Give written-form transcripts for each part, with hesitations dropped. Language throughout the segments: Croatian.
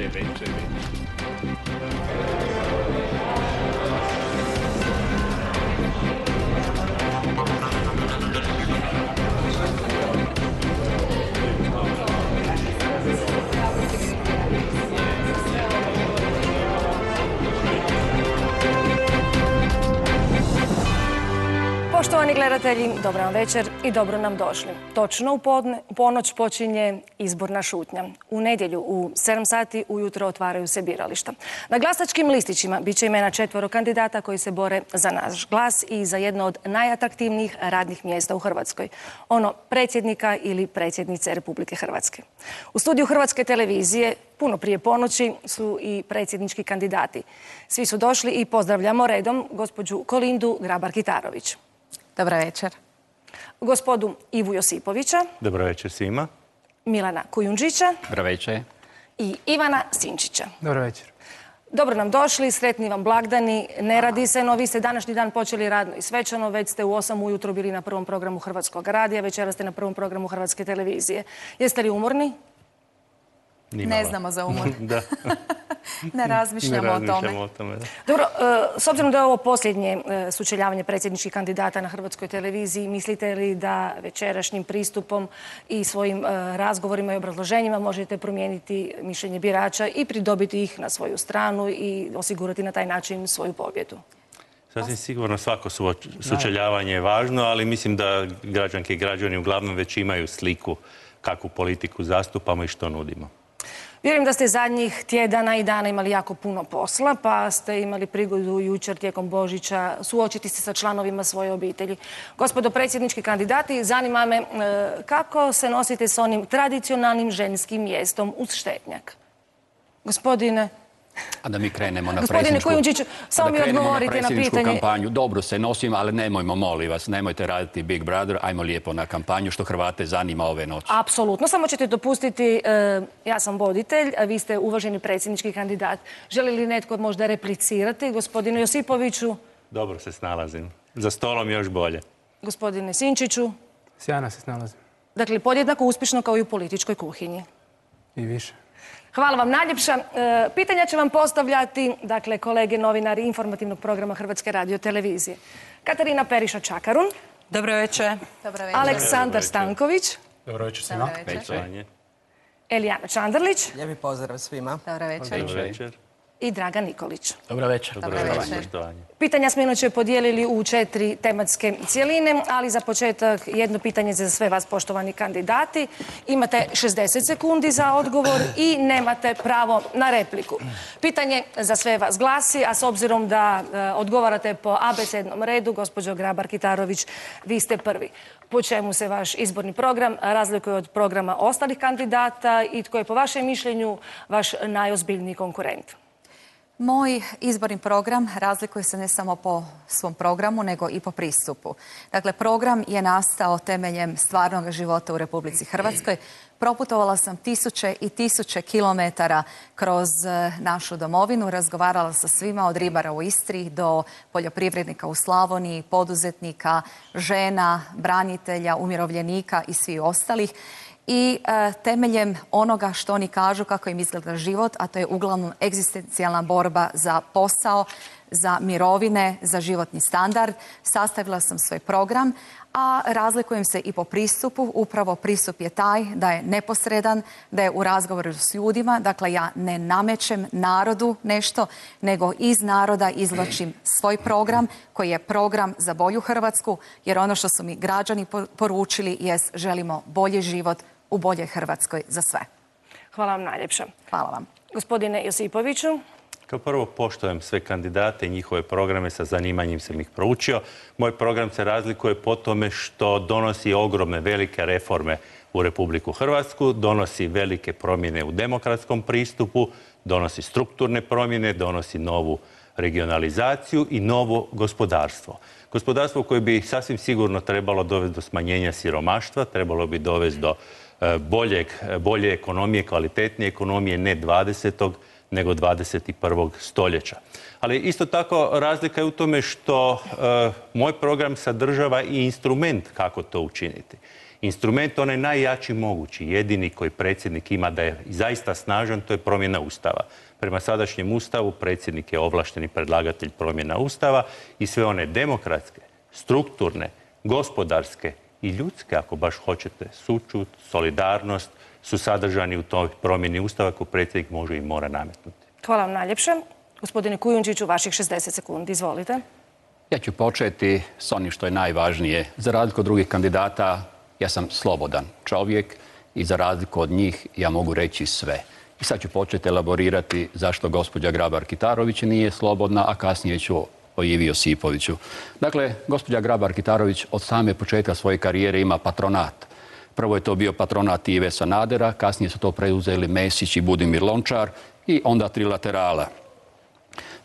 veće. Poštovani gledatelji, dobro vam večer i dobro nam došli. Točno u ponoć počinje izborna šutnja. U nedjelju u 7 sati ujutro otvaraju se birališta. Na glasačkim listićima bit će imena 4 kandidata koji se bore za naš glas i za jedno od najatraktivnijih radnih mjesta u Hrvatskoj. Ono predsjednika ili predsjednice Republike Hrvatske. U studiju Hrvatske televizije puno prije ponoći su i predsjednički kandidati. Svi su došli i pozdravljamo redom gospođu Kolindu Grabar-Kitarović. Dobar večer. Gospodu Ivu Josipovića. Dobro večer svima. Milana Kujundžića. Dobro večer. I Ivana Sinčića. Dobro večer. Dobro nam došli, sretni vam blagdani. Ne radi se, no vi ste današnji dan počeli radno i svečano. Već ste u 8 ujutro bili na prvom programu Hrvatskog radija, večeras ste na prvom programu Hrvatske televizije. Jeste li umorni? Ne znamo za umor. Da. Ne razmišljamo o tome. Da. Dobro, s obzirom da je ovo posljednje sučeljavanje predsjedničkih kandidata na Hrvatskoj televiziji, mislite li da večerašnjim pristupom i svojim razgovorima i obrazloženjima možete promijeniti mišljenje birača i pridobiti ih na svoju stranu i osigurati na taj način svoju pobjedu? Sasvim sigurno svako sučeljavanje je važno, ali mislim da građanke i građani uglavnom već imaju sliku kakvu politiku zastupamo i što nudimo. Vjerujem da ste zadnjih tjedana i dana imali jako puno posla, pa ste imali prigodu jučer tijekom Božića suočiti se sa članovima svoje obitelji. Gospodo predsjednički kandidati, zanima me kako se nosite s onim tradicionalnim ženskim mjestom uz štetnjak? Gospodine... A da mi krenemo na Gospodine Kujundžiću, samo mi odgovorite na pitanje. Kampanju. Dobro se nosim, ali nemojmo, molim vas, nemojte raditi Big Brother, ajmo lijepo na kampanju, što Hrvate zanima ove noći. Apsolutno, samo ćete dopustiti, ja sam voditelj, a vi ste uvaženi predsjednički kandidat. Želi li netko možda replicirati? Gospodinu Josipoviću? Dobro se snalazim. Za stolom još bolje. Gospodine Sinčiću? Sjajno se snalazim. Dakle, podjednako uspješno kao i u političkoj kuhinji. I više. Hvala vam najljepša. Pitanja će vam postavljati, dakle, kolege novinari informativnog programa Hrvatske radiotelevizije. Katarina Periša-Čakarun. Dobro večer. Aleksandar Stanković. Dobro večer svima. Elijana Čandarlić. Lijepi pozdrav svima. Dobro večer. Dobro večer. I Dragan Nikolić. Dobro večer. Poštovanje. Pitanja smo inače podijelili u 4 tematske cjeline, ali za početak jedno pitanje za sve vas, poštovani kandidati. Imate 60 sekundi za odgovor i nemate pravo na repliku. Pitanje za sve vas glasi, a s obzirom da odgovarate po abecednom redu, gospođo Grabar-Kitarović, vi ste prvi. Po čemu se vaš izborni program razlikuje od programa ostalih kandidata i tko je po vašem mišljenju vaš najozbiljniji konkurent? Moj izborni program razlikuje se ne samo po svom programu, nego i po pristupu. Dakle, program je nastao temeljem stvarnog života u Republici Hrvatskoj. Proputovala sam tisuće i tisuće kilometara kroz našu domovinu, razgovarala sa svima od ribara u Istri do poljoprivrednika u Slavoniji, poduzetnika, žena, branitelja, umirovljenika i svih ostalih. I temeljem onoga što oni kažu kako im izgleda život, a to je uglavnom egzistencijalna borba za posao, za mirovine, za životni standard, sastavila sam svoj program, a razlikujem se i po pristupu. Upravo pristup je taj da je neposredan, da je u razgovoru s ljudima. Dakle, ja ne namećem narodu nešto, nego iz naroda izvlačim svoj program, koji je program za bolju Hrvatsku, jer ono što su mi građani poručili jest želimo bolji život u boljoj Hrvatskoj za sve. Hvala vam najljepša. Hvala vam. Gospodine Josipoviću? Kao prvo poštujem sve kandidate i njihove programe, sa zanimanjem sam ih proučio. Moj program se razlikuje po tome što donosi ogromne, velike reforme u Republiku Hrvatsku, donosi velike promjene u demokratskom pristupu, donosi strukturne promjene, donosi novu regionalizaciju i novo gospodarstvo. Gospodarstvo koje bi sasvim sigurno trebalo dovesti do smanjenja siromaštva, trebalo bi dovesti do bolje ekonomije, kvalitetnije ekonomije, ne 20. nego 21. stoljeća. Ali isto tako razlika je u tome što moj program sadržava i instrument kako to učiniti. Instrument onaj najjači mogući, jedini koji predsjednik ima da je zaista snažan, to je promjena Ustava. Prema sadašnjem Ustavu predsjednik je ovlašteni predlagatelj promjena Ustava i sve one demokratske, strukturne, gospodarske i ljudske, ako baš hoćete, sućut, solidarnost, su sadržani u toj promjeni Ustava koju predsjednik može i mora nametnuti. Hvala vam najljepše. Gospodine Kujundžiću, vaših 60 sekundi. Izvolite. Ja ću početi s onim što je najvažnije. Za razliku od drugih kandidata, ja sam slobodan čovjek i za razliku od njih ja mogu reći sve. I sad ću početi elaborirati zašto gospođa Grabar-Kitarović nije slobodna, a kasnije ću o Ivi Josipoviću. Dakle, gospođa Grabar-Kitarović od same početka svoje karijere ima patronat. Prvo je to bio patronat Ive Sanadera, kasnije su to preuzeli Mesić i Budimir Lončar i onda trilaterala.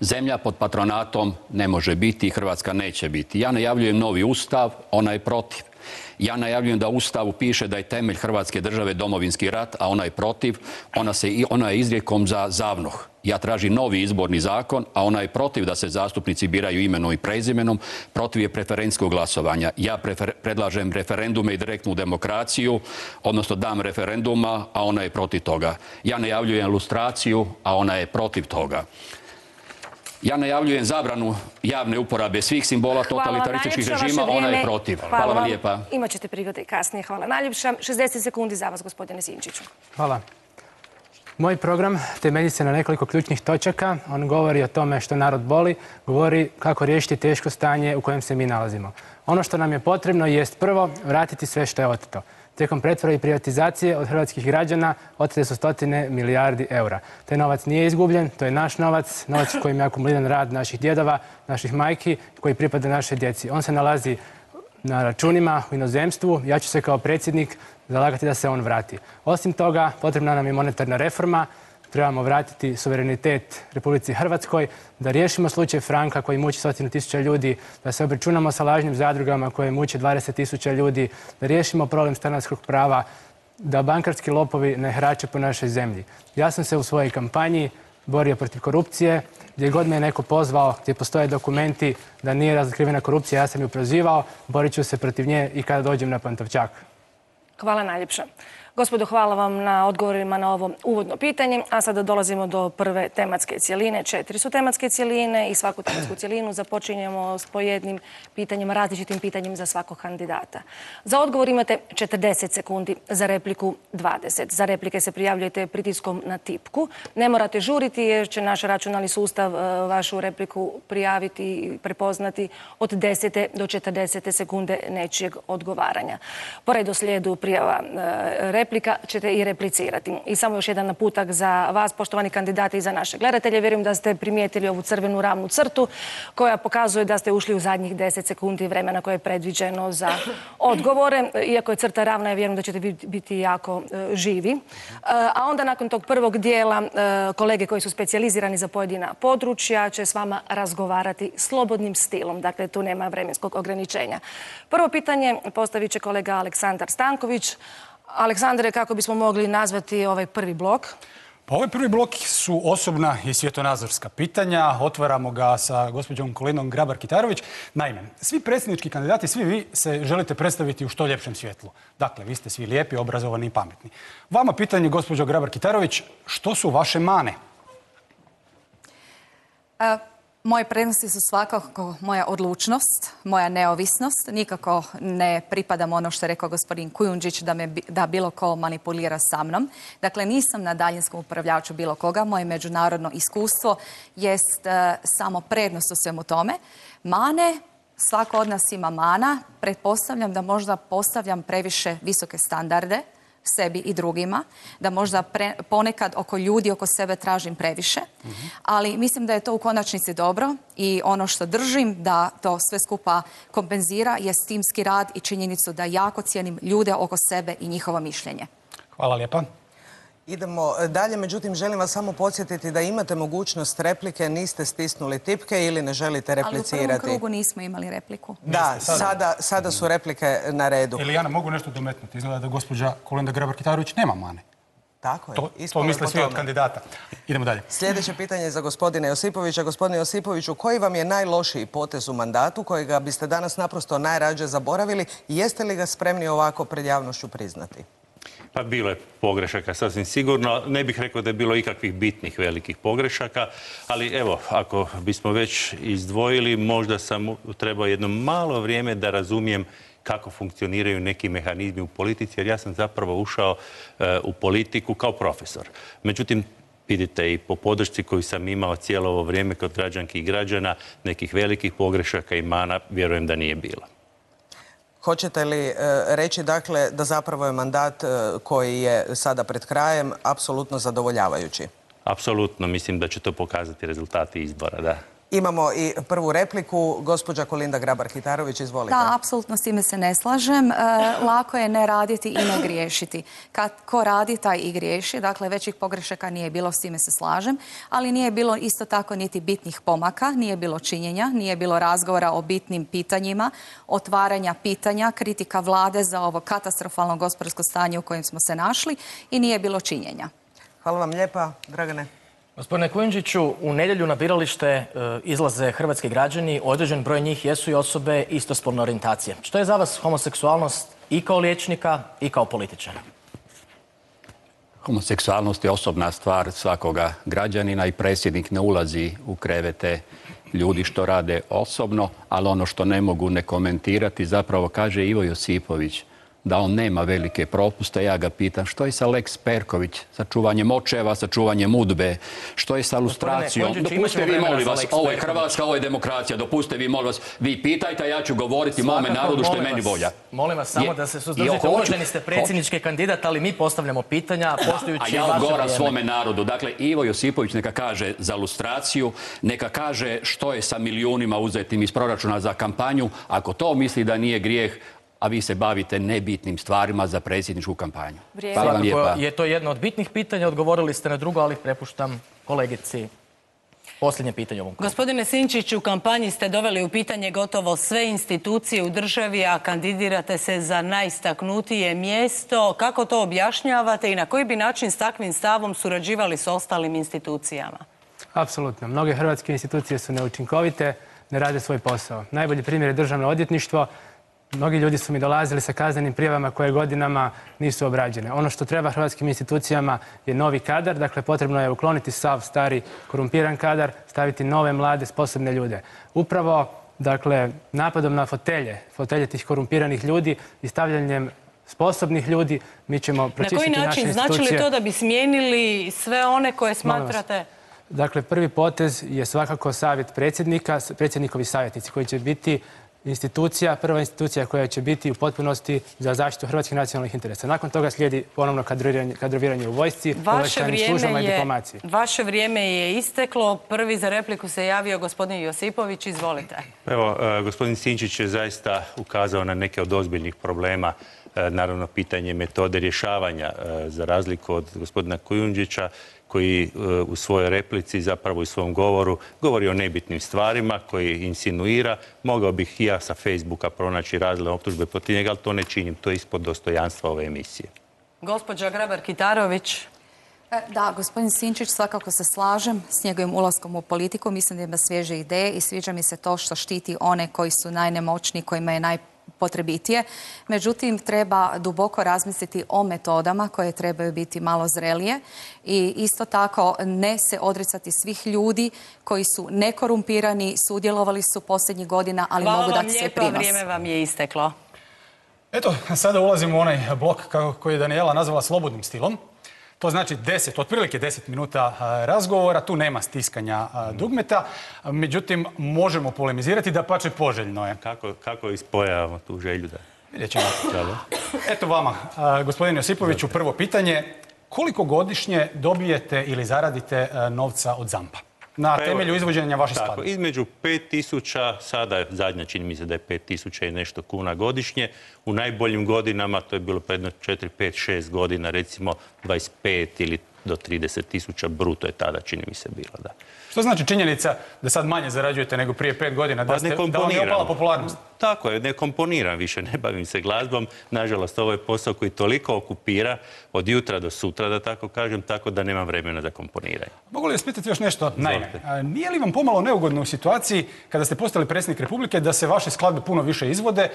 Zemlja pod patronatom ne može biti i Hrvatska neće biti. Ja najavljujem novi ustav, ona je protiv. Ja najavljujem da u Ustavu piše da je temelj Hrvatske države Domovinski rat, a ona je protiv. Ona je izrijekom za ZAVNOH. Ja tražim novi izborni zakon, a ona je protiv da se zastupnici biraju imenom i prezimenom. Protiv je preferencijskog glasovanja. Ja predlažem referendume i direktnu demokraciju, odnosno dam referenduma, a ona je protiv toga. Ja najavljujem lustraciju, a ona je protiv toga. Ja najavljujem zabranu javne uporabe svih simbola totalitarističkih režima, ona je protiv. Hvala vam lijepa. Imaćete prigode kasnije. Hvala najljepša. 60 sekundi za vas, gospodine Sinčiću. Hvala. Moj program temelji se na nekoliko ključnih točaka. On govori o tome što narod boli, govori kako riješiti teško stanje u kojem se mi nalazimo. Ono što nam je potrebno jest prvo vratiti sve što je oteto. Tijekom pretvorbe i privatizacije od hrvatskih građana otete su stotine milijardi eura. Taj novac nije izgubljen, to je naš novac, novac kojim je akumuliran rad naših djedova, naših majki, koji pripada našoj djeci. On se nalazi na računima u inozemstvu. Ja ću se kao predsjednik zalagati da se on vrati. Osim toga, potrebna nam je monetarna reforma. Trebamo vratiti suverenitet Republici Hrvatskoj, da riješimo slučaj Franka koji muči 100.000 ljudi, da se obračunamo sa lažnim zadrugama koje muče 20.000 ljudi, da riješimo problem stanarskog prava, da bankarski lopovi ne harače po našoj zemlji. Ja sam se u svojoj kampanji borio protiv korupcije, gdje god me je neko pozvao, gdje postoje dokumenti da nije razotkrivena korupcija, ja sam ju prozivao, borit ću se protiv nje i kada dođem na Pantovčak. Hvala najljepša. Gospodo, hvala vam na odgovorima na ovo uvodno pitanje, a sada dolazimo do prve tematske cjeline. 4 su tematske cjeline i svaku tematsku cjelinu započinjemo s po jednim pitanjem, različitim pitanjem za svakog kandidata. Za odgovor imate 40 sekundi, za repliku 20. Za replike se prijavljujete pritiskom na tipku. Ne morate žuriti jer će naš računalni sustav vašu repliku prijaviti i prepoznati od 10. do 40. sekunde nečijeg odgovaranja. Po redoslijedu prijava replika ćete i replicirati. I samo još jedan naputak za vas, poštovani kandidati, i za naše gledatelje. Vjerujem da ste primijetili ovu crvenu ravnu crtu koja pokazuje da ste ušli u zadnjih 10 sekundi vremena koje je predviđeno za odgovore. Iako je crta ravna, ja vjerujem da ćete biti jako živi. A onda nakon tog prvog dijela kolege koji su specijalizirani za pojedina područja će s vama razgovarati slobodnim stilom. Dakle, tu nema vremenskog ograničenja. Prvo pitanje postavit će kolega Aleksandar Stanković. Aleksandre, kako bismo mogli nazvati ovaj prvi blok? Pa ovaj prvi blok su osobna i svjetonazorska pitanja. Otvaramo ga sa gospođom Kolinom Grabar-Kitarović. Naime, svi predsjednički kandidati, svi vi se želite predstaviti u što ljepšem svjetlu. Dakle, vi ste svi lijepi, obrazovani i pametni. Vama pitanje, gospođo Grabar-Kitarović, što su vaše mane? Moje prednosti su svakako moja odlučnost, moja neovisnost. Nikako ne pripadam ono što je rekao gospodin Kujundžić da bilo ko manipulira sa mnom. Dakle, nisam na daljinskom upravljaču bilo koga. Moje međunarodno iskustvo jest samo prednost u svemu tome. Mane, svako od nas ima mana. Pretpostavljam da možda postavljam previše visoke standarde sebi i drugima, da možda ponekad oko ljudi, oko sebe tražim previše, ali mislim da je to u konačnici dobro i ono što držim da to sve skupa kompenzira je timski rad i činjenicu da jako cijenim ljude oko sebe i njihovo mišljenje. Hvala lijepa. Idemo dalje, međutim želim vas samo podsjetiti da imate mogućnost replike, niste stisnuli tipke ili ne želite replicirati. Ali u prvom krugu nismo imali repliku. Da, sada su replike na redu. Elijana, mogu nešto dometnuti? Izgleda da gospođa Kolinda Grabar-Kitarović nema mane. Tako je. To misle svi od kandidata. Idemo dalje. Sljedeće pitanje je za gospodina Josipovića. Gospodine Josipoviću, koji vam je najlošiji potez u mandatu kojega biste danas naprosto najrađe zaboravili i jeste li ga spremni ovako pred javnošću priznati? Pa bilo je pogrešaka, sasvim sigurno. Ne bih rekao da je bilo ikakvih bitnih velikih pogrešaka, ali evo, ako bismo već izdvojili, možda sam trebao jedno malo vrijeme da razumijem kako funkcioniraju neki mehanizmi u politici, jer ja sam zapravo ušao u politiku kao profesor. Međutim, vidite i po podršci koju sam imao cijelo ovo vrijeme kod građanki i građana, nekih velikih pogrešaka i mana, vjerujem da nije bilo. Hoćete li reći, dakle, da zapravo je mandat koji je sada pred krajem apsolutno zadovoljavajući? Apsolutno, mislim da će to pokazati rezultati izbora, da. Imamo i prvu repliku. Gospođa Kolinda Grabar-Kitarović, izvolite. Da, apsolutno s time se ne slažem. Lako je ne raditi i ne griješiti. Kad ko radi, taj i griješi. Dakle, većih pogrešaka nije bilo, s time se slažem. Ali nije bilo isto tako niti bitnih pomaka, nije bilo činjenja, nije bilo razgovora o bitnim pitanjima, otvaranja pitanja, kritika vlade za ovo katastrofalno gospodarsko stanje u kojem smo se našli i nije bilo činjenja. Hvala vam lijepa. Dragane. Gospodine Kujundžiću, u nedjelju na biralište izlaze hrvatski građani, određen broj njih jesu i osobe istospolne orijentacije. Što je za vas homoseksualnost i kao liječnika i kao političara? Homoseksualnost je osobna stvar svakoga građanina i predsjednik ne ulazi u krevete ljudi što rade osobno, ali ono što ne mogu ne komentirati, zapravo kaže Ivo Josipović da on nema velike propuste. Ja ga pitam što je sa Lex Perković, sa čuvanjem očeva, sa čuvanjem udbe, što je sa lustracijom. Dopustite vi, molim vas, ovo je Hrvatska, ovo je demokracija, dopustite vi, molim vas, vi pitajte, ja ću govoriti mome narodu što je meni volja. Molim vas samo da se suzdržite, uvaženi ste predsjednički kandidat, ali mi postavljamo pitanja poštujući vaše vrijeme. A ja odgovaram svome narodu. Dakle, Ivo Josipović neka kaže za lustraciju, neka kaže što je sa milijunima uzetim iz proračuna za kampanju. Ako to misli da nije grijeh, a vi se bavite nebitnim stvarima za predsjedničku kampanju. Hvala vam lijepa. Je to jedno od bitnih pitanja, odgovorili ste na drugo, ali prepuštam kolegici posljednje pitanje ovom. Gospodine Sinčić, u kampanji ste doveli u pitanje gotovo sve institucije u državi, a kandidirate se za najistaknutije mjesto. Kako to objašnjavate i na koji bi način s takvim stavom surađivali s ostalim institucijama? Apsolutno. Mnoge hrvatske institucije su neučinkovite, ne rade svoj posao. Najbolji primjer je Državno odvjetništvo. Mnogi ljudi su mi dolazili sa kaznenim prijavama koje godinama nisu obrađene. Ono što treba hrvatskim institucijama je novi kadar, dakle potrebno je ukloniti sav stari korumpiran kadar, staviti nove, mlade, sposobne ljude. Upravo, dakle, napadom na fotelje tih korumpiranih ljudi i stavljanjem sposobnih ljudi, mi ćemo pročistiti naše institucije. Na koji način? Znači li to da bi smijenili sve one koje smatrate? Dakle, prvi potez je svakako savjet predsjednika, predsjednikovi savjetnici koji će biti prva institucija koja će biti u potpunosti za zaštitu hrvatskih nacionalnih interesa. Nakon toga slijedi ponovno kadroviranje u vojsci, obavještajnim službama i diplomaciji. Vaše vrijeme je isteklo. Prvi za repliku se javio gospodin Josipović. Izvolite. Evo, gospodin Sinčić je zaista ukazao na neke od ozbiljnih problema. Naravno, pitanje metode rješavanja, za razliku od gospodina Kujundžića, koji u svojoj replici, zapravo u svom govoru, govori o nebitnim stvarima, koji insinuira. Mogao bih i ja sa Facebooka pronaći razne optužbe protiv njega, ali to ne činim. To je ispod dostojanstva ove emisije. Gospođa Grabar-Kitarović. Da, gospodin Sinčić, svakako se slažem s njegovim ulaskom u politiku. Mislim da ima svježe ideje i sviđa mi se to što štiti one koji su najnemoćniji, kojima je najpotrebitije. Međutim, treba duboko razmisliti o metodama koje trebaju biti malo zrelije i isto tako ne se odricati svih ljudi koji su nekorumpirani, sudjelovali su posljednjih godina, ali mogu dati svoj prinos. Hvala vam lijepa, vrijeme vam je isteklo. Eto, sada ulazimo u onaj blok koji je Daniela nazvala slobodnim stilom. To znači otprilike 10 minuta razgovora, tu nema stiskanja dugmeta, međutim možemo polemizirati, dapače poželjno je. Kako ispojavamo tu želju da... Vidjet ćemo. Eto vama, gospodin Josipoviću, prvo pitanje. Koliko godišnje dobijete ili zaradite novca od ZAMP-a? Na temelju izvođenja vaše skladbe. Između 5.000, sada je zadnja, čini mi se da je 5.000 i nešto kuna godišnje. U najboljim godinama, to je bilo predno 4, 5, 6 godina, recimo 25 ili do 30.000 bruto je tada, čini mi se, bilo, da. Što znači činjenica da sad manje zarađujete nego prije 5 godina, da vam je opala popularnost? Tako je, ne komponiram više, ne bavim se glazbom. Nažalost, ovo je posao koji toliko okupira od jutra do sutra, da tako kažem, tako da nemam vremena za komponiranje. Mogu li vas pitati još nešto? Naime, nije li vam pomalo neugodno u situaciji kada ste postali predsjednik Republike da se vaše skladbe puno više izvode,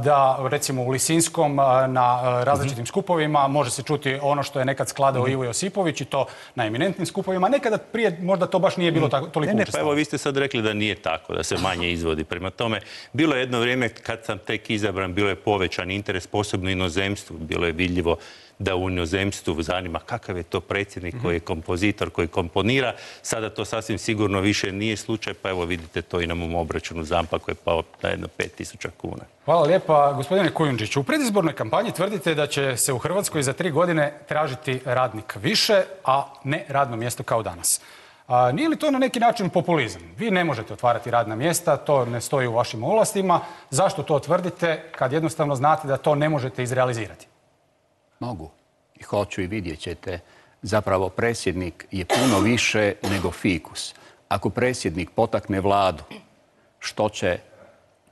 da recimo u Lisinskom na različitim skupovima može se čuti ono što je nekad skladao Ivo Josipović i to na eminentnim skupovima, nekada prije možda to baš nije bilo toliko učestalo? Pa evo, vi ste sad rekli da nije tako, da se manje izvodi. Prema tome, bilo je jedno vrijeme kad sam tek izabran, bilo je povećan interes, posebno inozemstvu. Bilo je vidljivo da u inozemstvu zanima kakav je to predsjednik koji je kompozitor, koji komponira. Sada to sasvim sigurno više nije slučaj, pa evo vidite to i na mom obračunu ZAMP-a koji je pao na jedno 5.000 kuna. Hvala lijepa. Gospodine Kujundžiću, u predizbornoj kampanji tvrdite da će se u Hrvatskoj za 3 godine tražiti radnik više, a ne radno mjesto kao danas. Nije li to na neki način populizam? Vi ne možete otvarati radna mjesta, to ne stoji u vašim ovlastima. Zašto to tvrdite kad jednostavno znate da to ne možete izrealizirati? Mogu i hoću i vidjet ćete. Zapravo predsjednik je puno više nego fikus. Ako predsjednik potakne vladu, što će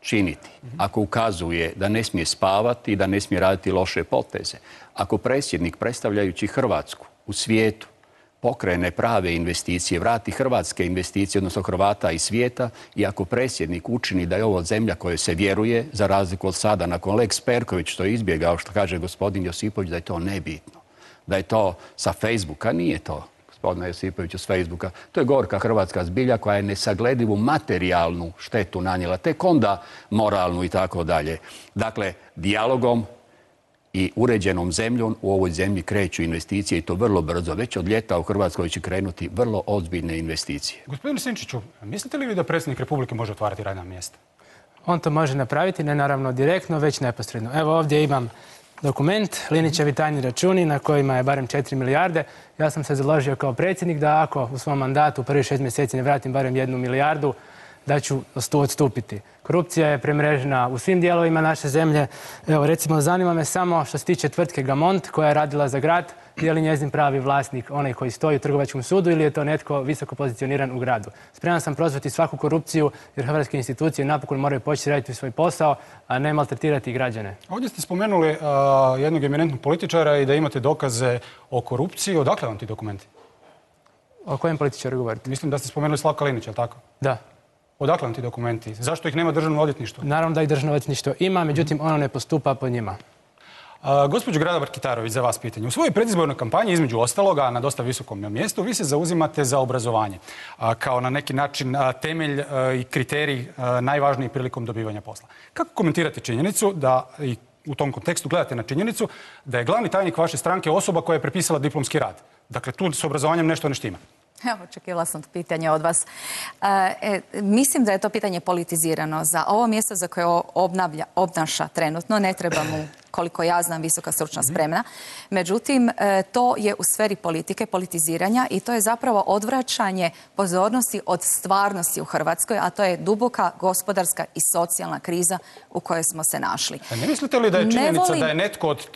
činiti? Ako ukazuje da ne smije spavati i da ne smije raditi loše poteze. Ako predsjednik, predstavljajući Hrvatsku u svijetu, pokrene prave investicije, vrati hrvatske investicije, odnosno Hrvata iz svijeta, i ako predsjednik učini da je ovo zemlja kojoj se vjeruje, za razliku od sada, nakon Lex Perković, što je izbjegao, što kaže gospodin Josipović, da je to nebitno. Da je to sa Facebooka, nije to, gospodina Josipovića, s Facebooka. To je gorka hrvatska zbilja koja je nesagledivu materijalnu štetu nanijela, tek onda moralnu i tako dalje. Dakle, dijalogom i uređenom zemljom u ovoj zemlji kreću investicije i to vrlo brzo. Već od ljeta u Hrvatskoj će krenuti vrlo ozbiljne investicije. Gospodine Sinčiću, mislite li vi da predsjednik Republike može otvarati radna mjesta? On to može napraviti, ne naravno direktno, već neposredno. Evo ovdje imam dokument, Linićevi tajni računi na kojima je barem 4 milijarde. Ja sam se založio kao predsjednik da ako u svom mandatu u prvih 6 mjeseci ne vratim barem 1 milijardu, da ću odstupiti. Korupcija je premrežena u svim dijelovima naše zemlje. Evo, recimo, zanima me samo što se tiče tvrtke Gamont koja je radila za grad, je li njezin pravi vlasnik onaj koji stoji u trgovačkom sudu ili je to netko visoko pozicioniran u gradu. Spreman sam prozvati svaku korupciju jer hrvatske institucije napokon moraju početi raditi svoj posao, a ne maltretirati građane. Ovdje ste spomenuli jednog eminentnog političara i da imate dokaze o korupciji. Odakle vam ti dokumenti? O kojem političaru govorite? Mislim da ste spomenuli Slavka Linića, je li tako? Da. Odakle vam ti dokumenti? Zašto ih nema Državno odvjetništvo? Naravno da ih Državno odvjetništvo ima, međutim ono ne postupa po njima. Gospođo Grabar-Kitarović, za vas pitanje. U svojoj predizbornoj kampanji, između ostaloga, na dosta visokom mjestu, vi se zauzimate za obrazovanje kao na neki način temelj i kriterij najvažniji prilikom dobivanja posla. Kako komentirate činjenicu da, i u tom kontekstu gledate na činjenicu, da je glavni tajnik vaše stranke osoba koja je prepisala diplomski rad? Dakle, tu s obrazovanjem nešto ne štima. Evo, očekivala sam pitanje od vas. Mislim da je to pitanje politizirano. Za ovo mjesto za koje obnaša trenutno ne treba mu, koliko ja znam, visoka stručna spremna. Međutim, to je u sferi politike, politiziranja i to je zapravo odvraćanje pozornosti od stvarnosti u Hrvatskoj, a to je duboka gospodarska i socijalna kriza u kojoj smo se našli. A ne mislite li da je činjenica da je netko od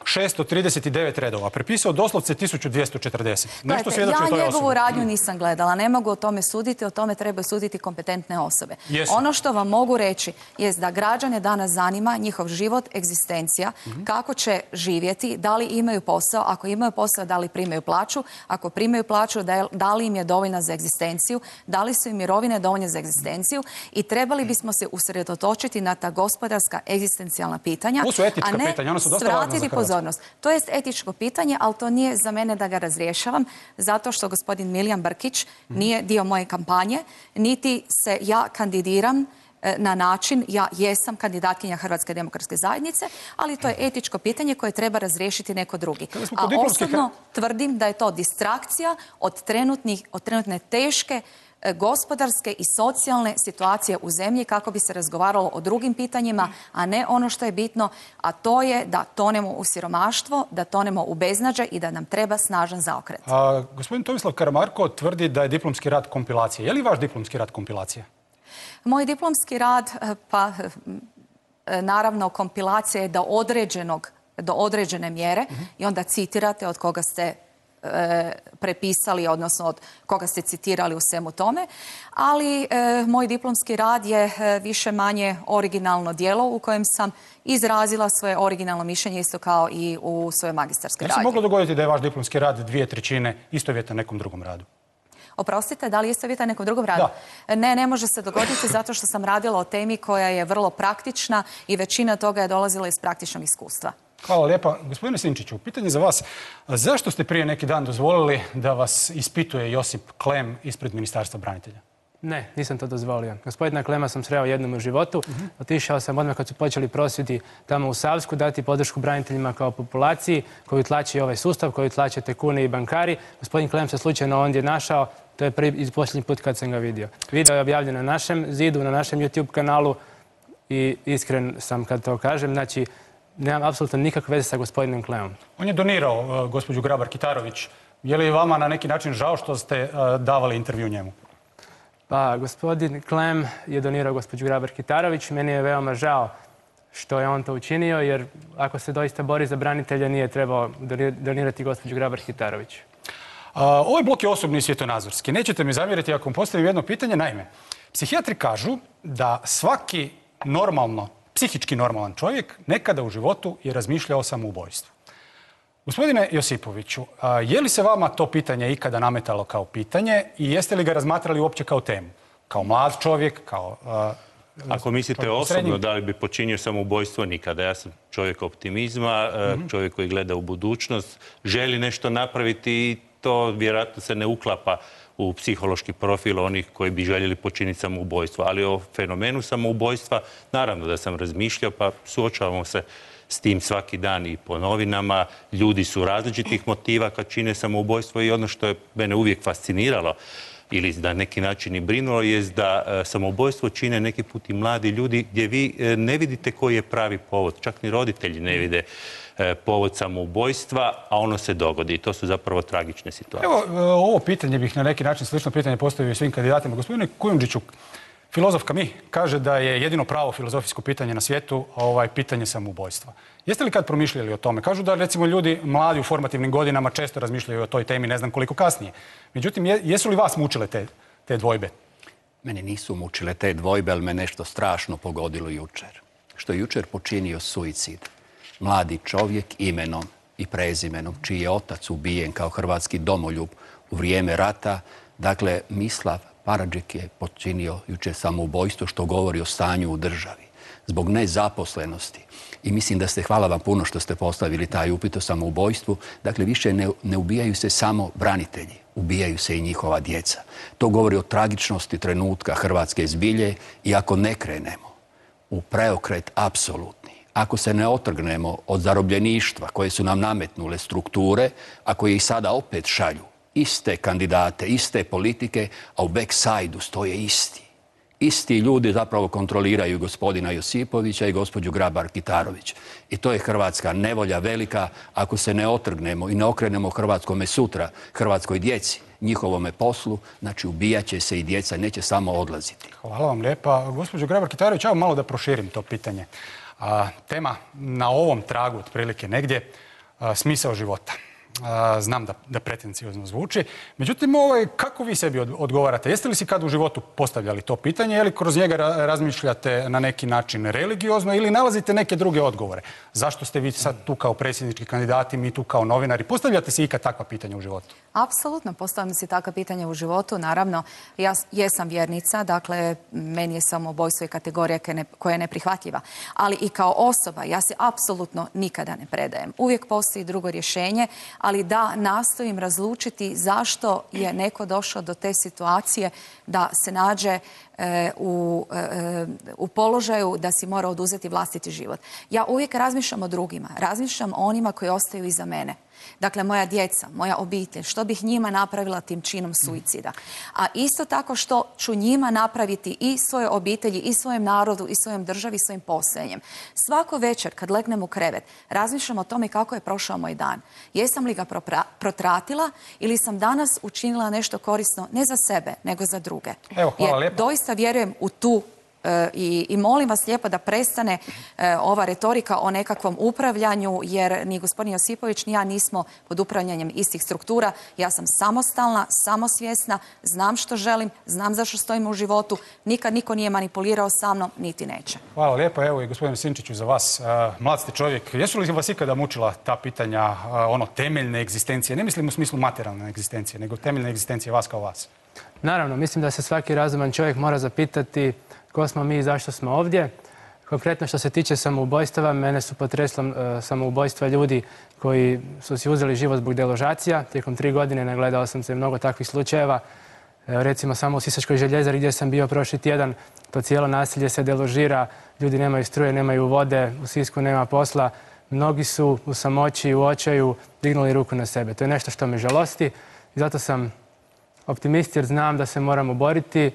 1639 redova prepisao doslovce 1240? Nešto svjedoči o toj osobi. Ja njegovu radnju nisam gledala, ne mogu o tome suditi, o tome trebaju suditi kompetentne osobe. Ono što vam mogu reći je da građane danas zanima njihov život, egzistencija, kako će živjeti, da li imaju posao, ako imaju posao, da li primaju plaću, ako primaju plaću, da li im je dovoljna za egzistenciju, da li su im mirovine dovoljne za egzistenciju i trebali bismo se usredotočiti na ta gospodarska egzistencijalna pitanja, a ne svratiti pozornost. To je etičko pitanje, ali to nije za mene da ga razrješavam, zato što gospodin Milijan Brkić nije dio moje kampanje, niti se ja kandidiram na način, ja jesam kandidatkinja Hrvatske demokratske zajednice, ali to je etičko pitanje koje treba razriješiti neko drugi. A osobno tvrdim da je to distrakcija od trenutne teške gospodarske i socijalne situacije u zemlji kako bi se razgovaralo o drugim pitanjima, a ne ono što je bitno, a to je da tonemo u siromaštvo, da tonemo u beznađe i da nam treba snažan zaokret. Gospodin Tomislav Karamarko tvrdi da je diplomski rad kompilacija. Je li vaš diplomski rad kompilacija? Moj diplomski rad, pa naravno kompilacija je do određene mjere i onda citirate od koga ste prepisali, odnosno od koga ste citirali u svemu tome. Ali moj diplomski rad je više manje originalno djelo u kojem sam izrazila svoje originalno mišljenje, isto kao i u svojoj magistarskoj radnji. Je se moglo dogoditi da je vaš diplomski rad 2/3 istovjetan nekom drugom radu? Oprostite, da li je istovjetan nekom drugom radu? Da. Ne može se dogoditi zato što sam radila o temi koja je vrlo praktična i većina toga je dolazila iz praktičnog iskustva. Hvala lijepa. Gospodine Sinčiću, pitanje za vas. Zašto ste prije neki dan dozvolili da vas ispituje Josip Klem ispred Ministarstva branitelja? Ne, nisam to dozvolio. Gospodina Klema sam sreo jednom u životu. Otišao sam odmah kad su počeli prosvjedi tamo u Savsku dati podršku braniteljima kao populaciji koju tlači ovaj sustav, koju tlače tekuni i bankari. Gospodin Klem se slučajno ondje našao. To je prvi i posljednji put kad sam ga vidio. Video je objavljen na našem zidu, na našem YouTube kanalu i iskren sam kad to kažem. Znači, nemam apsolutno nikakve veze sa gospodinom Klemom. On je donirao gospođu Grabar-Kitarović. Je li vama na neki način žao što ste davali intervju njemu? Pa, gospodin Klem je donirao gospođu Grabar-Kitarović. Meni je veoma žao što je on to učinio, jer ako se doista bori za branitelja, nije trebao donirati gospođu Grabar-Kitarović. Ovaj blok je osobni i svjetonazorski. Nećete mi zamjeriti ako vam postavim jedno pitanje. Naime, psihijatri kažu da svaki psihički normalan čovjek nekada u životu je razmišljao o samoubojstvu. Gospodine Josipoviću, je li se vama to pitanje ikada nametalo kao pitanje i jeste li ga razmatrali uopće kao temu? Kao mlad čovjek, kao... Ako mislite osobno da li bi počinio samoubojstvo, nikada. Ja sam čovjek optimizma, čovjek koji gleda u budućnost, želi nešto napraviti i to vjerojatno se ne uklapa u psihološki profil onih koji bi željeli počiniti samoubojstvo. Ali o fenomenu samoubojstva, naravno da sam razmišljao, pa suočavamo se s tim svaki dan i po novinama. Ljudi su različitih motiva kad čine samoubojstvo i ono što je mene uvijek fasciniralo ili na neki način i brinulo je da samoubojstvo čine neki put i mladi ljudi gdje vi ne vidite koji je pravi povod. Čak ni roditelji ne vide povod samoubojstva, a ono se dogodi. I to su zapravo tragične situacije. Evo, ovo pitanje bih na neki način slično pitanje postavio svim kandidatima. Gospodine Kujundžiću, filozof Camus kaže da je jedino pravo filozofijsko pitanje na svijetu pitanje samoubojstva. Jeste li kad promišljali o tome? Kažu da recimo ljudi mladi u formativnim godinama često razmišljaju o toj temi, ne znam koliko kasnije. Međutim, jesu li vas mučile te dvojbe? Mene nisu mučile te dvojbe, ali me nešto strašno pogodilo jučer. Što je jučer počinio suicid. Mladi čovjek imenom i prezimenom, čiji je otac ubijen kao hrvatski domoljub u vrijeme rata. Dakle, Mislav Paradžik je počinio jučer samoubojstvo, što govori o stanju u državi. Zbog nezaposlenosti. I mislim da ste, hvala vam puno što ste postavili taj upit o samoubojstvu. Dakle, više ne ubijaju se samo branitelji, ubijaju se i njihova djeca. To govori o tragičnosti trenutka hrvatske zbilje i ako ne krenemo u preokret apsolutni, ako se ne otrgnemo od zarobljeništva koje su nam nametnule strukture, a koje ih sada opet šalju, iste kandidate, iste politike, a u backside-u stoje isti. Isti ljudi zapravo kontroliraju gospodina Josipovića i gospođu Grabar-Kitarović. I to je hrvatska nevolja velika ako se ne otrgnemo i ne okrenemo hrvatskome sutra, hrvatskoj djeci, njihovome poslu, znači ubijat će se i djeca, neće samo odlaziti. Hvala vam lijepa. Gospođo Grabar-Kitarović, evo malo da proširim to pitanje. Tema na ovom tragu, otprilike negdje, smisao života. Znam da pretenciozno zvuči. Međutim, kako vi sebi odgovarate? Jeste li si kad u životu postavljali to pitanje ili kroz njega razmišljate na neki način religiozno ili nalazite neke druge odgovore? Zašto ste vi sad tu kao predsjednički kandidati, mi tu kao novinari? Postavljate si ikad takva pitanja u životu? Apsolutno, postavljam si takva pitanja u životu. Naravno, ja jesam vjernica, dakle, meni je samoubojstvo i kategorija koja je neprihvatljiva. Ali i kao osoba, ja se apsolutno nikada ne predajem. Uvijek postoji drugo rješenje, ali da nastojim razlučiti zašto je neko došao do te situacije da se nađe u položaju da si mora oduzeti vlastiti život. Ja uvijek razmišljam o drugima, razmišljam o onima koji ostaju iza mene. Dakle, moja djeca, moja obitelj, što bih njima napravila tim činom suicida. A isto tako što ću njima napraviti i svoje obitelji, i svojem narodu, i svojom državi, i svojim postojanjem. Svako večer kad legnem u krevet, razmišljam o tome kako je prošao moj dan. Jesam li ga protratila ili sam danas učinila nešto korisno ne za sebe, nego za druge. Evo, hvala lijepa. Doista vjerujem u tu I molim vas lijepo da prestane ova retorika o nekakvom upravljanju, jer ni gospodin Josipović ni ja nismo pod upravljanjem istih struktura. Ja sam samostalna, samosvjesna, znam što želim, znam zašto stojim u životu. Nikad niko nije manipulirao sa mnom, niti neće. Hvala lijepo. Evo i gospodine Sinčiću za vas. Mlad ste čovjek. Jesu li vas ikada mučila ta pitanja temeljne egzistencije? Ne mislim u smislu materijalne egzistencije, nego temeljne egzistencije vas kao vas. Naravno, mislim da se svaki razuman čovjek mora zapitati ko smo mi i zašto smo ovdje. Konkretno što se tiče samoubojstava, mene su potreslo samoubojstva ljudi koji su si uzeli život zbog deložacija. Tijekom 3 godine nagledao sam se mnogo takvih slučajeva. Recimo samo u Sisačkoj Željezari gdje sam bio prošli tjedan, to cijelo naselje se deložira, ljudi nemaju struje, nemaju vode, u Sisku nema posla. Mnogi su u samoći, u očaju dignuli ruku na sebe. To je nešto što me žalosti i zato sam optimist jer znam da se moramo boriti,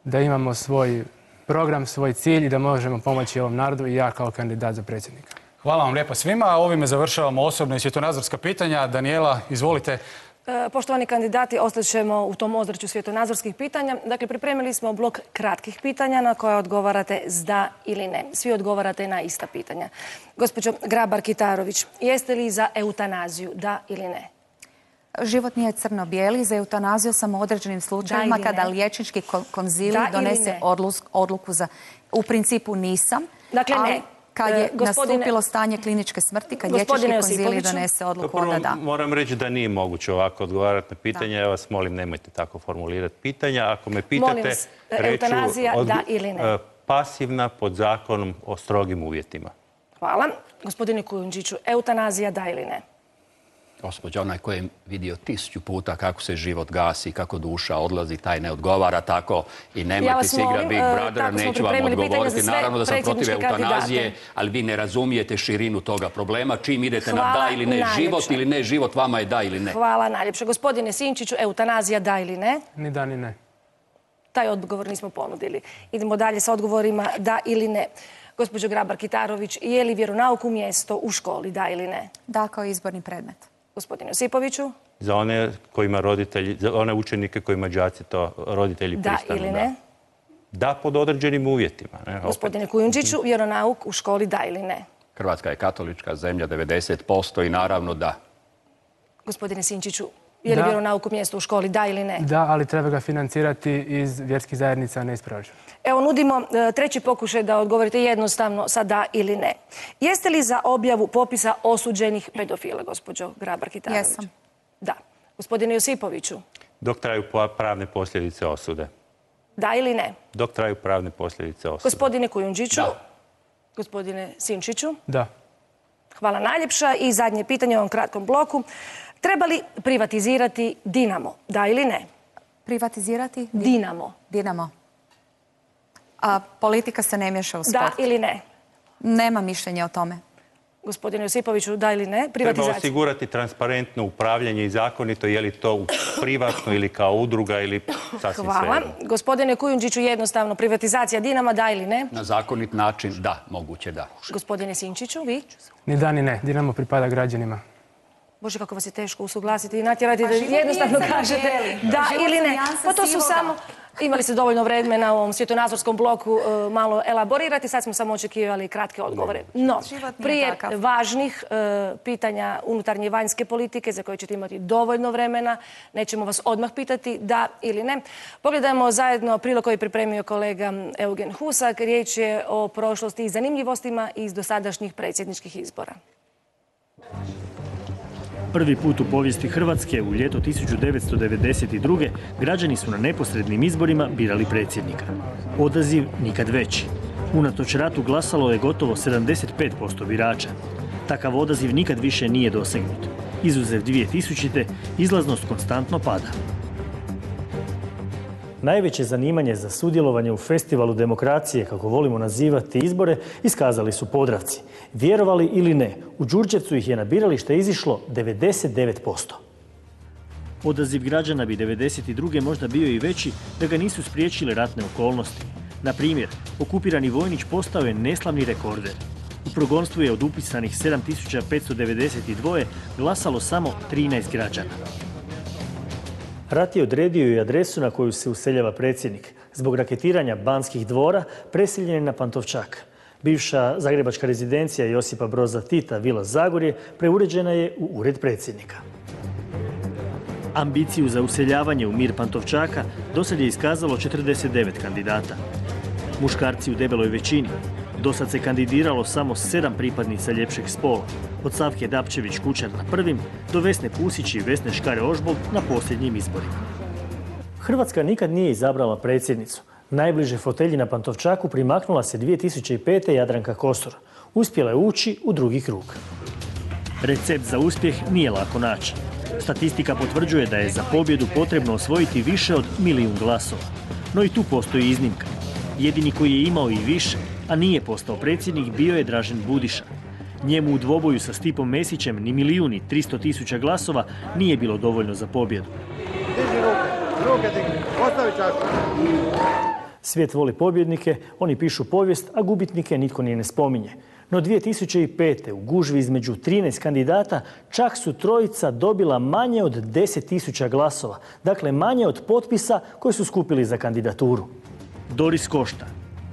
da imamo svoj program, svoj cilj i da možemo pomoći ovom narodu i ja kao kandidat za predsjednika. Hvala vam lijepo svima. Ovime završavamo osobna i svjetonazorska pitanja. Danijela, izvolite. Poštovani kandidati, ostaćemo u tom ozračju svjetonazorskih pitanja. Dakle, pripremili smo blok kratkih pitanja na koje odgovarate s da ili ne. Svi odgovarate na ista pitanja. Gospođo Grabar-Kitarović, jeste li za eutanaziju, da ili ne? Život nije crno-bijeli, za eutanaziju sam u određenim slučajevima kada liječnički konzilij donese odluku za... U principu nisam, ali kad je nastupilo stanje kliničke smrti, kad liječnički konzilij donese odluku, onda da. Moram reći da nije moguće ovako odgovarati na pitanja. Ja vas molim, nemojte tako formulirati pitanja. Ako me pitate, reću pasivna pod zakonom o strogim uvjetima. Hvala. Gospodine Kujundžiću, eutanazija da ili ne? Gospođa, onaj koji je vidio 1000 puta kako se život gasi, kako duša odlazi, taj ne odgovara tako i nemojte se igrati Big Brothera, neću vam odgovoriti. Naravno da sam protiv eutanazije, ali vi ne razumijete širinu toga problema. Čim idete na da ili ne život ili ne život, vama je da ili ne. Hvala najljepše. Gospodine Sinčiću, eutanazija da ili ne? Ni da ni ne. Taj odgovor nismo ponudili. Idemo dalje sa odgovorima da ili ne. Gospođo Grabar-Kitarović, je li vjeronauk u mjesto u školi, da ili ne? Da, kao izborni predmet. Gospodine Josipoviću? Za one kojima roditelji, za one učenike kojima đaci to roditelji pristanu. Da ili ne? Da, pod određenim uvjetima. Gospodine Kujundžiću, vjeronauk u školi da ili ne? Hrvatska je katolička zemlja, 90% i naravno da. Gospodine Sinčiću, je li vjeronauk u mjestu u školi da ili ne? Da, ali treba ga financirati iz vjerskih zajednica, a ne iz proračuna. Evo, nudimo treći pokušaj da odgovorite jednostavno sa da ili ne. Jeste li za objavu popisa osuđenih pedofila, gospođo Grabar-Kitarović? Jesam. Da. Gospodine Josipoviću? Dok traju pravne posljedice osude. Da ili ne? Dok traju pravne posljedice osude. Gospodine Kujundžiću? Da. Gospodine Sinčiću? Da. Hvala najljepša. I zadnje pitanje u ovom kratkom bloku. Treba li privatizirati Dinamo? Da ili ne? Privatizirati? Dinamo. Dinamo. A politika se ne miješa u sport. Da ili ne? Nema mišljenja o tome. Gospodine Josipoviću, da ili ne? Treba osigurati transparentno upravljanje i zakonito, je li to privatno ili kao udruga ili sasvim sve. Hvala. Gospodine Kujundžiću, jednostavno, privatizacija Dinama, da ili ne? Na zakonit način, da, moguće da. Gospodine Sinčiću, vi? Ni da ni ne. Dinamo pripada građanima. Bože, kako vas je teško usuglasiti i natjerati da jednostavno kažete da ili ne. Pa to su samo... Imali ste dovoljno vremena u ovom svjetonazorskom bloku malo elaborirati, sad smo samo očekivali kratke odgovore. No, prije važnih pitanja unutarnje i vanjske politike, za koje ćete imati dovoljno vremena, nećemo vas odmah pitati da ili ne. Pogledajmo zajedno prilog koji je pripremio kolega Eugen Husak. Riječ je o prošlosti i zanimljivostima iz dosadašnjih predsjedničkih izbora. Prvi put u povijesti Hrvatske u ljeto 1992. građani su na neposrednim izborima birali predsjednika. Odaziv nikad veći. Unatoč ratu glasalo je gotovo 75% birača. Takav odaziv nikad više nije dosegnut. Izuzev 2000. izlaznost konstantno pada. Najveće zanimanje za sudjelovanje u festivalu demokracije, kako volimo nazivati izbore, iskazali su Podravci. Vjerovali ili ne, u Đurđevcu ih je na biralište izišlo 99%. Odaziv građana bi 1992. možda bio i veći da ga nisu spriječile ratne okolnosti. Na primjer, okupirani Vojnić postao je neslavni rekorder. U progonstvu je od upisanih 7592 glasalo samo 13 građana. Rat je odredio i adresu na koju se useljava predsjednik. Zbog raketiranja Banskih dvora preseljen je na Pantovčak. Bivša zagrebačka rezidencija Josipa Broza Tita, Vila Zagorje, preuređena je u ured predsjednika. Ambiciju za useljavanje u mir Pantovčaka dosad je iskazalo 49 kandidata. Muškarci u debeloj većini. Dosad se kandidiralo samo 7 pripadnica ljepšeg spola. Od Savke Dapčević-Kučar na prvim do Vesne Pusić i Vesne Škare-Ožbolt na posljednjim izborima. Hrvatska nikad nije izabrala predsjednicu. Najbliže fotelji na Pantovčaku primaknula se 2005. Jadranka Kosor. Uspjela je ući u drugi krug. Recept za uspjeh nije lako naći. Statistika potvrđuje da je za pobjedu potrebno osvojiti više od 1 milijun glasova. No i tu postoji iznimka. Jedini koji je imao i više, a nije postao predsjednik, bio je Dražen Budiša. Njemu u dvoboju sa Stipom Mesićem ni 1.300.000 glasova nije bilo dovoljno za pobjedu. Ruke digni, ostavi čašu. Svijet voli pobjednike, oni pišu povijest, a gubitnike nitko ni ne spominje. No 2005. u gužvi između 13 kandidata čak su trojica dobila manje od 10.000 glasova. Dakle, manje od potpisa koje su skupili za kandidaturu. Doris Košta,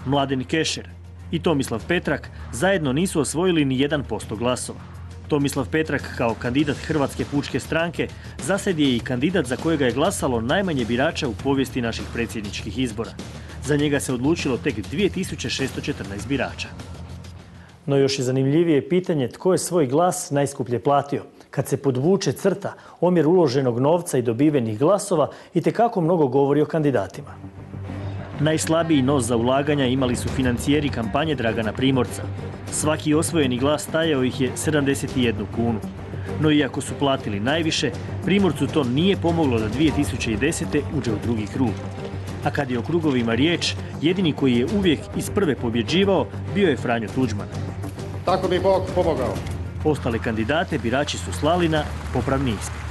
Mladen Kešer i Tomislav Petrak zajedno nisu osvojili ni 1% glasova. Tomislav Petrak kao kandidat Hrvatske pučke stranke zasad je i kandidat za kojega je glasalo najmanje birača u povijesti naših predsjedničkih izbora. Za njega se odlučilo tek 2614 birača. No još je zanimljivije pitanje tko je svoj glas najskuplje platio. Kad se podvuče crta, omjer uloženog novca i dobivenih glasova itekako mnogo govori o kandidatima. Najslabiji nos za ulaganja imali su financijeri kampanje Dragana Primorca. Svaki osvojeni glas stajao ih je 71 kunu. No iako su platili najviše, Primorcu to nije pomoglo da 2010. uđe u drugi krug. A kad je o krugovima riječ, jedini koji je uvijek iz prve pobjeđivao bio je Franjo Tuđman. Tako mi Bog pomogao. Ostale kandidate birači su slali na popravni ispit.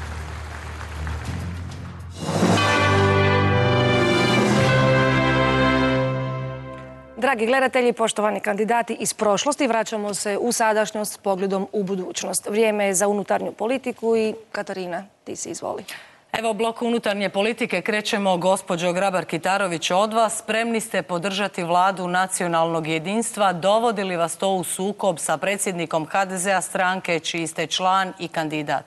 Dragi gledatelji, poštovani kandidati iz prošlosti, vraćamo se u sadašnjost s pogledom u budućnost. Vrijeme je za unutarnju politiku i Katarina, ti si izvoli. Evo, blok unutarnje politike krećemo, gospođo Grabar-Kitarović, od vas. Spremni ste podržati vladu nacionalnog jedinstva. Dovodi li vas to u sukob sa predsjednikom HDZ-a stranke čiji ste član i kandidat?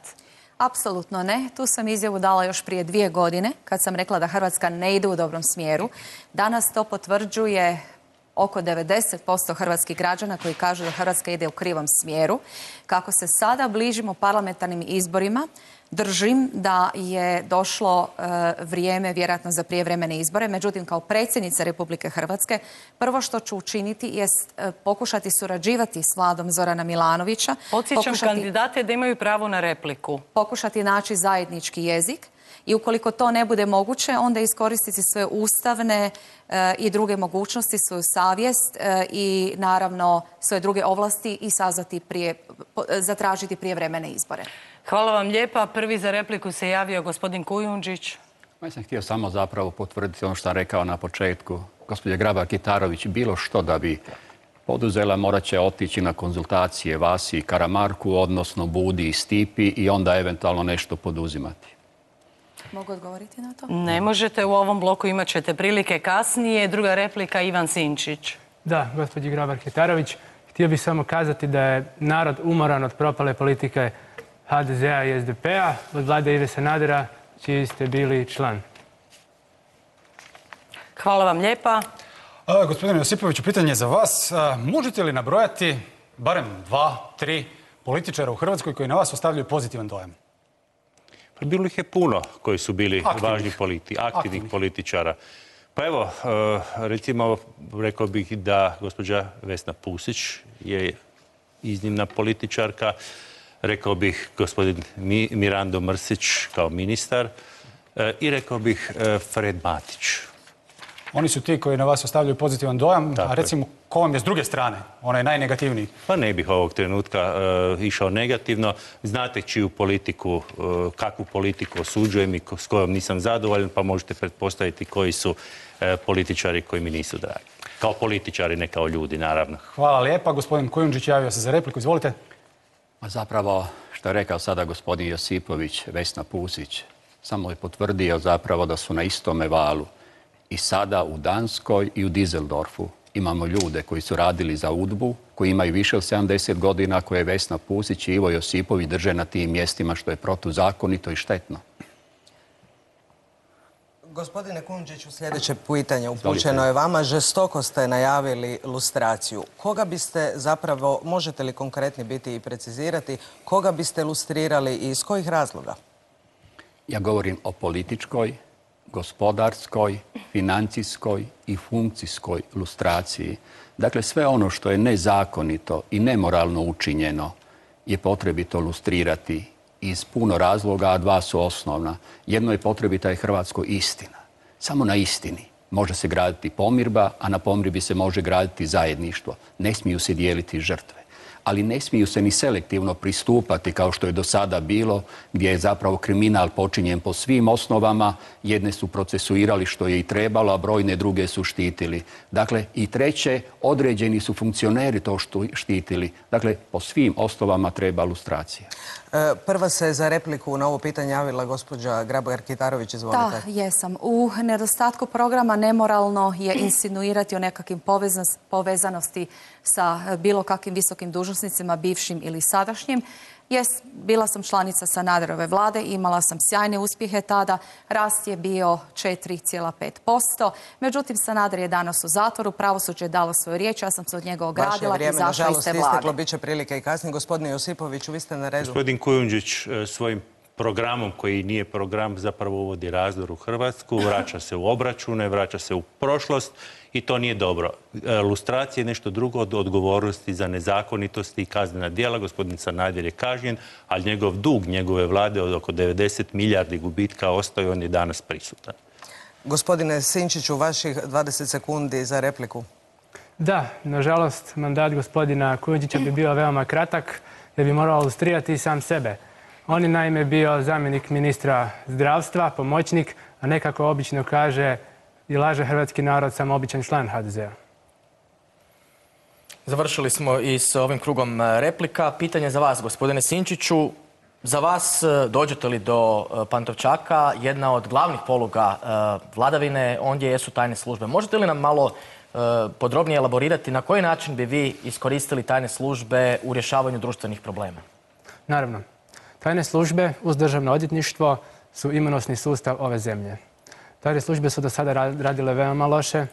Apsolutno ne. Tu sam izjavu dala još prije 2 godine kad sam rekla da Hrvatska ne ide u dobrom smjeru. Danas to potvrđuje oko 90% hrvatskih građana koji kažu da Hrvatska ide u krivom smjeru. Kako se sada bližimo parlamentarnim izborima, držim da je došlo vrijeme vjerojatno za prijevremene izbore. Međutim, kao predsjednica Republike Hrvatske, prvo što ću učiniti jest pokušati surađivati s vladom Zorana Milanovića. Podsjećam kandidate da imaju pravo na repliku. Pokušati naći zajednički jezik. I ukoliko to ne bude moguće, onda iskoristiti sve ustavne i druge mogućnosti, svoju savjest i naravno svoje druge ovlasti i zatražiti prijevremene izbore. Hvala vam lijepa. Prvi za repliku se javio gospodin Kujundžić. Ja sam htio samo zapravo potvrditi ono što sam rekao na početku. Gospođa Grabar-Kitarović, bilo što da bi poduzela, morat će otići na konzultacije vas i Karamarku, odnosno Budi i Stipi i onda eventualno nešto poduzimati. Mogu odgovoriti na to? Ne možete, u ovom bloku imat ćete prilike kasnije. Druga replika, Ivan Sinčić. Da, gospođi Grabar-Kitarović, htio bih samo kazati da je narod umoran od propale politike HDZ-a i SDP-a, od vlade Ive Sanadera, čiji ste bili član. Hvala vam lijepa. Gospodine Josipoviću, pitanje za vas. Možete li nabrojati barem 2, 3 političara u Hrvatskoj koji na vas ostavljaju pozitivan dojam? Bilo ih je puno koji su bili važni aktivnih političara. Pa evo, recimo, rekao bih da gospođa Vesna Pusić je iznimna političarka. Rekao bih gospodin Mirando Mrsić kao ministar i rekao bih Fred Matić. Oni su ti koji na vas ostavljaju pozitivan dojam, a recimo ko vam je s druge strane, onaj najnegativniji? Pa ne bih ovog trenutka išao negativno. Znate čiju politiku, kakvu politiku osuđujem i s kojom nisam zadovoljan, pa možete pretpostaviti koji su političari koji mi nisu dragi. Kao političari, ne kao ljudi, naravno. Hvala lijepa. Gospodin Kujundžić javio se za repliku. Izvolite. A zapravo, što je rekao sada gospodin Josipović, Vesna Pusić, samo je potvrdio zapravo da su na istome valu. I sada u Danskoj i u Düsseldorfu imamo ljude koji su radili za UDBU, koji imaju više od 70 godina, koje Vesna Pusić i Ivo Josipović drže na tim mjestima, što je protuzakonito i štetno. Gospodine Kujundžiću, sljedeće pitanje upućeno je vama. Žestoko ste najavili lustraciju. Koga biste zapravo, možete li konkretni biti i precizirati, koga biste lustrirali i iz kojih razloga? Ja govorim o političkoj, gospodarskoj, financijskoj i funkcijskoj lustraciji. Dakle, sve ono što je nezakonito i nemoralno učinjeno je potrebito lustrirati iz puno razloga, a dva su osnovna. Jedno je potrebita je Hrvatskoj istina. Samo na istini može se graditi pomirba, a na pomirbi se može graditi zajedništvo. Ne smiju se dijeliti žrtve. Ali ne smiju se ni selektivno pristupati kao što je do sada bilo, gdje je zapravo kriminal počinjen po svim osnovama. Jedne su procesuirali što je i trebalo, a brojne druge su štitili. Dakle, i treće, određeni su funkcioneri to štitili. Dakle, po svim osnovama treba lustracija. Prva se za repliku na ovo pitanje javila gospođa Grabar-Kitarović. Izvolite. Da, jesam. U nedostatku programa nemoralno je insinuirati o nekakvim povezanosti sa bilo kakvim visokim dužnosnicima, bivšim ili sadašnjim. Bila sam članica Sanaderove vlade, imala sam sjajne uspjehe tada, rast je bio 4,5%. Međutim, Sanader je danas u zatvoru, pravosuđe je dalo svoju riječ, ja sam se od njega ogradila i izašla iz te vlade. Isteklo, bit će prilike i kasnije. Gospodine Josipoviću, vi ste na redu. Gospodin Kujundžić svojim programom, koji nije program, zapravo uvodi razdor u Hrvatsku, vraća se u obračune, vraća se u prošlost i to nije dobro. Lustracija je nešto drugo od odgovornosti za nezakonitosti i kaznena djela. Gospodin Sanader je kažnjen, ali njegov dug njegove vlade od oko 90 milijardi gubitka ostaje, on je danas prisutan. Gospodine Sinčiću, vaših 20 sekundi za repliku. Da, nažalost, mandat gospodina Kujundžića bi bio veoma kratak, da bi morao lustrirati i sam sebe. On je naime bio zamjenik ministra zdravstva, pomoćnik, a nekako obično kaže i laže hrvatski narod, samo običan član HDZ-a. Završili smo i s ovim krugom replika. Pitanje za vas, gospodine Sinčiću. Za vas, dođete li do Pantovčaka, jedna od glavnih poluga vladavine, ondje jesu tajne službe. Možete li nam malo podrobnije elaborirati na koji način bi vi iskoristili tajne službe u rješavanju društvenih problema? Naravno. Tajne službe uz državno odvjetništvo su imunosni sustav ove zemlje. Tajne službe su do sada radile veoma loše,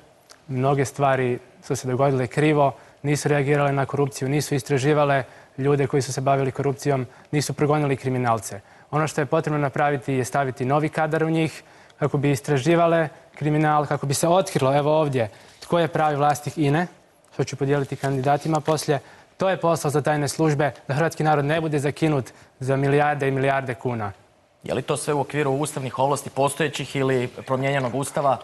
mnoge stvari su se dogodile krivo, nisu reagirale na korupciju, nisu istraživale ljude koji su se bavili korupcijom, nisu progonili kriminalce. Ono što je potrebno napraviti je staviti novi kadar u njih kako bi istraživale kriminal, kako bi se otkrilo, evo ovdje, tko je pravi vlasnik INE, što ću podijeliti kandidatima poslije. To je posao za tajne službe, da hrvatski narod ne bude zakinut za milijarde i milijarde kuna. Je li to sve u okviru ustavnih ovlasti postojećih ili promijenjenog ustava?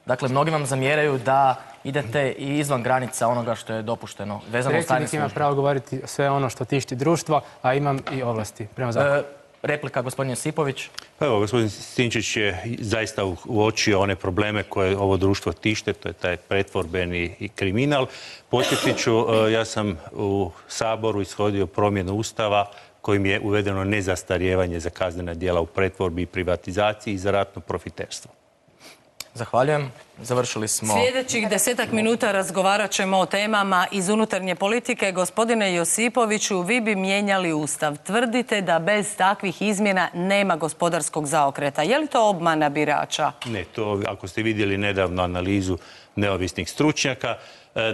Dakle, mnogi vam zamjeraju da idete i izvan granica onoga što je dopušteno vezano uz tajne službe. Predsjednik ima pravo govoriti sve ono što tišti društvo, a imam i ovlasti prema zakonu. Replika, gospodin Josipović. Evo, gospodin Sinčić je zaista uočio one probleme koje ovo društvo tište, to je taj pretvorbeni kriminal. Podsjetit ću, ja sam u Saboru ishodio promjenu Ustava kojim je uvedeno nezastarijevanje za kaznena djela u pretvorbi i privatizaciji i za ratno profiterstvo. Zahvaljujem. Završili smo... Sljedećih 10 minuta razgovarat ćemo o temama iz unutarnje politike. Gospodine Josipoviću, vi bi mijenjali Ustav. Tvrdite da bez takvih izmjena nema gospodarskog zaokreta. Je li to obmana birača? Ne, to ako ste vidjeli nedavno analizu neovisnih stručnjaka,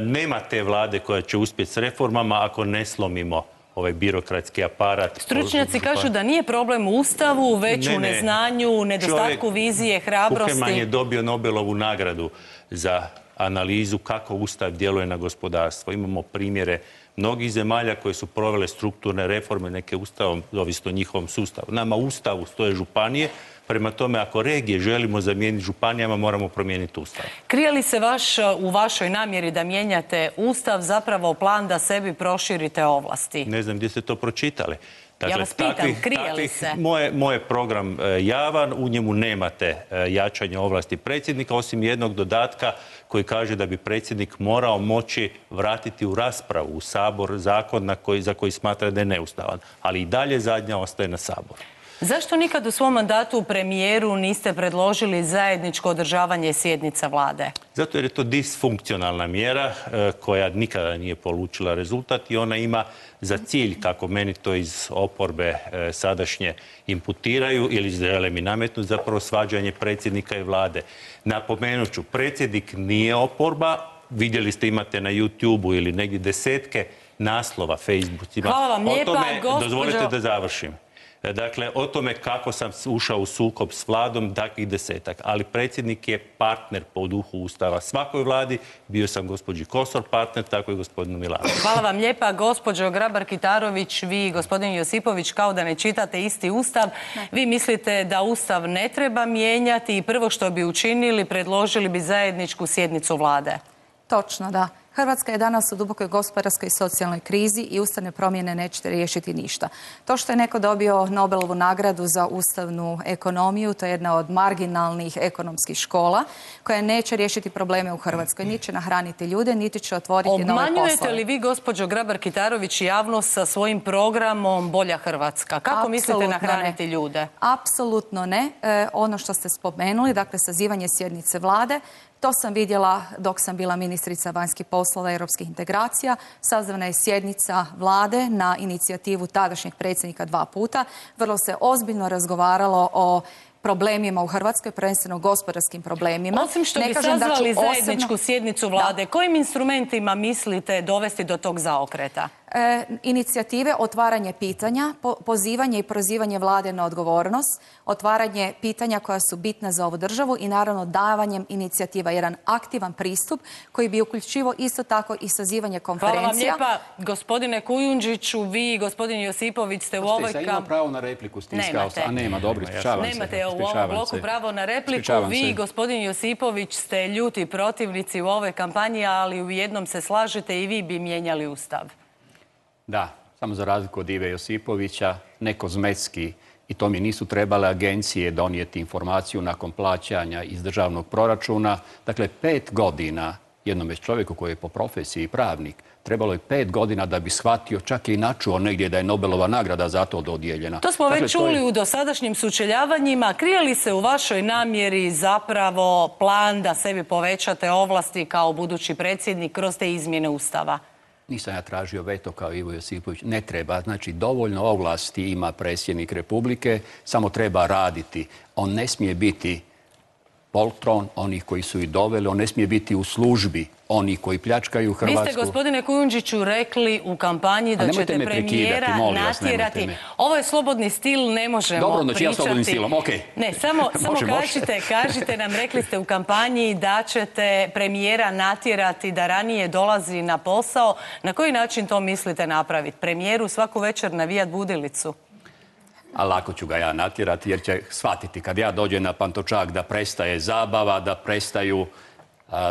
nema te vlade koja će uspjeti s reformama ako ne slomimo ovaj birokratski aparat. Stručnjaci kažu da nije problem u Ustavu, već u neznanju, nedostatku vizije, hrabrosti. Kukerman je dobio Nobelovu nagradu za analizu kako Ustav djeluje na gospodarstvo. Imamo primjere mnogih zemalja koje su provele strukturne reforme, neke Ustavom, ovisno o njihovom sustavu. Nama u Ustavu stoje županije, prema tome ako regije želimo zamijeniti županijama, moramo promijeniti Ustav. Krije li se u vašoj namjeri da mijenjate Ustav zapravo plan da sebi proširite ovlasti? Ne znam gdje ste to pročitali. Dakle, ja vas pitam, krije li se? Moj program javan, u njemu nemate jačanje ovlasti predsjednika, osim jednog dodatka koji kaže da bi predsjednik morao moći vratiti u raspravu u Sabor zakon za koji smatra da je neustavan. Ali i dalje zadnja ostaje na Saboru. Zašto nikad u svom mandatu premijeru niste predložili zajedničko održavanje sjednica vlade? Zato jer je to disfunkcionalna mjera koja nikada nije polučila rezultat i ona ima za cilj, kako meni to iz oporbe sadašnje imputiraju ili žele mi nametnuti, zapravo svađanje predsjednika i vlade. Napomenut ću, predsjednik nije oporba, vidjeli ste, imate na YouTube-u ili negdje desetke naslova, Facebookima. Hvala vam lijepa, gospođo. Dozvolite da završim. Dakle, o tome kako sam ušao u sukob s vladom, takvih desetak. Ali predsjednik je partner po duhu Ustava svakoj vladi. Bio sam gospođi Kosor partner, tako i gospodinu Milanoviću. Hvala vam lijepa, gospođo Grabar-Kitarović. Vi, gospodin Josipović, kao da ne čitate isti Ustav. Vi mislite da Ustav ne treba mijenjati i prvo što bi učinili, predložili bi zajedničku sjednicu vlade. Točno, da. Hrvatska je danas u dubokoj gospodarskoj i socijalnoj krizi i ustavne promjene neće riješiti ništa. To što je neko dobio Nobelovu nagradu za ustavnu ekonomiju, to je jedna od marginalnih ekonomskih škola koja neće riješiti probleme u Hrvatskoj. Niti će nahraniti ljude, niti će otvoriti nove poslove. Obmanjujete li vi, gospođo Grabar-Kitarović, javnost sa svojim programom Bolja Hrvatska? Kako mislite nahraniti ljude? Apsolutno ne. Ono što ste spomenuli, dakle sazivanje sjednice vlade, to sam vidjela dok sam bila ministrica vanjskih poslova i europskih integracija. Sazvana je sjednica vlade na inicijativu tadašnjeg predsjednika 2 puta. Vrlo se ozbiljno razgovaralo o problemima u Hrvatskoj, prvenstveno gospodarskim problemima. Osim što bi sazvali zajedničku sjednicu vlade, kojim instrumentima mislite dovesti do tog zaokreta? Inicijative, otvaranje pitanja, pozivanje i prozivanje vlade na odgovornost, otvaranje pitanja koja su bitna za ovu državu i naravno davanjem inicijativa, jedan aktivan pristup koji bi uključivao isto tako i sazivanje konferencija. Hvala vam lijepa, gospodine Kujundžiću, vi i gospodin Josipović ste u ovoj Ima pravo na repliku, stiskao sam. A nema, dobro, ispričavam se. Nemate u ovom bloku pravo na repliku. Vi i gospodin Josipović ste ljuti protivnici u ovoj kampanji, ali u jednom se slažete, i vi bi mijenjali Ustav. Da, samo za razliku od Ive Josipovića, ne kozmetski, i to mi nisu trebale agencije donijeti informaciju nakon plaćanja iz državnog proračuna. Dakle, 5 godina jednome čovjeku koji je po profesiji pravnik, trebalo je 5 godina da bi shvatio, čak i načuo negdje da je Nobelova nagrada za to dodijeljena. To smo već čuli u dosadašnjim sučeljavanjima. Krije li se u vašoj namjeri zapravo plan da sebi povećate ovlasti kao budući predsjednik kroz te izmjene Ustava? Nisam ja tražio veto kao Ivo Josipović. Ne treba. Znači, dovoljno ovlasti ima predsjednik Republike, samo treba raditi. On ne smije biti poltron onih koji su ih doveli, on ne smije biti u službi onih koji pljačkaju Hrvatsku. Vi ste, gospodine Kujundžiću, rekli u kampanji da ćete premijera natjerati. Ovo je slobodni stil, ne možemo pričati. Dobro, znači ja slobodnim stilom, okej. Ne, samo kažite nam, rekli ste u kampanji da ćete premijera natjerati da ranije dolazi na posao. Na koji način to mislite napraviti? Premijeru svaku večer navijat budilicu? A lako ću ga ja natjerati jer će shvatiti kad ja dođem na Pantovčak da prestaje zabava, da prestaju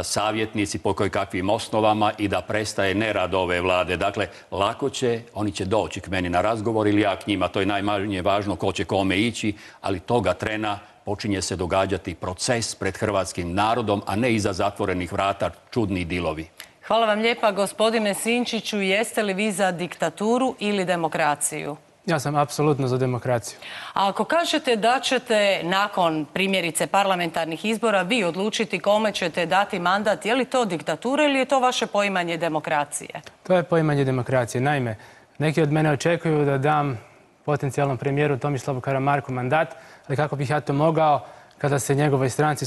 savjetnici po kakvim osnovama i da prestaje nerad ove vlade. Dakle, lako će, oni će doći k meni na razgovor ili ja k njima. To je najmanje važno ko će kome ići, ali toga trena počinje se događati proces pred hrvatskim narodom, a ne iza zatvorenih vrata čudni dilovi. Hvala vam lijepa, gospodine Sinčiću. Jeste li vi za diktaturu ili demokraciju? Ja sam apsolutno za demokraciju. A ako kažete da ćete nakon primjerice parlamentarnih izbora vi odlučiti kome ćete dati mandat, je li to diktatura ili je to vaše poimanje demokracije? To je poimanje demokracije. Naime, neki od mene očekuju da dam potencijalnom premijeru Tomislavu Karamarku mandat, ali kako bih ja to mogao kada se njegovoj stranci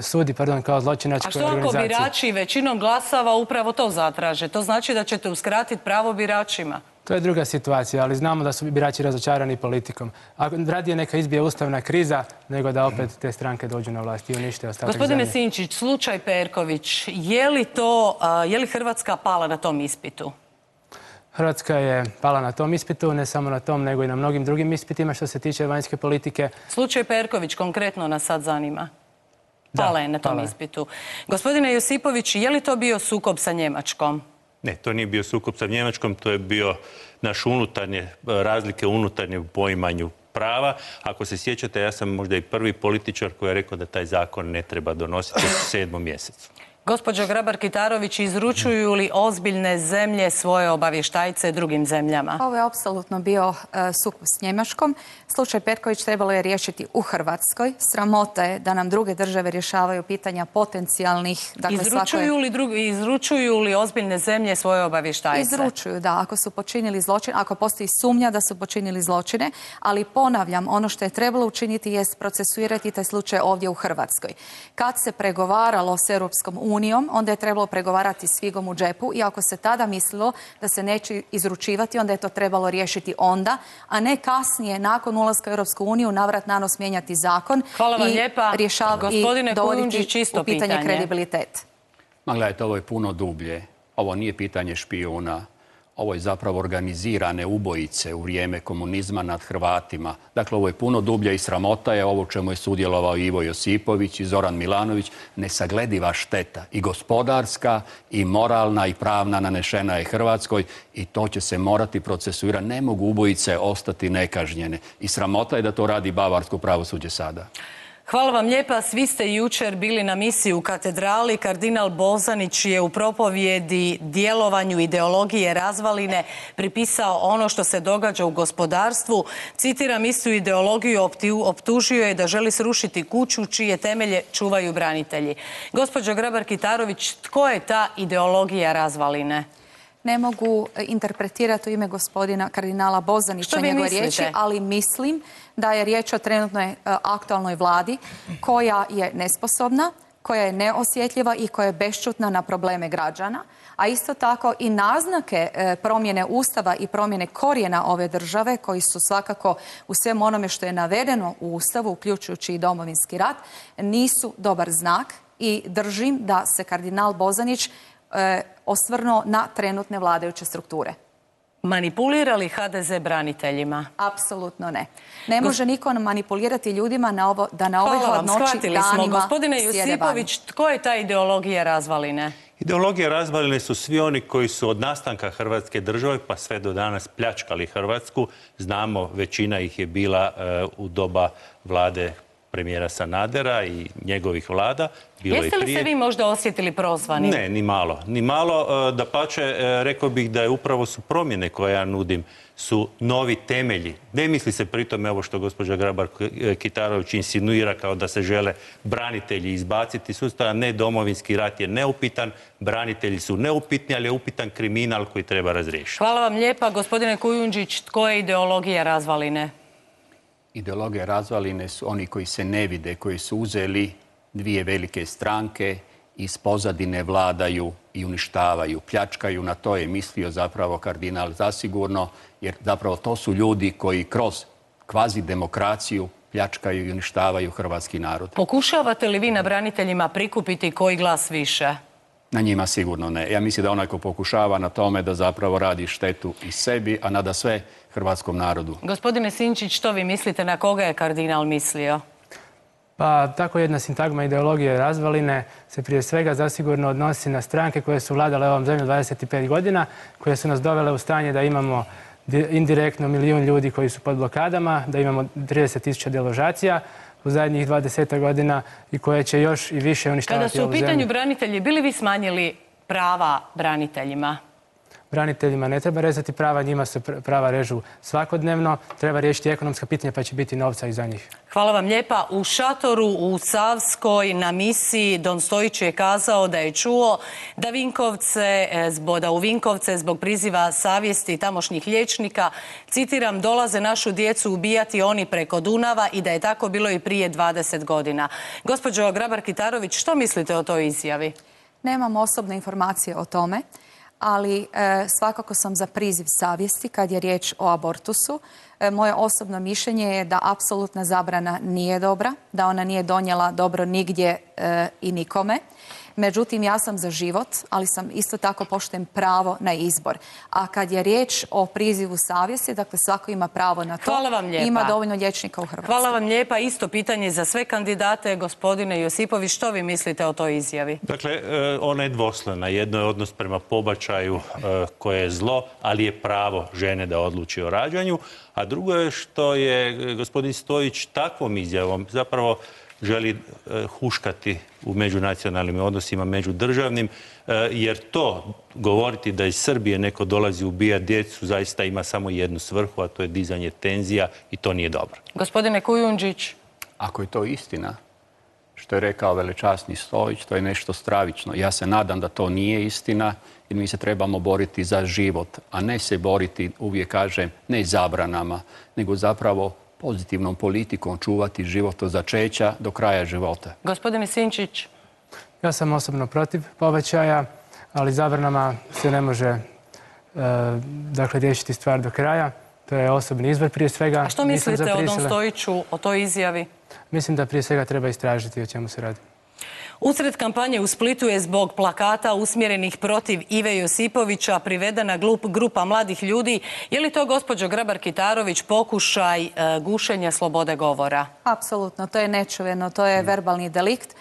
sudi kao zločinačkoj organizaciji. A što ako birači većinom glasava upravo to zatraže? To znači da ćete uskratiti pravo biračima? To je druga situacija, ali znamo da su birači razočarani politikom. Radije neka izbije ustavna kriza, nego da opet te stranke dođu na vlast i unište ostatak zemlje. Gospodine Sinčić, slučaj Perković, je li Hrvatska pala na tom ispitu? Hrvatska je pala na tom ispitu, ne samo na tom, nego i na mnogim drugim ispitima što se tiče vanjske politike. Slučaj Perković konkretno nas sad zanima. Pala je na tom ispitu. Gospodine Josipović, je li to bio sukob sa Njemačkom? Ne, to nije bio sukob sa Njemačkom, to je bio naš razlike u unutarnjem poimanju prava. Ako se sjećate, ja sam možda i prvi političar koji je rekao da taj zakon ne treba donositi u 7. mjesecu. Gospođo Grabar-Kitarović, izručuju li ozbiljne zemlje svoje obavještajce drugim zemljama? Ovo je apsolutno bio sukob s Njemačkom. Slučaj Perković trebalo je riješiti u Hrvatskoj. Sramota je da nam druge države rješavaju pitanja potencijalnih... Izručuju li ozbiljne zemlje svoje obavještajce? Izručuju, da. Ako su počinili zločin, ako postoji sumnja da su počinili zločine, ali ponavljam, ono što je trebalo učiniti jest procesuirati taj slučaj ovdje u Hrvatskoj. Kad se pregovaralo s Europskom unijom, onda je trebalo pregovarati s figom u džepu i ako se tada mislilo da se neće izručivati, onda je to trebalo riješiti onda, a ne kasnije, nakon ulaska u Europsku uniju, navrat nanos mijenjati zakon i dovoditi u pitanje kredibilitet. Ma gledajte, ovo je puno dublje. Ovo nije pitanje špijuna. Ovo je zapravo organizirane ubojice u vrijeme komunizma nad Hrvatima. Dakle, ovo je puno dublje i sramota je ovo čemu je sudjelovao Ivo Josipović i Zoran Milanović. Nesaglediva šteta i gospodarska i moralna i pravna nanešena je Hrvatskoj i to će se morati procesuirati. Ne mogu ubojice ostati nekažnjene. I sramota je da to radi bavarsko pravosuđe sada. Hvala vam lijepa. Svi ste jučer bili na misiji u katedrali. Kardinal Bozanić je u propovjedi djelovanju ideologije razvaline pripisao ono što se događa u gospodarstvu. Citiram, istu ideologiju optužio je da želi srušiti kuću čije temelje čuvaju branitelji. Gospođo Grabar-Kitarović, tko je ta ideologija razvaline? Ne mogu interpretirati u ime gospodina kardinala Bozanića njegove riječi, ali mislim da je riječ o trenutnoj aktualnoj vladi koja je nesposobna, koja je neosjetljiva i koja je bešćutna na probleme građana, a isto tako i naznake promjene Ustava i promjene korijena ove države, koji su svakako u svem onome što je navedeno u Ustavu, uključujući i Domovinski rat, nisu dobar znak i držim da se kardinal Bozanić osvrnuo na trenutne vladajuće strukture. Manipulira li HDZ braniteljima? Apsolutno ne. Ne može niko manipulirati ljudima da na ovoj hladnoći danima Gospodine Josipović, tko je ta ideologija razvaline? Ideologija razvaline su svi oni koji su od nastanka Hrvatske države pa sve do danas pljačkali Hrvatsku. Znamo, većina ih je bila u doba vlade premijera Sanadera i njegovih vlada. Jeste li se vi možda osjetili prozvani? Ne, ni malo. Ni malo. Dapače, rekao bih da je upravo su promjene koje ja nudim su novi temelji. Ne misli se pritom ovo što gospođa Grabar-Kitarović insinuira kao da se žele branitelji izbaciti sustava. Ne, Domovinski rat je neupitan, branitelji su neupitni, ali je upitan kriminal koji treba razriješiti. Hvala vam lijepa. Gospodine Kujundžić, tko je ideologija razvaline? Ideologija razvaline su oni koji se ne vide, koji su uzeli dvije velike stranke, iz pozadine vladaju i uništavaju, pljačkaju. Na to je mislio zapravo kardinal zasigurno, jer zapravo to su ljudi koji kroz kvazi demokraciju pljačkaju i uništavaju hrvatski narod. Pokušavate li vi na braniteljima prikupiti koji glas više? Na njima sigurno ne. Ja mislim da onaj ko pokušava na tome da zapravo radi štetu i sebi, a nada sve hrvatskom narodu. Gospodine Sinčić, što vi mislite, na koga je kardinal mislio? Pa tako jedna sintagma ideologije razvaline se prije svega zasigurno odnosi na stranke koje su vladale ovom zemljom 25 godina, koje su nas dovele u stanje da imamo indirektno 1 milijun ljudi koji su pod blokadama, da imamo 30.000 deložacija u zadnjih 20 godina i koje će još i više uništavati ovu zemlju. Kada su u pitanju branitelji, bili vi smanjili prava braniteljima? Braniteljima ne treba rezati prava, njima se prava režu svakodnevno. Treba riješiti ekonomska pitanja pa će biti novca i za njih. Hvala vam lijepa. U šatoru u Savskoj na misiji Don Stojić je kazao da je čuo da u Vinkovce zbog priziva savjesti tamošnjih liječnika, citiram, dolaze našu djecu ubijati oni preko Dunava i da je tako bilo i prije 20 godina. Gospođo Grabar-Kitarović, što mislite o toj izjavi? Nemam osobne informacije o tome, ali svakako sam za priziv savjesti kad je riječ o abortusu. Moje osobno mišljenje je da apsolutna zabrana nije dobra, da ona nije donijela dobro nigdje i nikome. Međutim, ja sam za život, ali sam isto tako poštujem pravo na izbor. A kad je riječ o prizivu savjesti, dakle svako ima pravo na to. Hvala vam lijepa. Ima dovoljno liječnika u Hrvatskoj. Hvala vam lijepa. Isto pitanje za sve kandidate. Gospodine Josipović, što vi mislite o toj izjavi? Dakle, ona je dvoslojna. Jedno je odnos prema pobačaju koje je zlo, ali je pravo žene da odluči o rađanju. A drugo je što je gospodin Stojić takvom izjavom zapravo želi huškati u međunacionalnim odnosima, međudržavnim, jer to govoriti da iz Srbije neko dolazi ubijati djecu zaista ima samo jednu svrhu, a to je dizanje tenzija i to nije dobro. Gospodine Kujundžić. Ako je to istina, što je rekao velečasni Stojić, to je nešto stravično. Ja se nadam da to nije istina jer mi se trebamo boriti za život, a ne se boriti, uvijek kažem, ne zabranama, nego zapravo pozitivnom politikom čuvati život od začeća do kraja života. Gospodine Sinčić. Ja sam osobno protiv povećaja, ali zabranama se ne može riješiti stvar do kraja. To je osobni izbor prije svega. A što mislite o Don Stojiću, o toj izjavi? Mislim da prije svega treba istražiti o čemu se radi. Usred kampanje u Splitu je zbog plakata usmjerenih protiv Ive Josipovića privedena grupa mladih ljudi. Je li to, gospođo Grabar-Kitarović, pokušaj gušenja slobode govora? Apsolutno, to je nečuveno, to je verbalni delikt.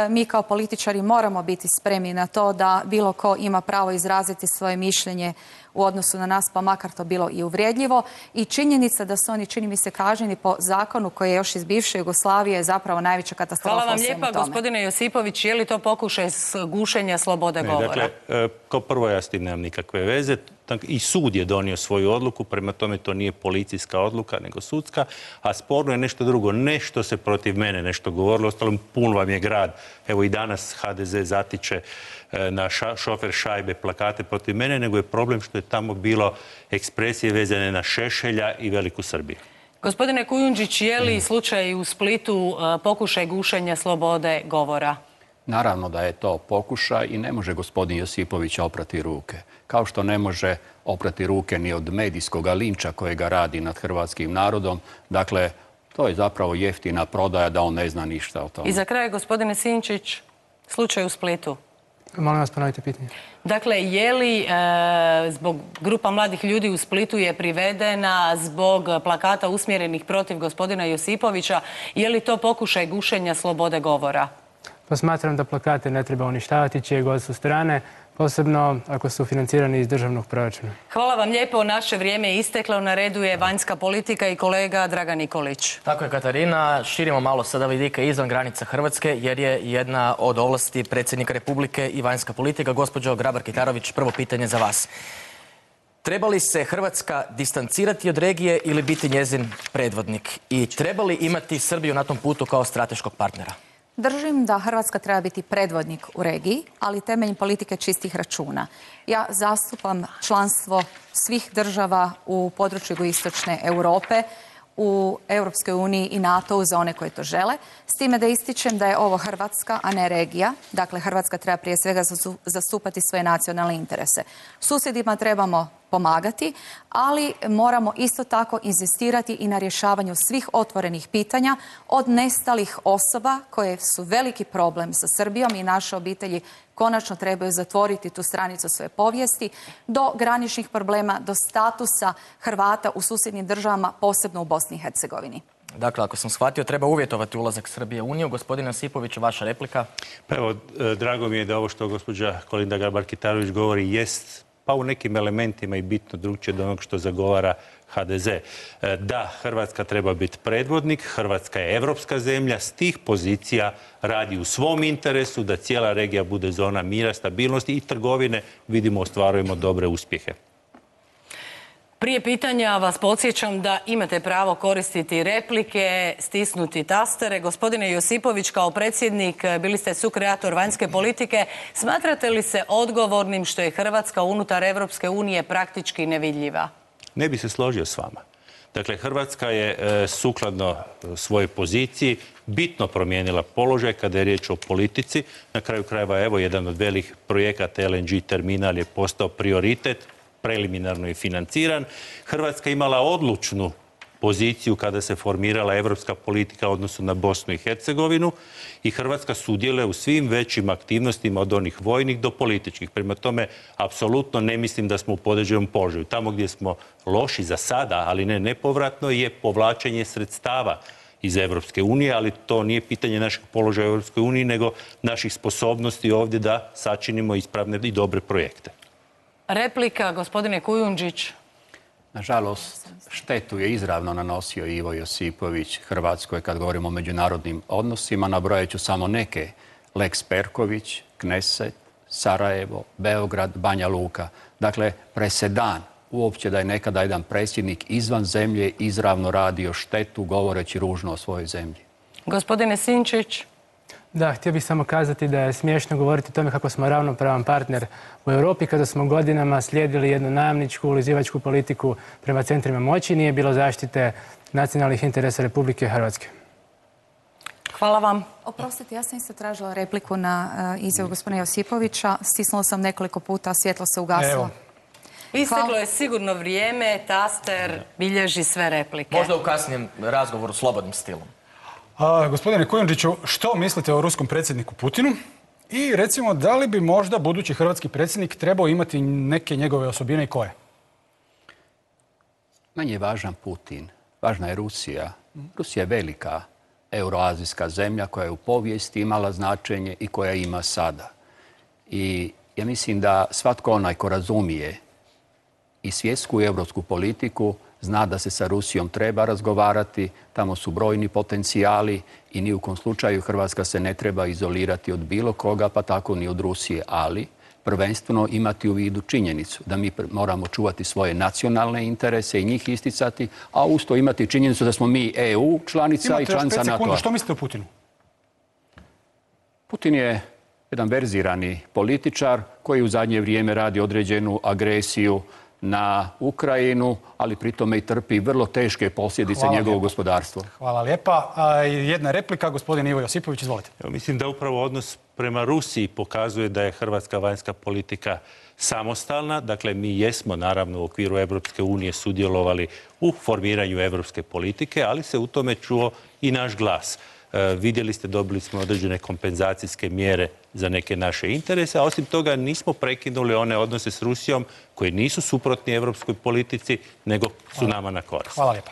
Mi kao političari moramo biti spremni na to da bilo ko ima pravo izraziti svoje mišljenje u odnosu na nas, pa makar to bilo i uvrijedljivo. I činjenica da su oni, čini mi se, kažnjeni po zakonu koji je još iz bivše Jugoslavije je zapravo najveća katastrofa. Hvala vam lijepa, gospodine Josipović. Je li to pokušaj gušenja slobode govora? Dakle, kao prvo ja s tim nemam nikakve veze. I sud je donio svoju odluku, prema tome to nije policijska odluka, nego sudska, a sporno je nešto drugo. Nešto se protiv mene nešto govorilo, ostalom pun vam je grad. Evo i danas HDZ zatiče na šofer šajbe plakate protiv mene, nego je problem što je tamo bilo ekspresije vezane na Šešelja i Veliku Srbiju. Gospodine Kujundžić, je li slučaj u Splitu pokušaj gušenja slobode govora? Naravno da je to pokušaj i ne može gospodin Josipović oprati ruke. Kao što ne može oprati ruke ni od medijskog linča kojega radi nad hrvatskim narodom. Dakle, to je zapravo jeftina prodaja da on ne zna ništa o tome. I za kraj, gospodine Sinčić, slučaj u Splitu. Molim vas, ponovite pitanje. Dakle, je li zbog grupa mladih ljudi u Splitu je privedena zbog plakata usmjerenih protiv gospodina Josipovića, je li to pokušaj gušenja slobode govora? Pa smatram da plakate ne treba uništavati čije god su strane, posebno ako su financirani iz državnog proračuna. Hvala vam lijepo, naše vrijeme je isteklo, na redu je vanjska politika i kolega Dragan Nikolić. Tako je, Katarina, širimo malo sada vidike izvan granica Hrvatske jer je jedna od ovlasti predsjednika Republike i vanjska politika. Gospođo Grabar-Kitarović, prvo pitanje za vas. Treba li se Hrvatska distancirati od regije ili biti njezin predvodnik? I treba li imati Srbiju na tom putu kao strateškog partnera? Držim da Hrvatska treba biti predvodnik u regiji, ali temeljem politike čistih računa. Ja zastupam članstvo svih država u području jugoistočne Europe, u Europskoj uniji i NATO-u za one koji to žele, s time da ističem da je ovo Hrvatska, a ne regija. Dakle, Hrvatska treba prije svega zastupati svoje nacionalne interese. Susjedima trebamo pomagati, ali moramo isto tako inzistirati i na rješavanju svih otvorenih pitanja, od nestalih osoba koje su veliki problem sa Srbijom i naše obitelji konačno trebaju zatvoriti tu stranicu svoje povijesti, do graničnih problema, do statusa Hrvata u susjednim državama, posebno u Bosni i Hercegovini. Dakle, ako sam shvatio, treba uvjetovati ulazak Srbije u Uniju. Gospodine Josipović, vaša replika? Pa evo, drago mi je da ovo što gospođa Kolinda Grabar-Kitarović govori jest pa u nekim elementima i bitno drugčije od onog što zagovara HDZ. Da, Hrvatska treba biti predvodnik, Hrvatska je evropska zemlja, s tih pozicija radi u svom interesu da cijela regija bude zona mira, stabilnosti i trgovine, vidimo, ostvarujemo dobre uspjehe. Prije pitanja vas podsjećam da imate pravo koristiti replike, stisnuti tastere. Gospodine Josipović, kao predsjednik, bili ste sukreator vanjske politike. Smatrate li se odgovornim što je Hrvatska unutar Evropske unije praktički nevidljiva? Ne bi se složio s vama. Dakle, Hrvatska je sukladno svojoj poziciji bitno promijenila položaj kada je riječ o politici. Na kraju krajeva, evo, jedan od velikih projekata LNG terminal je postao prioritet, preliminarno je financiran. Hrvatska imala odlučnu poziciju kada se formirala evropska politika u odnosu na Bosnu i Hercegovinu i Hrvatska sudjeluje u svim većim aktivnostima od onih vojnih do političkih. Prema tome, apsolutno ne mislim da smo u podređenom položaju. Tamo gdje smo loši za sada, ali ne nepovratno, je povlačenje sredstava iz Evropske unije, ali to nije pitanje našeg položaja u Evropskoj uniji, nego naših sposobnosti ovdje da sačinimo ispravne i dobre projekte. Replika, gospodine Kujundžić. Nažalost, štetu je izravno nanosio Ivo Josipović Hrvatskoj kad govorimo o međunarodnim odnosima. Nabrojat ću samo neke. Lex Perković, Kneset, Sarajevo, Beograd, Banja Luka. Dakle, presedan uopće da je nekada jedan predsjednik izvan zemlje izravno radio štetu govoreći ružno o svojoj zemlji. Gospodine Sinčić. Da, htio bih samo kazati da je smiješno govoriti o tome kako smo ravnopravan partner u Europi kada smo godinama slijedili jednu najamničku, ulizivačku politiku prema centrima moći. Nije bilo zaštite nacionalnih interesa Republike Hrvatske. Hvala vam. Oprostite, ja sam isto tražila repliku na izjavu gospodina Josipovića. Stisnula sam nekoliko puta, svjetlo se ugasilo. Isteklo je sigurno vrijeme, taster bilježi sve replike. Možda u kasnijem razgovoru slobodnim stilom. Gospodine Kujundžiću, što mislite o ruskom predsjedniku Putinu? I recimo, da li bi možda budući hrvatski predsjednik trebao imati neke njegove osobine i koje? Manje je važan Putin. Važna je Rusija. Rusija je velika euroazijska zemlja koja je u povijesti imala značenje i koja ima sada. I ja mislim da svatko onaj ko razumije i svjetsku i europsku politiku zna da se sa Rusijom treba razgovarati, tamo su brojni potencijali i ni u kom slučaju Hrvatska se ne treba izolirati od bilo koga, pa tako ni od Rusije, ali prvenstveno imati u vidu činjenicu da mi moramo čuvati svoje nacionalne interese i njih isticati, a uz to imati činjenicu da smo mi EU članica i članica NATO-a. Što mislite o Putinu? Putin je jedan verzirani političar koji u zadnje vrijeme radi određenu agresiju na Ukrajinu, ali pritome i trpi vrlo teške posljedice njegovog gospodarstva. Hvala lijepa. Jedna replika, gospodin Ivo Josipović, izvolite. Mislim da upravo odnos prema Rusiji pokazuje da je hrvatska vanjska politika samostalna. Dakle, mi jesmo naravno u okviru Evropske unije sudjelovali u formiranju evropske politike, ali se u tome čuo i naš glas. Vidjeli ste, dobili smo određene kompenzacijske mjere za neke naše interese, a osim toga nismo prekinuli one odnose s Rusijom koji nisu suprotni evropskoj politici, nego su nama na korist. Hvala lijepa.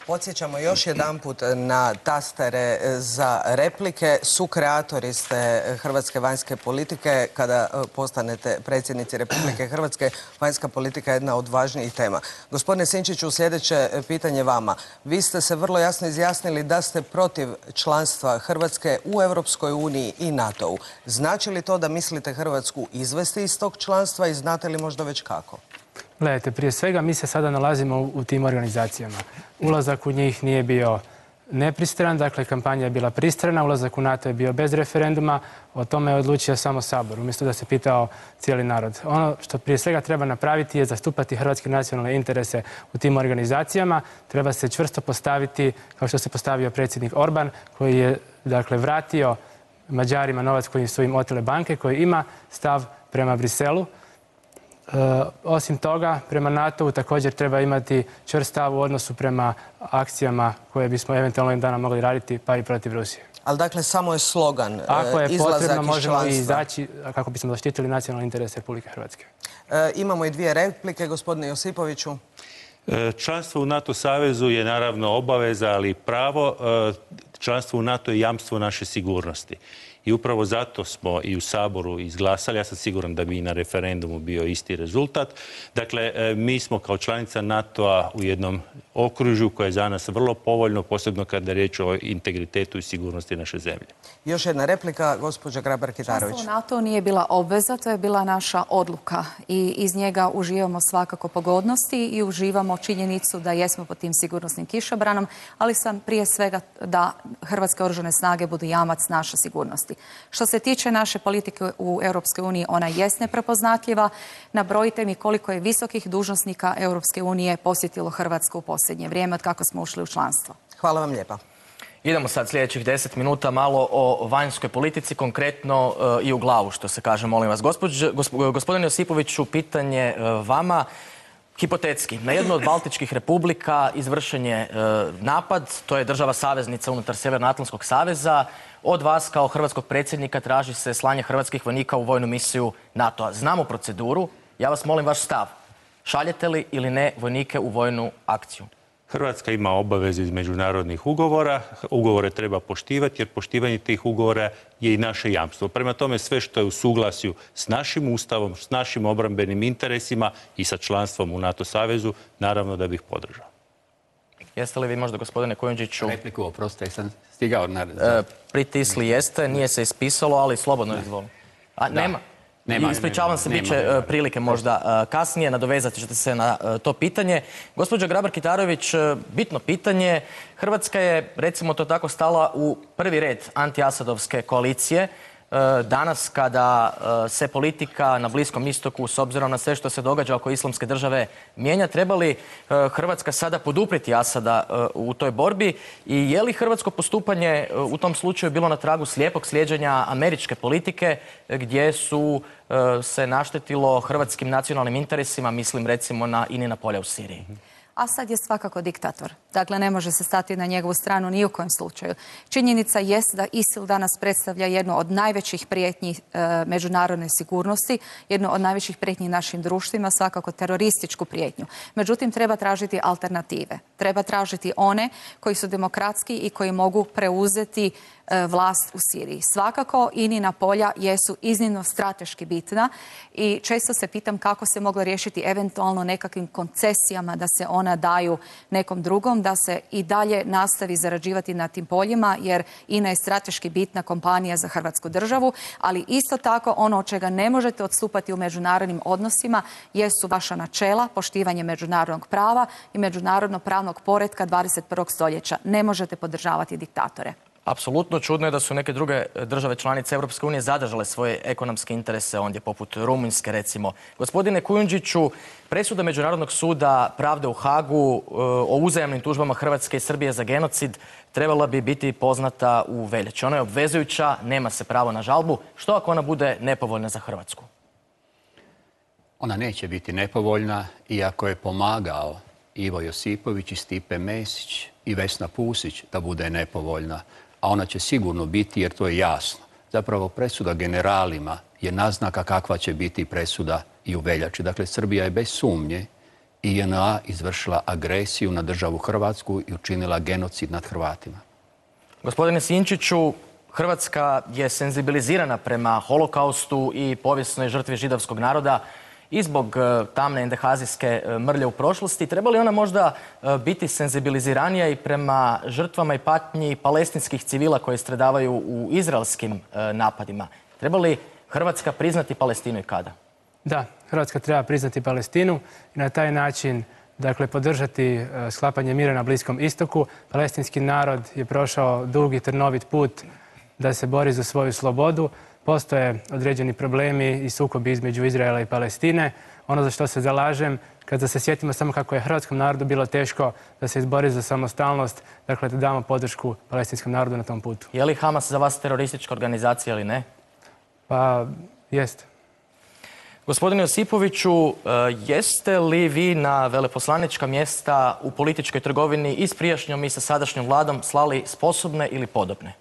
Podsjećamo još jedanput na tastere za replike. Sukreatori ste hrvatske vanjske politike. Kada postanete predsjednici Republike Hrvatske, vanjska politika je jedna od važnijih tema. Gospodine Sinčiću, sljedeće pitanje vama. Vi ste se vrlo jasno izjasnili da ste protiv članstva Hrvatske u Europskoj uniji i NATO-u. Znači li to da mislite Hrvatsku izvesti iz tog članstva i znate li možda već kako? Gledajte, prije svega mi se sada nalazimo u tim organizacijama. Ulazak u njih nije bio nepristran, dakle kampanja je bila pristrana, ulazak u NATO je bio bez referenduma, o tome je odlučio samo Sabor, umjesto da se pitao cijeli narod. Ono što prije svega treba napraviti je zastupati hrvatske nacionalne interese u tim organizacijama, treba se čvrsto postaviti, kao što se postavio predsjednik Orban, koji je dakle vratio Mađarima novac koji su im otele banke, koji ima stav prema Briselu. Osim toga, prema NATO-u također treba imati čvrst stav u odnosu prema akcijama koje bismo eventualno im dana mogli raditi, pa i protiv Rusije. Ali dakle, samo je slogan izlazak iz članstva. Ako je potrebno, možemo i izaći kako bismo zaštitili nacionalne interese Republike Hrvatske. Imamo i dvije replike, gospodine Josipoviću. Članstvo u NATO savezu je naravno obaveza, ali i pravo. Članstvo u NATO je jamstvo naše sigurnosti. I upravo zato smo i u Saboru izglasali, ja sam siguran da bi i na referendumu bio isti rezultat. Dakle, mi smo kao članica NATO-a u jednom okružju koje je za nas vrlo povoljno, posebno kada je riječ o integritetu i sigurnosti naše zemlje. Još jedna replika, gospođa Grabar-Kitarović. Članstvo u NATO nije bila obveza, to je bila naša odluka i iz njega uživamo svakako pogodnosti i uživamo činjenicu da jesmo pod tim sigurnosnim kišobranom, ali sam prije svega da Hrvatske oružane snage budu jamac naše sigurnosti. Što se tiče naše politike u Europskoj uniji, ona jest neprepoznatljiva. Nabrojite mi koliko je visokih dužnosnika Europske unije posjetilo Hrvatsku u posljednje vrijeme od kako smo ušli u članstvo. Hvala vam lijepa. Idemo sad sljedećih 10 minuta malo o vanjskoj politici, konkretno i u glavu, što se kaže, molim vas. Gospodine Josipoviću, pitanje vama. Hipotetski, na jednu od Baltičkih republika izvršen je napad, to je država saveznica unutar Sjevernoatlantskog saveza. Od vas kao hrvatskog predsjednika traži se slanje hrvatskih vojnika u vojnu misiju NATO-a. Znamo proceduru, ja vas molim vaš stav. Šaljete li ili ne vojnike u vojnu akciju? Hrvatska ima obavezu iz međunarodnih ugovora, ugovore treba poštivati jer poštivanje tih ugovora je i naše jamstvo. Prema tome sve što je u suglasju s našim ustavom, s našim obrambenim interesima i sa članstvom u NATO savezu, naravno da bih podržao. Jeste li vi možda, gospodine Kujundžiću... Repliku, oprostite, sam stigao na... Pritisli jeste, nije se ispisalo, ali slobodno izvolim. Nema? Ispričavam se, bit će prilike možda kasnije, nadovezati ćete se na to pitanje. Gospođo Grabar-Kitarović, bitno pitanje. Hrvatska je, recimo to tako, stala u prvi red anti-Asadovske koalicije. Danas kada se politika na Bliskom istoku, s obzirom na sve što se događa oko Islamske države, mijenja, treba li Hrvatska sada poduprijeti Asada u toj borbi i je li hrvatsko postupanje u tom slučaju bilo na tragu slijepog slijeđenja američke politike gdje su se naštetilo hrvatskim nacionalnim interesima, mislim recimo na Inina polja u Siriji? Asad je svakako diktator. Dakle, ne može se stati na njegovu stranu ni u kojem slučaju. Činjenica jest da ISIL danas predstavlja jednu od najvećih prijetnji međunarodne sigurnosti, jednu od najvećih prijetnji našim društvima, svakako terorističku prijetnju. Međutim, treba tražiti alternative. Treba tražiti one koji su demokratski i koji mogu preuzeti vlast u Siriji. Svakako, Inina polja jesu iznimno strateški bitna i često se pitam kako se moglo riješiti eventualno nekakvim koncesijama da se ona daju nekom drugom, da se i dalje nastavi zarađivati na tim poljima, jer INA je strateški bitna kompanija za Hrvatsku državu, ali isto tako ono od čega ne možete odstupati u međunarodnim odnosima jesu vaša načela, poštivanje međunarodnog prava i međunarodno pravnog poretka 21. stoljeća. Ne možete podržavati diktatore. Apsolutno, čudno je da su neke druge države članice Europske unije zadržale svoje ekonomske interese ondje, poput Rumunjske recimo. Gospodine Kujundžiću, presuda Međunarodnog suda pravde u Hagu o uzajamnim tužbama Hrvatske i Srbije za genocid trebala bi biti poznata u veljači. Ona je obvezujuća, nema se pravo na žalbu. Što ako ona bude nepovoljna za Hrvatsku? Ona neće biti nepovoljna, iako je pomagao Ivo Josipović i Stipe Mesić i Vesna Pusić da bude nepovoljna. A ona će sigurno biti, jer to je jasno. Zapravo presuda generalima je naznaka kakva će biti presuda i u veljači. Dakle, Srbija je bez sumnje i JNA izvršila agresiju na državu Hrvatsku i učinila genocid nad Hrvatima. Gospodine Sinčiću, Hrvatska je senzibilizirana prema holokaustu i povijesnoj žrtvi židovskog naroda i zbog tamne endehazijske mrlje u prošlosti. Treba li ona možda biti senzibiliziranija i prema žrtvama i patnji palestinskih civila koji stradavaju u izraelskim napadima? Treba li Hrvatska priznati Palestinu i kada? Da, Hrvatska treba priznati Palestinu i na taj način podržati sklapanje mira na Bliskom istoku. Palestinski narod je prošao dugi trnovit put da se bori za svoju slobodu. Postoje određeni problemi i sukobi između Izraela i Palestine. Ono za što se zalažem, kada se sjetimo samo kako je hrvatskom narodu bilo teško da se izbori za samostalnost, dakle da damo podršku palestinskom narodu na tom putu. Je li Hamas za vas teroristička organizacija ili ne? Pa, jest. Gospodine Josipoviću, jeste li vi na veleposlanička mjesta u političkoj trgovini i s prijašnjom i sa sadašnjom vladom slali sposobne ili podobne?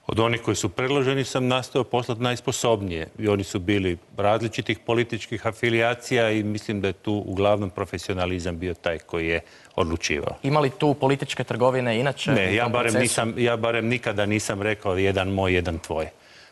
Od onih koji su predloženi sam nastao poslati najsposobnije. I oni su bili različitih političkih afilijacija i mislim da je tu uglavnom profesionalizam bio taj koji je odlučivao. Ima li tu političke trgovine inače? Ne, ja barem nikada nisam rekao jedan moj, jedan tvoj.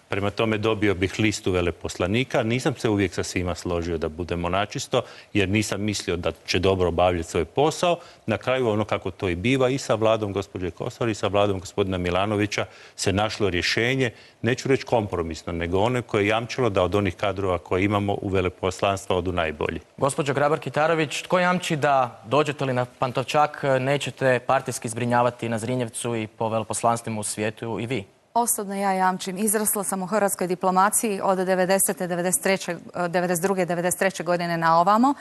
Prema tome dobio bih listu veleposlanika. Nisam se uvijek sa svima složio da budemo načisto, jer nisam mislio da će dobro obavljati svoj posao. Na kraju, ono kako to i biva, i sa vladom gospođe Kosor i sa vladom gospodina Milanovića se našlo rješenje, neću reći kompromisno, nego one koje je jamčilo da od onih kadrova koje imamo u veleposlanstva odu najbolji. Gospođo Grabar-Kitarović, tko jamči da dođete li na Pantovčak nećete partijski zbrinjavati na Zrinjevcu i po veleposlanstvima u svijetu i vi? Osobno ja jamčim. Izrasla sam u hrvatskoj diplomaciji od 92. 93. godine na ovamo.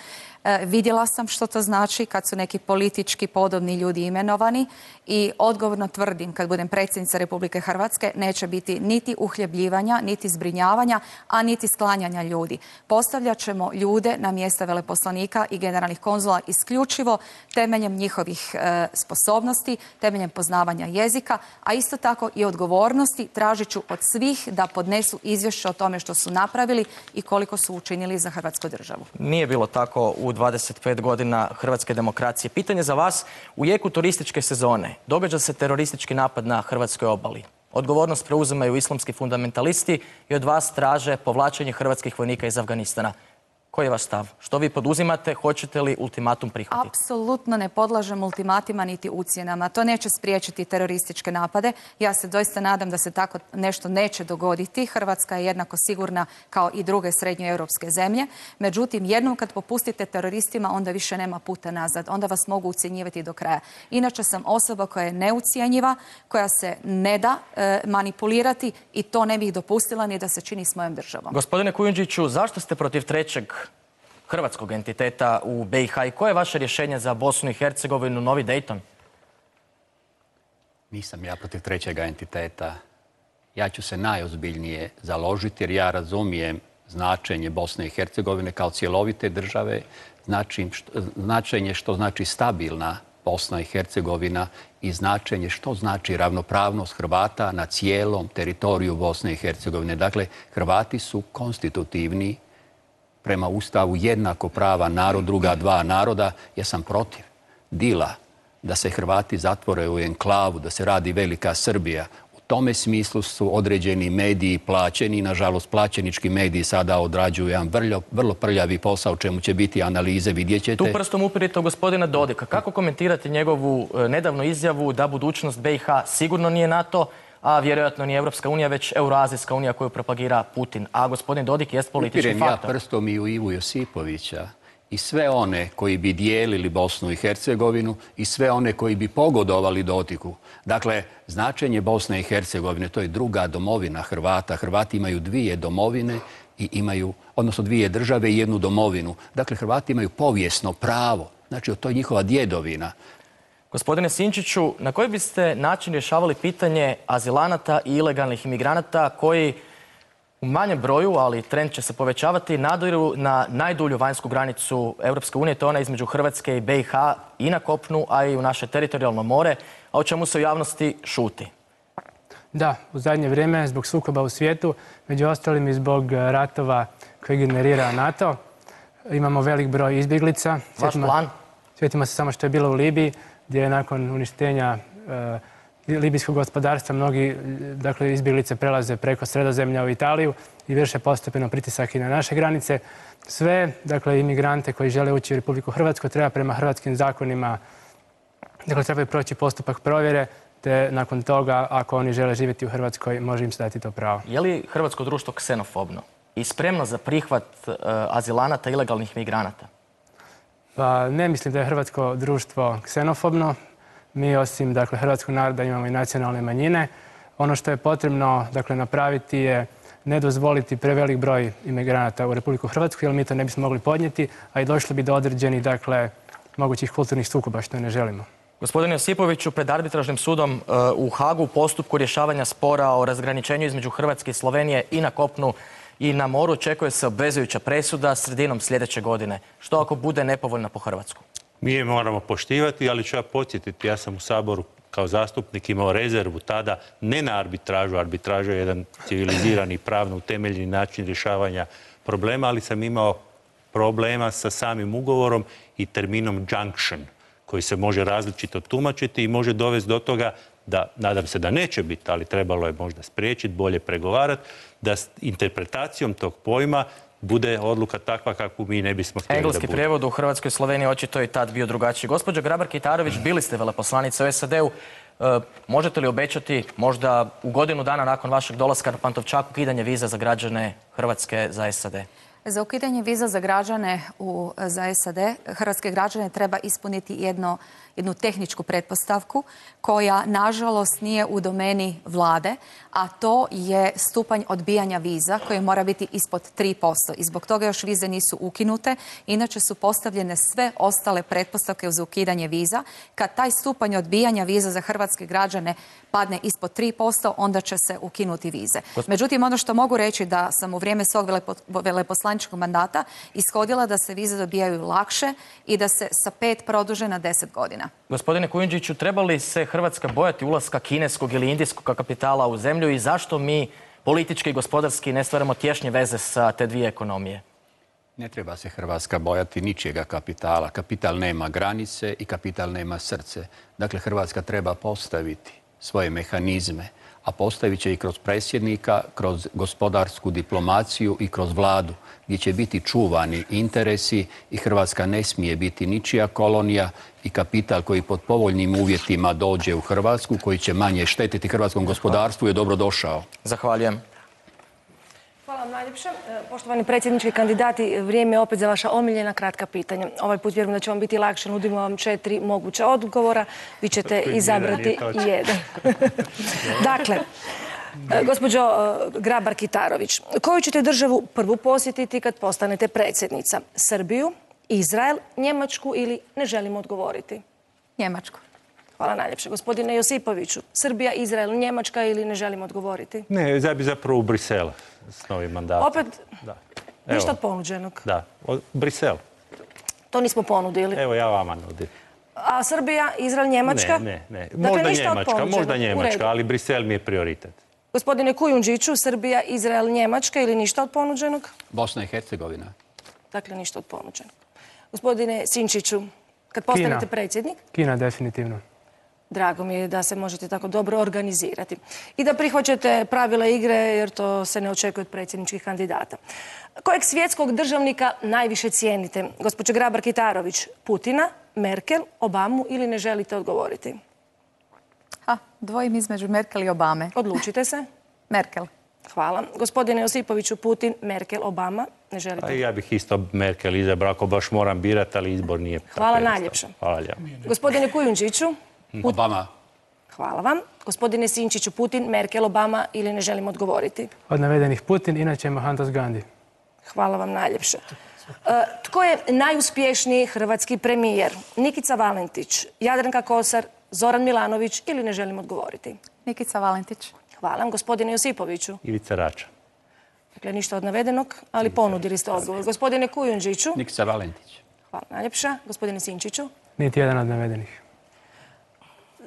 Vidjela sam što to znači kad su neki politički podobni ljudi imenovani i odgovorno tvrdim, kad budem predsjednica Republike Hrvatske, neće biti niti uhljebljivanja, niti zbrinjavanja, a niti sklanjanja ljudi. Postavljat ćemo ljude na mjesta veleposlanika i generalnih konzula isključivo temeljem njihovih sposobnosti, temeljem poznavanja jezika, a isto tako i odgovornosti odgovornosti, tražit ću od svih da podnesu izvješće o tome što su napravili i koliko su učinili za Hrvatsku državu. Nije bilo tako u 25 godina hrvatske demokracije. Pitanje za vas, u jeku turističke sezone događa se teroristički napad na hrvatskoj obali. Odgovornost preuzimaju islamski fundamentalisti i od vas traže povlačenje hrvatskih vojnika iz Afganistana. Koji je vaš stav? Što vi poduzimate? Hoćete li ultimatum prihvatiti? Apsolutno ne podlažem ultimatima niti ucjenama. To neće spriječiti terorističke napade. Ja se doista nadam da se tako nešto neće dogoditi. Hrvatska je jednako sigurna kao i druge srednjoeuropske zemlje. Međutim, jednom kad popustite teroristima, onda više nema puta nazad. Onda vas mogu ucjenjivati do kraja. Inače sam osoba koja je neucjenjiva, koja se ne da manipulirati i to ne bih dopustila ni da se čini s mojom državom. Gospodine Kujundžiću, zašto ste protiv trećeg hrvatskog entiteta u BiH i koje je vaše rješenje za Bosnu i Hercegovinu, novi Dayton? Nisam ja protiv trećega entiteta. Ja ću se najozbiljnije založiti jer ja razumijem značenje Bosne i Hercegovine kao cjelovite države, značenje što znači stabilna Bosna i Hercegovina i značenje što znači ravnopravnost Hrvata na cijelom teritoriju Bosne i Hercegovine. Dakle, Hrvati su konstitutivni prema Ustavu jednako prava narod, druga dva naroda. Ja sam protiv dila da se Hrvati zatvore u enklavu, da se radi velika Srbija. U tome smislu su određeni mediji plaćeni. Nažalost, plaćenički mediji sada odrađuju jedan vrlo prljavi posao, čemu će biti analize, vidjet ćete. Tu prstom upirite u gospodina Dodika. Kako komentirate njegovu nedavnu izjavu da budućnost BiH sigurno nije NATO, a vjerojatno nije Evropska unija, već Euroazijska unija koju propagira Putin. A gospodin Dodik jest politički faktor. Upirem ja prstom i u Ivu Josipovića i sve one koji bi dijelili Bosnu i Hercegovinu i sve one koji bi pogodovali Dodiku. Dakle, značenje Bosne i Hercegovine, to je druga domovina Hrvata. Hrvati imaju dvije domovine i imaju, odnosno dvije države i jednu domovinu. Dakle, Hrvati imaju povijesno pravo. Znači, to je njihova djedovina. Gospodine Sinčiću, na koji biste način rješavali pitanje azilanata i ilegalnih imigranata koji u manjem broju, ali trend će se povećavati, nadiru na najdulju vanjsku granicu Europske unije, to je ona između Hrvatske i BiH i na kopnu, a i u naše teritorijalno more, a o čemu se u javnosti šuti? Da, u zadnje vrijeme zbog sukoba u svijetu, među ostalim i zbog ratova koje generira NATO, imamo velik broj izbjeglica. Vaš plan? Sjetimo se samo što je bilo u Libiji, gdje je nakon uništenja libijskog gospodarstva mnogi izbjeglice prelaze preko Sredozemlja u Italiju i vrše postepeno pritisak i na naše granice. Sve imigrante koji žele ući u Republiku Hrvatsku treba prema hrvatskim zakonima, trebaju proći postupak provjere, te nakon toga, ako oni žele živjeti u Hrvatskoj, može im se dati to pravo. Je li hrvatsko društvo ksenofobno i spremno za prihvat azilanata i ilegalnih migranata? Pa ne mislim da je hrvatsko društvo ksenofobno. Mi osim hrvatskog naroda imamo i nacionalne manjine. Ono što je potrebno napraviti je ne dozvoliti prevelik broj imigranata u Republiku Hrvatsku, jer mi to ne bismo mogli podnijeti, a i došlo bi do određenih mogućih kulturnih sukoba, što ne želimo. Gospodine Josipoviću, pred arbitražnim sudom u Hagu u postupku rješavanja spora o razgraničenju između Hrvatske i Slovenije i na kopnu i na moru očekuje se obvezujuća presuda sredinom sljedeće godine. Što ako bude nepovoljna po Hrvatsku? Mi je moramo poštivati, ali ću ja podsjetiti, ja sam u Saboru kao zastupnik imao rezervu tada ne na arbitražu. Arbitraža je jedan civilizirani, pravno utemeljeni način rješavanja problema, ali sam imao problema sa samim ugovorom i terminom junction, koji se može različito tumačiti i može dovesti do toga da, nadam se da neće biti, ali trebalo je možda spriječiti, bolje pregovarati, da s interpretacijom tog pojma bude odluka takva kakvu mi ne bismo htjeli da bude. Engleski prijevod u Hrvatskoj i Sloveniji očito je tad bio drugačiji. Gospođo Grabar-Kitarović, bili ste veleposlanica u SAD-u. Možete li obećati možda u godinu dana nakon vašeg dolaska na Pantovčak ukidanje viza za građane Hrvatske za SAD? Za ukidanje viza za građane za SAD, hrvatske građane treba ispuniti jednu tehničku pretpostavku koja, nažalost, nije u domeni vlade, a to je stupanj odbijanja viza koji mora biti ispod 3%. I zbog toga još vize nisu ukinute. Inače su postavljene sve ostale pretpostavke za ukidanje viza. Kad taj stupanj odbijanja viza za hrvatske građane padne ispod 3%, onda će se ukinuti vize. Međutim, ono što mogu reći da sam u vrijeme svog veleposlanja poslaničkog mandata ishodila da se vize dobijaju lakše i da se sa 5 produže na 10 godina. Gospodine Kujundžiću, treba li se Hrvatska bojati ulaska kineskog ili indijskog kapitala u zemlju i zašto mi politički i gospodarski ne stvaramo tješnje veze sa te dvije ekonomije? Ne treba se Hrvatska bojati ničijega kapitala. Kapital nema granice i kapital nema srce. Dakle, Hrvatska treba postaviti svoje mehanizme, a postavit će i kroz predsjednika, kroz gospodarsku diplomaciju i kroz vladu, gdje će biti čuvani interesi i Hrvatska ne smije biti ničija kolonija i kapital koji pod povoljnim uvjetima dođe u Hrvatsku, koji će manje štetiti hrvatskom gospodarstvu, je dobro došao. Zahvaljujem. Hvala vam najljepše. Poštovani predsjednički kandidati, vrijeme je opet za vaša omiljena kratka pitanja. Ovaj put vjerujem da će vam biti lakše. Nudimo vam 4 moguća odgovora. Vi ćete izabrati jedan. Dakle, gospođo Grabar-Kitarović, koju ćete državu prvu posjetiti kad postanete predsjednica? Srbiju, Izrael, Njemačku ili ne želimo odgovoriti? Njemačku. Hvala najljepše. Gospodine Josipoviću, Srbija, Izrael, Njemačka ili ne želimo odgovoriti? Ne, ja bi zapravo u Brisel s novim mandatom. Opet ništa od ponuđenog? Da, Brisel. To nismo ponudili. Evo ja vama nudim. A Srbija, Izrael, Njemačka? Ne. Možda Njemačka, ali Brisel mi je prioritet. Gospodine Kujundžiću, Srbija, Izrael, Njemačka ili ništa od ponuđenog? Bosna i Hercegovina. Dakle, ništa od ponuđenog. Gospodine Sinčiću, kad postanete predsjednik? Kina, definitivno. Drago mi je da se možete tako dobro organizirati. I da prihvaćate pravila igre, jer to se ne očekuje od predsjedničkih kandidata. Kojeg svjetskog državnika najviše cijenite? Gospođo Grabar-Kitarović, Putina, Merkel, Obamu ili ne želite odgovoriti? Dvojim između Merkel i Obame. Odlučite se. Merkel. Hvala. Gospodine Josipoviću, Putin, Merkel, Obama, ne želite? Ja bih isto Merkel izabrao, ako baš moram birati, ali izbor nije. Hvala najljepše. Hvala lijepo. Gospodine Kujundžiću. Obama. Hvala vam. Gospodine Sinčiću, Putin, Merkel, Obama ili ne želim odgovoriti? Od navedenih Putin, inače Mohandas Gandhi. Hvala vam najljepše. Tko je najuspješniji hrvatski premijer? Nikica Valentić, Jadranka Kosor, Zoran Milanović ili ne želim odgovoriti? Nikica Valentić. Hvala vam. Gospodine Josipoviću. Ivica Račan. Dakle, ništa od navedenog, ali ponudili ste odgovor. Gospodine Kujundžiću. Nikica Valentić. Hvala najljepša. Gospodine Sinčiću. Niti jedan od navedenih.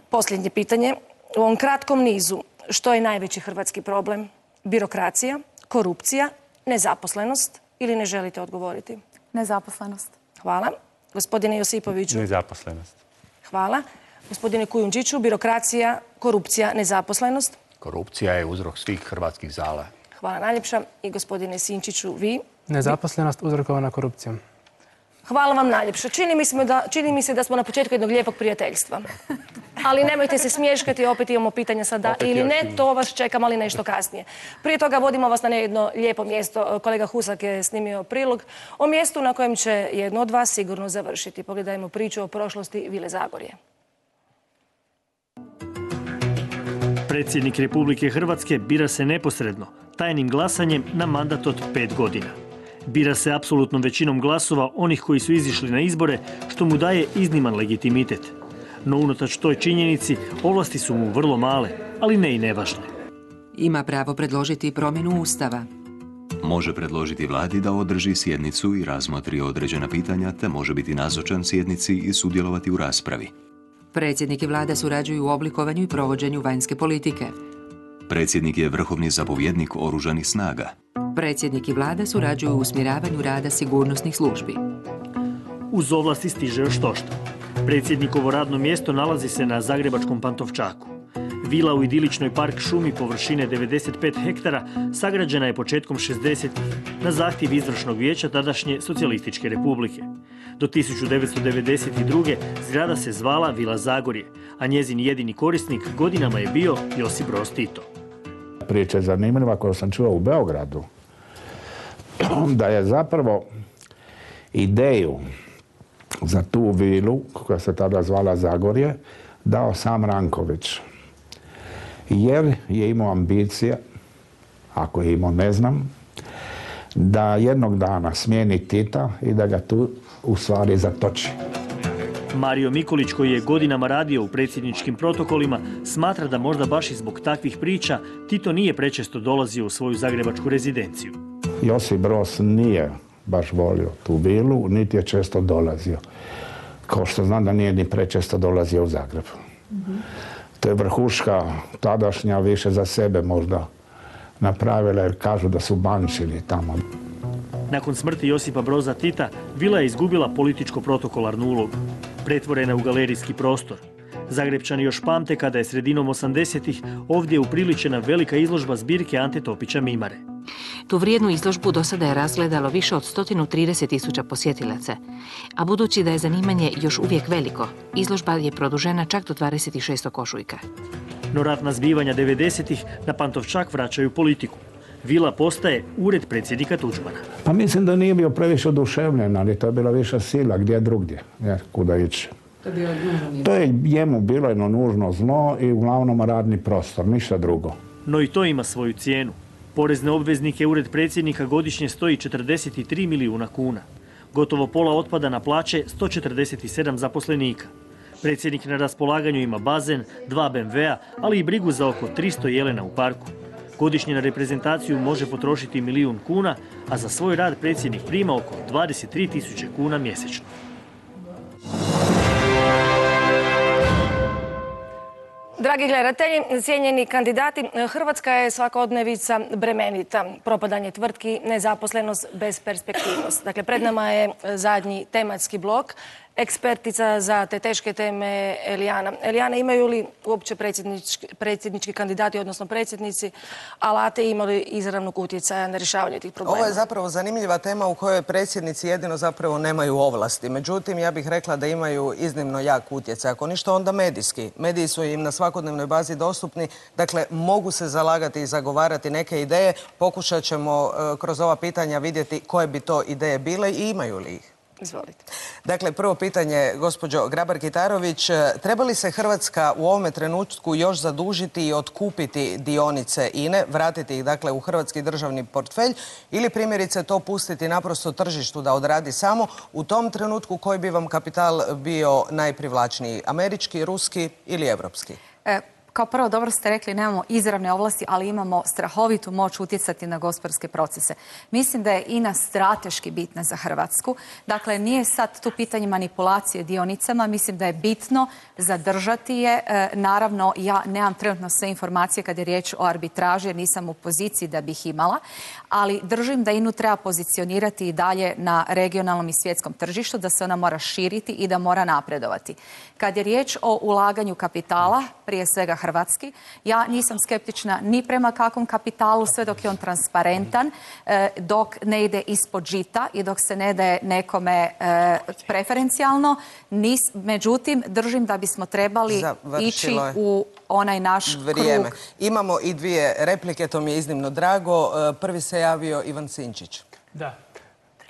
Posljednje pitanje. U ovom kratkom nizu, što je najveći hrvatski problem? Birokracija, korupcija, nezaposlenost ili ne želite odgovoriti? Nezaposlenost. Hvala. Gospodine Josipoviću. Nezaposlenost. Hvala. Gospodine Kujundžiću, birokracija, korupcija, nezaposlenost. Korupcija je uzrok svih hrvatskih zala. Hvala najljepša. I gospodine Sinčiću, vi? Nezaposlenost uzrokovana korupcijom. Hvala vam najljepša. Čini mi se da smo na početku jednog lijepog prijateljstva. Ali nemojte se smješkati, opet imamo pitanja sada ili ne, to vas čekam, ali nešto kasnije. Prije toga vodimo vas na jedno lijepo mjesto. Kolega Husak je snimio prilog o mjestu na kojem će jedno od vas sigurno završiti. Pogledajmo priču o prošlosti Vile Zagorje. Predsjednik Republike Hrvatske bira se neposredno, tajnim glasanjem na mandat od 5 godina. Bira se apsolutnom većinom glasova onih koji su izišli na izbore, što mu daje izniman legitimitet. No unatoč toj činjenici, ovlasti su mu vrlo male, ali ne i nevažne. Ima pravo predložiti promjenu Ustava. Može predložiti vladi da održi sjednicu i razmotri određena pitanja, te može biti nazočan sjednici i sudjelovati u raspravi. Predsjednik i vlada surađuju u oblikovanju i provođenju vanjske politike. Predsjednik je vrhovni zapovjednik oružanih snaga. Predsjednik i vlada surađuju u usmjeravanju rada sigurnosnih službi. Uz ovlasti stiže još štošta. Predsjednikovo radno mjesto nalazi se na zagrebačkom Pantovčaku. Vila u idiličnoj park šumi površine 95 hektara sagrađena je početkom 60. na zahtjev izvršnog vijeća tadašnje Socijalističke republike. Do 1992. zgrada se zvala Vila Zagorje, a njezin jedini korisnik godinama je bio Josip Broz Tito. Priča je zanimljiva koju sam čuo u Beogradu, da je zapravo ideju za tu vilu, koja se tada zvala Zagorje, dao sam Ranković. Jer je imao ambicije, ako je imao ne znam, da jednog dana smijeni Tita i da ga tu u stvari zatoči. Mario Mikulić, koji je godinama radio u predsjedničkim protokolima, smatra da možda baš i zbog takvih priča Tito nije prečesto dolazio u svoju zagrebačku rezidenciju. Josip Broz nije baš volio tu vilu, niti je često dolazio. Kao što znam da nije ni prečesto dolazio u Zagreb. To je vrhuška tadašnja više za sebe možda napravila, jer kažu da su bančili tamo. Nakon smrti Josipa Broza Tita, vila je izgubila političko-protokolarnu ulogu. Pretvorena je u galerijski prostor. Zagrebčani još pamte kada je sredinom 80-ih ovdje upriličena velika izložba zbirke Ante Topića Mimare. Tu vrijednu izložbu do sada je razgledalo više od 130.000 posjetilaca. A budući da je zanimanje još uvijek veliko, izložba je produžena čak do 26. ožujka. No ratna zbivanja 90-ih na Pantovčak vraćaju politiku. Vila postaje ured predsjednika Tuđmana. Pa mislim da nije bio previše oduševljen, ali to je bila viša sila, gdje drugdje, jer kuda ići. To je njemu bilo jedno nužno zlo i uglavnom radni prostor, ništa drugo. No i to ima svoju cijenu. Porezne obveznike ured predsjednika godišnje stoji 43 milijuna kuna. Gotovo pola otpada na plaće 147 zaposlenika. Predsjednik na raspolaganju ima bazen, 2 BMW-a, ali i brigu za oko 300 jelena u parku. Godišnje na reprezentaciju može potrošiti 1 milijun kuna, a za svoj rad predsjednik prima oko 23.000 kuna mjesečno. Dragi gledatelji, cijenjeni kandidati, Hrvatska je svakodnevica bremenita. Propadanje tvrtki, nezaposlenost, besperspektivnost. Dakle, pred nama je zadnji tematski blok. Ekspertica za te teške teme Elijana. Elijana, imaju li uopće predsjednički kandidati, odnosno predsjednici, alate imali izravnog utjecaja na rješavanje tih problema? Ovo je zapravo zanimljiva tema u kojoj predsjednici jedino zapravo nemaju ovlasti. Međutim, ja bih rekla da imaju iznimno jak utjecaj. Ako ništa, onda medijski. Mediji su im na svakodnevnoj bazi dostupni. Dakle, mogu se zalagati i zagovarati neke ideje. Pokušat ćemo kroz ova pitanja vidjeti koje bi to ideje bile i imaju li ih. Izvolite. Dakle, prvo pitanje, gospođo Grabar-Kitarović, treba li se Hrvatska u ovome trenutku još zadužiti i otkupiti dionice INA-e, vratiti ih dakle u hrvatski državni portfelj ili primjerice to pustiti naprosto tržištu da odradi samo? U tom trenutku koji bi vam kapital bio najprivlačniji? Američki, ruski ili evropski? Kao prvo, dobro ste rekli, nemamo izravne ovlasti, ali imamo strahovitu moć utjecati na gospodarske procese. Mislim da je INA strateški bitna za Hrvatsku. Dakle, nije sad tu pitanje manipulacije dionicama. Mislim da je bitno zadržati je. Naravno, ja nemam trenutno sve informacije kad je riječ o arbitraži, jer nisam u poziciji da bih imala. Ali držim da INA-u treba pozicionirati i dalje na regionalnom i svjetskom tržištu, da se ona mora širiti i da mora napredovati. Kad je riječ o ulaganju kapitala, prije svega hrvatski, ja nisam skeptična ni prema kakvom kapitalu, sve dok je on transparentan, dok ne ide ispod žita i dok se ne daje nekome preferencijalno. Međutim, držim da bismo trebali ići u onaj naš krug. Imamo i 2 replike, to mi je iznimno drago. Prvi se javio Ivan Sinčić. Da.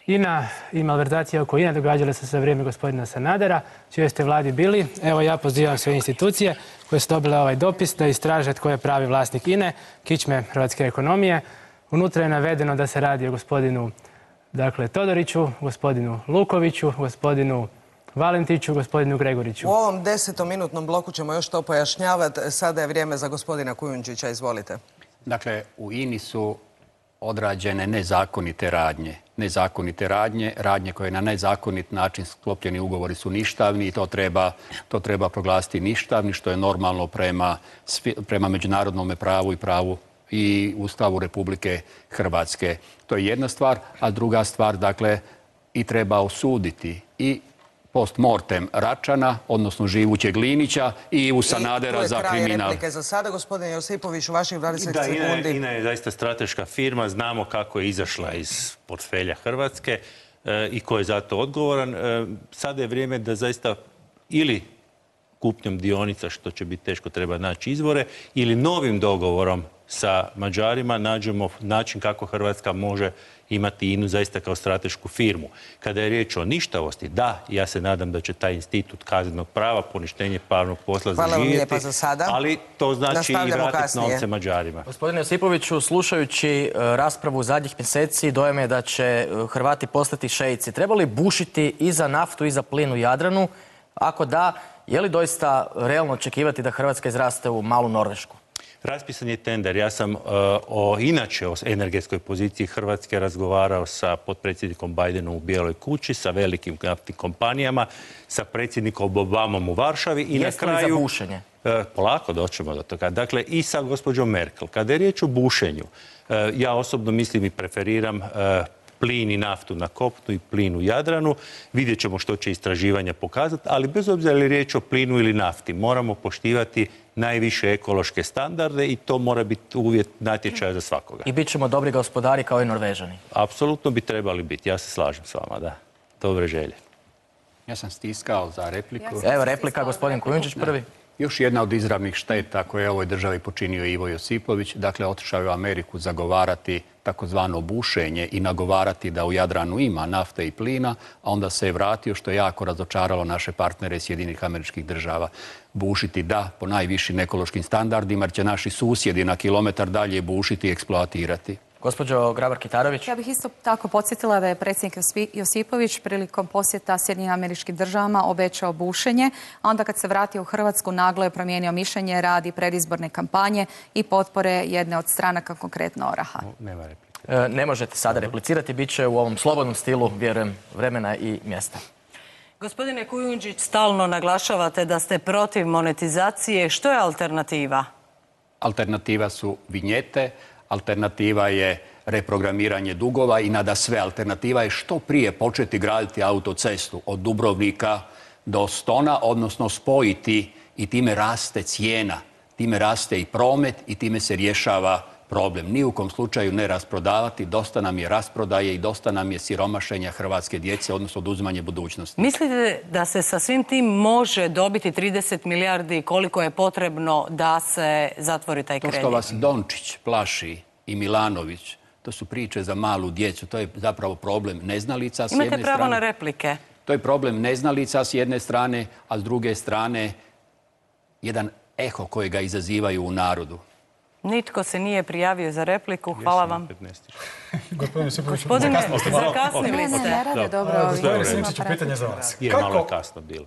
INA i malverzacija oko INA događale se za vrijeme gospodina Sanadera, čije ste vladi bili. Evo, ja pozivam sve institucije koje su dobile ovaj dopis da istraže tko je pravi vlasnik INA-e, kičme hrvatske ekonomije. Unutra je navedeno da se radi o gospodinu Todoriću, gospodinu Lukoviću, gospodinu Valentiću, gospodinu Gregoriću. U ovom 10-minutnom bloku ćemo još to pojašnjavati. Sada je vrijeme za gospodina Kujundžića. Izvolite. Dakle, u INA-i su odrađene nezakonite radnje. Radnje koje na nezakonit način sklopljeni ugovori su ništavni i to treba proglasiti ništavni, što je normalno prema međunarodnom pravu i pravu i Ustavu Republike Hrvatske. To je jedna stvar, a druga stvar, dakle, i treba osuditi i post mortem Račana, odnosno živućeg Linića i Ivu Sanadera za kriminal. To je kraj replike za sada. Gospodin Josipović, u vaših 20 sekundi. INA je zaista strateška firma. Znamo kako je izašla iz portfelja Hrvatske i ko je za to odgovoran. Sada je vrijeme da zaista ili kupnjom dionica, što će biti teško, treba naći izvore, ili novim dogovorom sa Mađarima nađemo način kako Hrvatska može imati INA-u zaista kao stratešku firmu. Kada je riječ o ništavosti, da, ja se nadam da će taj institut kaznenog prava, poništenje pravnog posla zaživjeti, ali to znači i vratiti novce Mađarima. Gospodine Josipoviću, slušajući raspravu zadnjih mjeseci, dojam je da će Hrvati postati šeici. Treba li bušiti i za naftu i za plin u Jadranu? Ako da, je li doista realno očekivati da Hrvatska izraste u malu Norvešku? Raspisan je tender. Ja sam inače o energetskoj poziciji Hrvatske razgovarao sa potpredsjednikom Bidenom u Bijeloj kući, sa velikim naftnim kompanijama, sa predsjednikom Obamom u Varšavi i na kraju... Jeste li za bušenje? Polako doćemo do toga. Dakle, i sa gospođom Merkel. Kada je riječ o bušenju, ja osobno mislim i preferiram plin i naftu na kopnu i plin u Jadranu. Vidjet ćemo što će istraživanja pokazati, ali bez obzira je li riječ o plinu ili nafti, moramo poštivati najviše ekološke standarde i to mora biti uvjet natječaja za svakoga. I bit ćemo dobri gospodari kao i Norvežani. Apsolutno bi trebali biti. Ja se slažem s vama, da. Dobre želje. Ja sam stiskao za repliku. Evo replika, gospodin Kujundžić prvi. Još jedna od izravnih šteta koje je ovoj državi počinio Ivo Josipović, dakle otišao je u Ameriku zagovarati takozvano bušenje i nagovarati da u Jadranu ima nafte i plina, a onda se je vratio, što je jako razočaralo naše partnere Sjedinjenih Američkih Država. Bušiti da, po najvišim ekološkim standardima, jer će naši susjedi na kilometar dalje bušiti i eksploatirati. Gospođo Grabar-Kitarović. Ja bih isto tako podsjetila da je predsjednik Josipović prilikom posjeta Sjedinjenim Američkim Državama obećao bušenje, a onda kad se vratio u Hrvatsku naglo je promijenio mišljenje radi predizborne kampanje i potpore jedne od stranaka, konkretno Oraha. Nema replike. Ne možete sada replicirati, bit će u ovom slobodnom stilu, vjerujem, vremena i mjesta. Gospodine Kujundžić, stalno naglašavate da ste protiv monetizacije. Što je alternativa? Alternativa su vinjete, alternativa je reprogramiranje dugova i nadasve alternativa je što prije početi graditi autocestu od Dubrovnika do Stona, odnosno spojiti i time raste cijena, time raste i promet i time se rješava problem. Ni u kom slučaju ne rasprodavati, dosta nam je rasprodaje i dosta nam je siromašenja hrvatske djece, odnosno oduzimanje budućnosti. Mislite da se sa svim tim može dobiti 30 milijardi koliko je potrebno da se zatvori taj kredit? To što vas Dončić plaši i Milanović, to su priče za malu djecu. To je zapravo problem neznalica s jedne strane. Imate pravo na replike. To je problem neznalica s jedne strane, a s druge strane jedan eho kojega izazivaju u narodu. Nitko se nije prijavio za repliku. Hvala vam. Gospodine Josipović, zakasnili ste. Ne rade dobro. Gospodine Sinčiću, pitanje za vas. Malo je kasno bilo.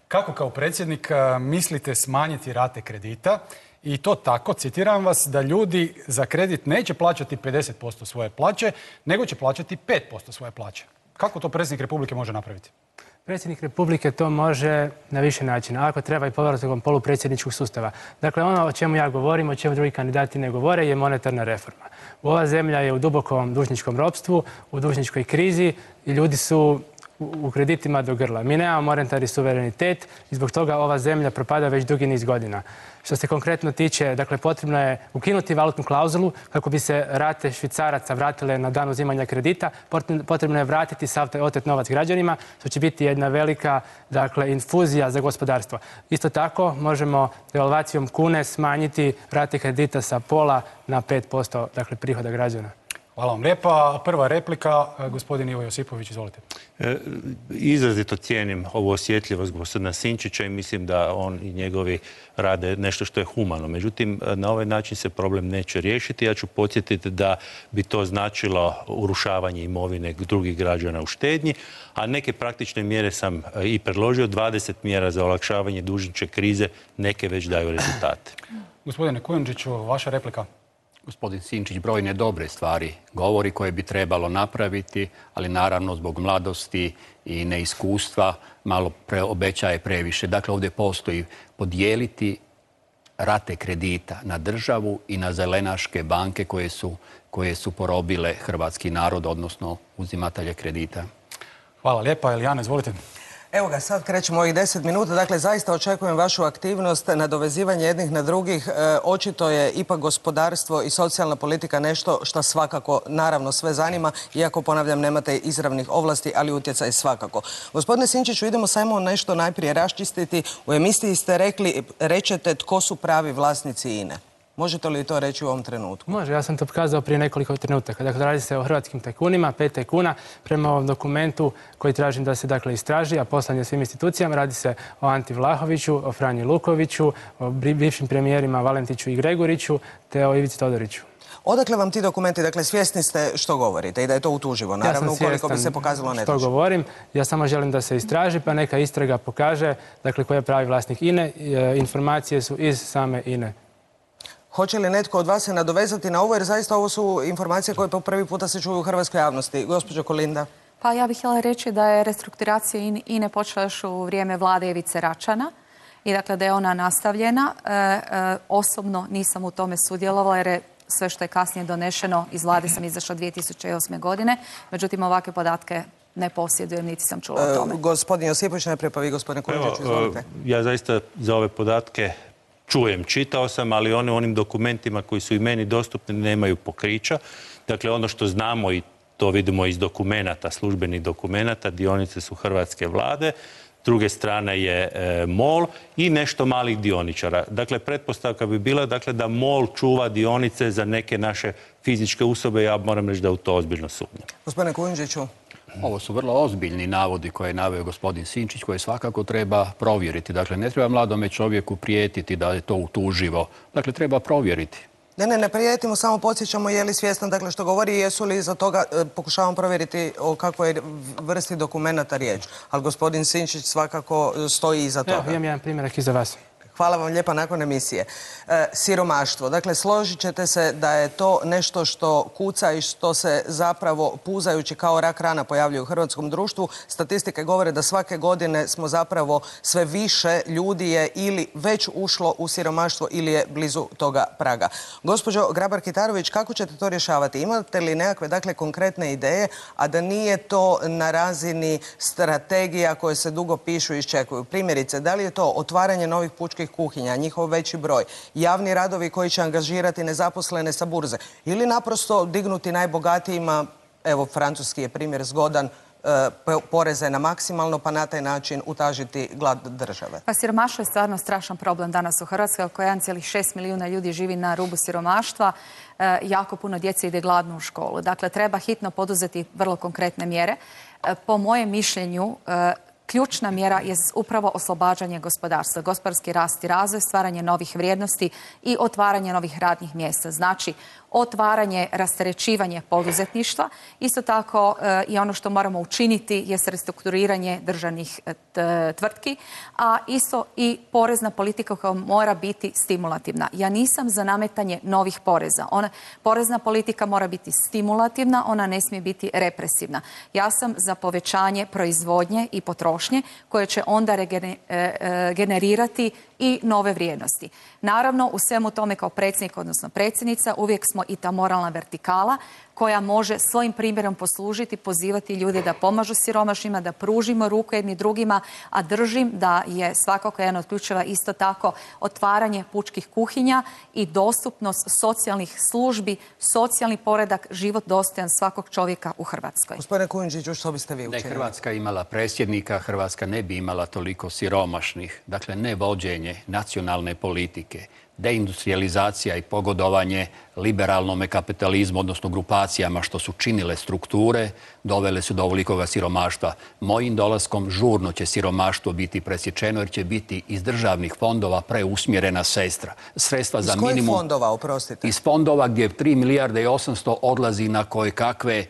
Kako kao predsjednik mislite smanjiti rate kredita i to tako, citiram vas, da ljudi za kredit neće plaćati 50% svoje plaće, nego će plaćati 5% svoje plaće? Kako to predsjednik Republike može napraviti? Predsjednik Republike to može na više načina. Ako treba i povratkom polupredsjedničkog sustava. Dakle, ono o čemu ja govorim, o čemu drugi kandidati ne govore, je monetarna reforma. Ova zemlja je u dubokom dužničkom ropstvu, u dužničkoj krizi i ljudi su u kreditima do grla. Mi nemamo monetarni suverenitet i zbog toga ova zemlja propada već dugi niz godina. Što se konkretno tiče, dakle, potrebno je ukinuti valutnu klauzulu kako bi se rate švicaraca vratile na dan uzimanja kredita. Potrebno je vratiti sav taj otet novac građanima, što će biti jedna velika, dakle, infuzija za gospodarstvo. Isto tako možemo devalvacijom kune smanjiti rate kredita sa 0,5 na 5%, dakle, prihoda građana. Hvala vam lijepa. Prva replika, gospodin Ivo Josipović, izvolite. Izrazito cijenim ovu osjetljivost gospodina Sinčića i mislim da on i njegovi rade nešto što je humano. Međutim, na ovaj način se problem neće riješiti. Ja ću podsjetiti da bi to značilo urušavanje imovine drugih građana u štednji, a neke praktične mjere sam i predložio. 20 mjera za olakšavanje dužničke krize, neke već daju rezultate. Gospodine Kujundžiću, vaša replika. Gospodin Sinčić brojne dobre stvari govori koje bi trebalo napraviti, ali naravno zbog mladosti i neiskustva malo obećaje previše. Dakle, ovdje postoji podijeliti rate kredita na državu i na zelenaške banke koje su porobile hrvatski narod, odnosno uzimatelje kredita. Hvala lijepa. Elijana, izvolite. Evo ga, sad krećemo ovih 10 minuta. Dakle, zaista očekujem vašu aktivnost, nadovezivanje jednih na drugih. Očito je ipak gospodarstvo i socijalna politika nešto što svakako, naravno, sve zanima, iako, ponavljam, nemate izravnih ovlasti, ali utjecaj svakako. Gospodine Sinčiću, idemo samo nešto najprije raščistiti. U emisiji ste rečete tko su pravi vlasnici INE. Možete li to reći u ovom trenutku? Može, ja sam to pokazao prije nekoliko trenutaka. Dakle, radi se o hrvatskim tajkunima, 5 tajkuna. Prema ovom dokumentu koji tražim da se, dakle, istraži, a poslan je svim institucijama, radi se o Anti Vlahoviću, o Franji Lukoviću, o bivšim premijerima Valentiću i Greguriću, te o Ivici Todoriću. Odakle vam ti dokumenti? Dakle, svjesni ste što govorite i da je to utuživo, naravno, ukoliko bi se pokazalo netočno. Što govorim, ja samo želim da se istraži, pa neka istraga pokaže, dakle, ko je pravi vlasnik INE. Informacije su iz same INE. Hoće li netko od vas se nadovezati na ovo, jer zaista ovo su informacije koje po prvi puta se čuju u hrvatskoj javnosti. Gospođo Kolinda. Pa ja bih htjela reći da je restrukturacija INA počela još u vrijeme vlade Ivice Račana i dakle da je ona nastavljena. Osobno nisam u tome sudjelovala jer je sve što je kasnije donešeno iz vlade sam izašla 2008. godine. Međutim, ovakve podatke ne posjedujem, niti sam čula o tome. Gospodin Josipović, najprije pa vi, gospodine Kujundžić, izvolite. Ja zaista za ove podatke čujem, čitao sam, ali one u onim dokumentima koji su i meni dostupni nemaju pokrića. Dakle, ono što znamo i to vidimo iz dokumenata, službenih dokumenata, dionice su hrvatske vlade, s druge strane je MOL i nešto malih dioničara. Dakle, pretpostavka bi bila da MOL čuva dionice za neke naše fizičke osobe. Ja moram reći da u to ozbiljno sumnjam. Gospodine Kujundžiću. Ovo su vrlo ozbiljni navodi koje je naveo gospodin Sinčić, koje svakako treba provjeriti. Dakle, ne treba mladome čovjeku prijetiti da je to utuživo. Dakle, treba provjeriti. Ne prijetimo, samo podsjećamo je li svjestan dakle što govori i jesu li iza toga, pokušavam provjeriti o kakvoj vrsti dokumenata riječ. Ali gospodin Sinčić svakako stoji iza toga. Evo, imam jedan primjerak iza vas. Hvala vam lijepa nakon emisije. Siromaštvo. Dakle, složit ćete se da je to nešto što kuca i što se zapravo puzajući kao rak rana pojavljuje u hrvatskom društvu. Statistike govore da svake godine smo zapravo sve više ljudi je ili već ušlo u siromaštvo ili je blizu toga praga. Gospođo Grabar-Kitarović, kako ćete to rješavati? Imate li nekakve dakle konkretne ideje, a da nije to na razini strategija koje se dugo pišu i iščekuju? Primjerice, da li je to otvaranje novih pučkih kuhinja, njihov veći broj, javni radovi koji će angažirati nezaposlene sa burze ili naprosto dignuti najbogatijima, evo francuski je primjer zgodan, poreze na maksimalno pa na taj način utažiti glad države? Pa siromaštvo je stvarno strašan problem danas u Hrvatskoj. Oko 1,6 milijuna ljudi živi na rubu siromaštva. Jako puno djece ide gladno u školu. Dakle, treba hitno poduzeti vrlo konkretne mjere. Po mojem mišljenju, ključna mjera je upravo oslobađanje gospodarstva, gospodarski rast i razvoj, stvaranje novih vrijednosti i otvaranje novih radnih mjesta. Znači, otvaranje, rasterećivanje poduzetništva. Isto tako i ono što moramo učiniti je restrukturiranje državnih tvrtki, a isto i porezna politika koja mora biti stimulativna. Ja nisam za nametanje novih poreza. Porezna politika mora biti stimulativna, ona ne smije biti represivna. Ja sam za povećanje proizvodnje i potrošnje koje će onda generirati i nove vrijednosti. Naravno, u svemu tome kao predsjednik, odnosno predsjednica, uvijek smo i ta moralna vertikala koja može svojim primjerom poslužiti, pozivati ljude da pomažu siromašnima, da pružimo ruku jedni drugima, a držim da je svakako jedan od ključeva isto tako otvaranje pučkih kuhinja i dostupnost socijalnih službi, socijalni poredak, život dostojan svakog čovjeka u Hrvatskoj. Gospodine Kujundžiću, što biste vi učinili? Da je Hrvatska imala predsjednika, Hrvatska ne bi imala toliko siromašnih. Dakle, ne vođenje nacionalne politike, deindustrializacija i pogodovanje liberalnom kapitalizmu, odnosno grupacijama što su činile strukture, dovele su do ovolikoga siromaštva. Mojim dolaskom žurno će siromaštvo biti presječeno jer će biti iz državnih fondova preusmjerena sredstva za minimum. Iz kojih fondova, oprostite? Iz fondova gdje 3 milijarde i 800 odlazi na koje kakve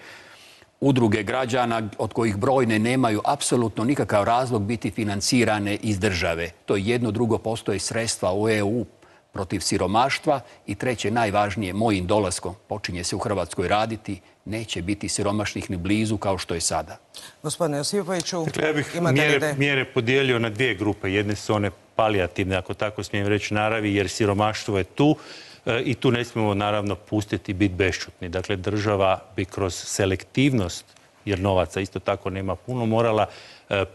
udruge građana od kojih brojne nemaju apsolutno nikakav razlog biti financirane iz države. To je jedno, drugo, postoje sredstva u EU protiv siromaštva i treće, najvažnije, mojim dolaskom počinje se u Hrvatskoj raditi, neće biti siromašnih ni blizu kao što je sada. Gospodine Josipoviću, ja bih imate mjere podijelio na dvije grupe. Jedne su one palijativne, ako tako smijem reći, naravi, jer siromaštvo je tu i tu ne smijemo naravno pustiti biti bešćutni. Dakle, država bi kroz selektivnost, jer novaca isto tako nema puno, morala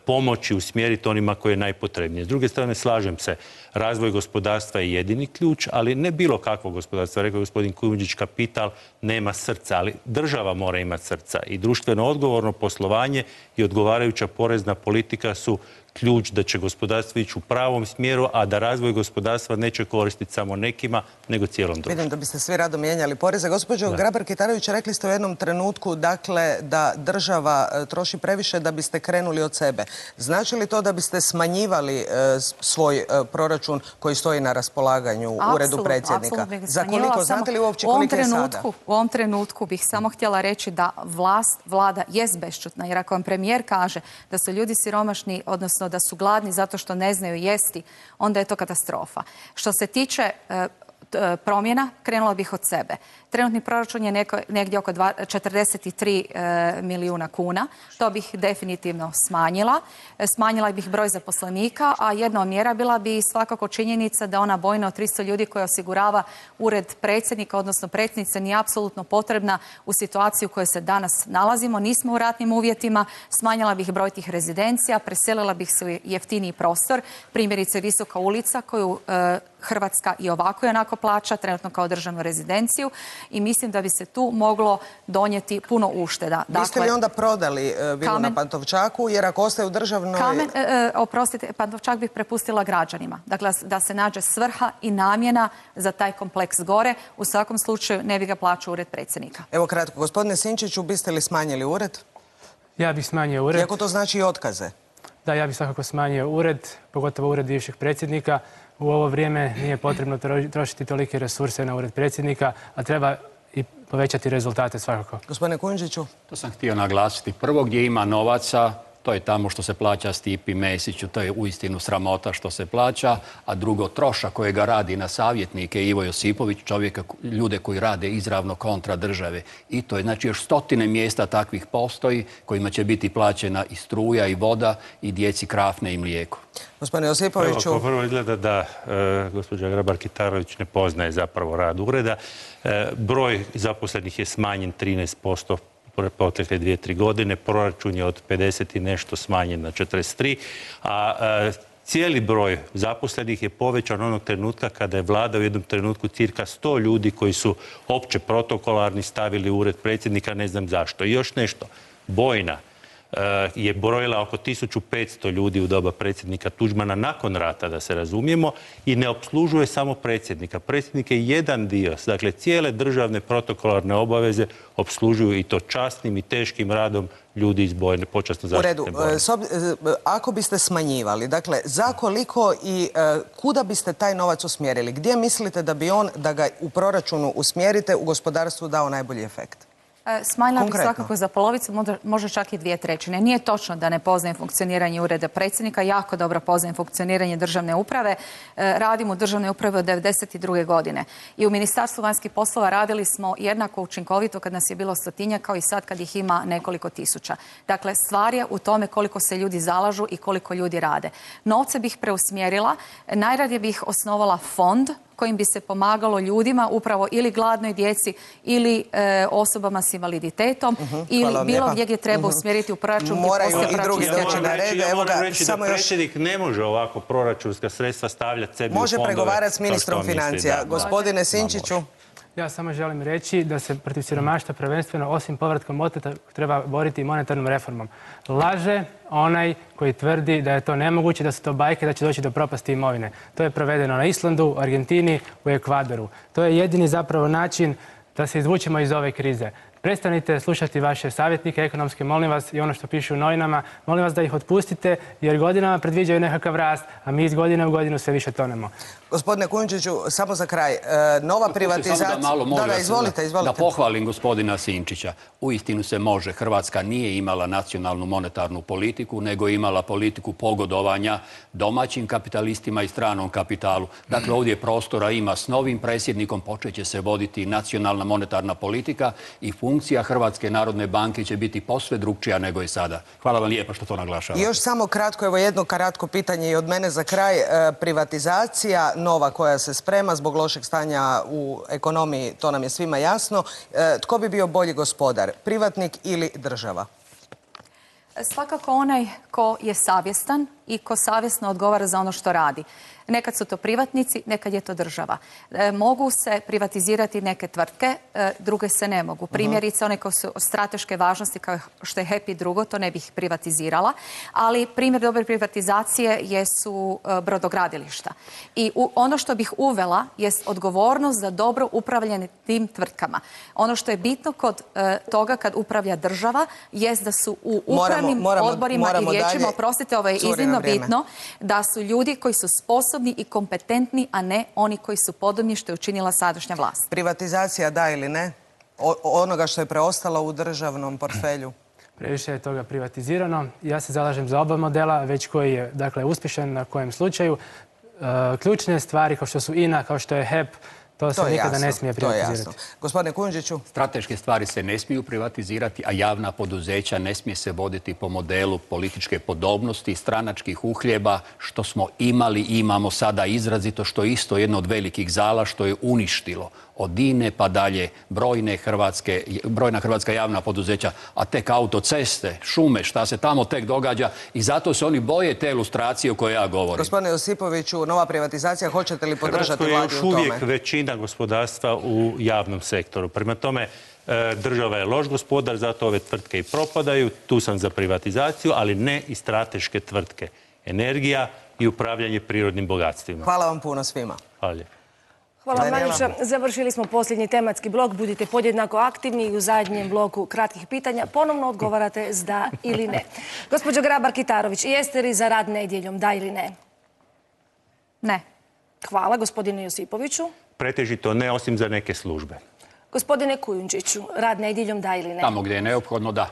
pomoći usmjeriti onima koje je najpotrebnije. S druge strane, slažem se, razvoj gospodarstva je jedini ključ, ali ne bilo kakvo gospodarstvo. Rekao je gospodin Kujundžić, kapital nema srca, ali država mora imati srca i društveno odgovorno poslovanje i odgovarajuća porezna politika su ključ da će gospodarstvo ići u pravom smjeru, a da razvoj gospodarstva neće koristiti samo nekima, nego cijelom društvu. Vidim da biste svi rado mijenjali poreze. Gospođo Grabar-Kitarović, rekli ste u jednom trenutku dakle, da država troši previše da biste krenuli od sebe. Znači li to da biste smanjivali svoj proračun koji stoji na raspolaganju u uredu predsjednika? Za koliko? Znate li uopće koliko je sada? U ovom trenutku bih samo htjela reći da vlada jest bešćutna. Jer ako vam premijer kaže da su ljudi siromašni, odnosno da su gladni zato što ne znaju jesti, onda je to katastrofa. Što se tiče promjena, krenula bih od sebe. Trenutni proračun je negdje oko 43 milijuna kuna. To bih definitivno smanjila. Smanjila bih broj zaposlenika, a jedna od mjera bila bi svakako činjenica da ona bojna od 300 ljudi koja osigurava ured predsjednika, odnosno predsjednice, nije apsolutno potrebna u situaciji u kojoj se danas nalazimo. Nismo u ratnim uvjetima. Smanjila bih broj tih rezidencija, preselila bih se u jeftiniji prostor, primjerice Visoka ulica koju Hrvatska i ovako i onako plaća, trenutno kao državnu rezidenciju, i mislim da bi se tu moglo donijeti puno ušteda. Biste li onda prodali vilu na Pantovčaku, jer ako ostaje u državnoj... Oprostite, Pantovčak bih prepustila građanima. Dakle, da se nađe svrha i namjena za taj kompleks gore. U svakom slučaju ne bi ga plaćao ured predsjednika. Evo kratko, gospodine Sinčiću, biste li smanjili ured? Ja bih smanjio ured. Iako to znači i otkaze? Da, ja bih svakako smanjio ured, pogotovo ured bivšeg predsjednika. U ovo vrijeme nije potrebno trošiti tolike resurse na ured predsjednika, a treba i povećati rezultate svakako. Gospodine Kujundžiću? To sam htio naglasiti. Prvo, gdje ima novaca, to je tamo što se plaća Stipi Mesiću, to je uistinu sramota što se plaća, a drugo, trošak kojega radi na savjetnike Ivo Josipović, čovjeka, ljude koji rade izravno kontra države. I to je, znači, još stotine mjesta takvih postoji kojima će biti plaćena i struja i voda i djeci krafne i mlijeko. Gospodine Josipoviću... Prvo izgleda da gospođa Grabar-Kitarović ne poznaje zapravo rad ureda. Broj zaposlenih je smanjen 13% protekle 2-3 godine. Proračun je od 50 i nešto smanjen na 43, a cijeli broj zaposlenih je povećan onog trenutka kada je vlada u jednom trenutku cirka 100 ljudi koji su opće protokolarni stavili u ured predsjednika, ne znam zašto. I još nešto, Bojna je brojila oko 1500 ljudi u doba predsjednika Tuđmana nakon rata, da se razumijemo, i ne opslužuje samo predsjednika. Predsjednik je jedan dio, dakle cijele državne protokolarne obaveze opslužuju, i to časnim i teškim radom ljudi iz Bojne, počasno zaštitne Bojne. U redu, ako biste smanjivali, dakle, za koliko i kuda biste taj novac usmjerili? Gdje mislite da bi da ga u proračunu usmjerite, u gospodarstvu dao najbolji efekt? Smanjila bih svakako za polovicu, možda čak i 2/3. Nije točno da ne poznajem funkcioniranje ureda predsjednika, jako dobro poznajem funkcioniranje državne uprave. Radim u državnoj upravi od 1992. godine. I u Ministarstvu vanjskih poslova radili smo jednako učinkovito kad nas je bilo 100-tinjak kao i sad kad ih ima nekoliko tisuća. Dakle, stvar je u tome koliko se ljudi zalažu i koliko ljudi rade. Novce bih preusmjerila, najradije bih osnovala fond kojim bi se pomagalo ljudima, upravo ili gladnoj djeci ili osobama s invaliditetom, ili bilo gdje treba usmjeriti u proračun. Moraju i drugi doći na red. Moram reći da predsjednik ne može ovako proračunska sredstva stavljati sebi u fondove. Može pregovarati s ministrom financija. Gospodine Sinčiću. Ja samo želim reći da se protiv siromaštva prvenstveno, osim povratkom oteta, treba boriti monetarnom reformom. Laže onaj koji tvrdi da je to nemoguće, da su to bajke, da će doći do propasti imovine. To je provedeno na Islandu, u Argentini, u Ekvadoru. To je jedini zapravo način da se izvučemo iz ove krize. Prestanite slušati vaše savjetnike ekonomske, molim vas, i ono što pišu u novinama, molim vas da ih otpustite, jer godinama predviđaju nekakav rast, a mi iz godine u godinu sve više tonemo. Gospodine Kujundžiću, samo za kraj, nova privatizacija... Izvolite. Da pohvalim gospodina Sinčića. Uistinu se može. Hrvatska nije imala nacionalnu monetarnu politiku, nego imala politiku pogodovanja domaćim kapitalistima i stranom kapitalu. Dakle, ovdje prostora ima. S novim predsjednikom počet će se voditi nacionalna monetarna politika i funkcija Hrvatske narodne banke će biti posve drugčija nego je sada. Hvala vam lijepa što to naglašavate. I još samo kratko, evo jedno kratko pitanje i od mene za kraj. Privatizacija nova koja se sprema zbog lošeg stanja u ekonomiji, to nam je svima jasno. Tko bi bio bolji gospodar, privatnik ili država? Svakako onaj ko je savjestan i ko savjesno odgovara za ono što radi. Nekad su to privatnici, nekad je to država. Mogu se privatizirati neke tvrtke, druge se ne mogu. Primjerice, one koje su od strateške važnosti, kao što je HEP i drugo, to ne bih privatizirala. Ali primjer dobre privatizacije jesu brodogradilišta. I ono što bih uvela jest odgovornost za dobro upravljanje tim tvrtkama. Ono što je bitno kod toga kad upravlja država jest da su u upravnim odborima i vijećima, oprostite, ovo je iznimno bitno, da su ljudi koji su sposobni i kompetentni, a ne oni koji su podobni, što je učinila sadašnja vlast. Privatizacija da ili ne? Onoga što je preostalo u državnom portfelju? Previše je toga privatizirano. Ja se zalažem za oba modela, već koji je, dakle, uspješan na kojem slučaju. Ključne stvari kao što su INA, kao što je HEP, To se nikada ne smije privatizirati. Gospodine Kujundžiću. Strateške stvari se ne smiju privatizirati, a javna poduzeća ne smije se voditi po modelu političke podobnosti, stranačkih uhljeba, što smo imali i imamo sada izrazito, što je isto jedno od velikih zala, što je uništilo od INE pa dalje brojna hrvatska javna poduzeća, a tek autoceste, šume, šta se tamo tek događa i zato se oni boje te ilustracije o kojoj ja govorim. Gospodine Josipoviću, nova privatizacija, hoćete li podržati vladu u tome? Hrvatskoj je još uvijek većina gospodarstva u javnom sektoru. Prema tome, država je loš gospodar, zato ove tvrtke i propadaju. Tu sam za privatizaciju, ali ne i strateške tvrtke. Energija i upravljanje prirodnim bogatstvima. Hvala vam puno svima. Hvala lijepo. Hvala vam najljepša. Završili smo posljednji tematski blok. Budite podjednako aktivni i u zadnjem bloku kratkih pitanja ponovno odgovarate s da ili ne. Gospođo Grabar-Kitarović, jeste li za rad nedjeljom, da ili ne? Ne. Hvala. Gospodine Josipoviću? Pretežito ne, osim za neke službe. Gospodine Kujundžiću, rad nedjeljom, da ili ne? Tamo gdje je neophodno, da.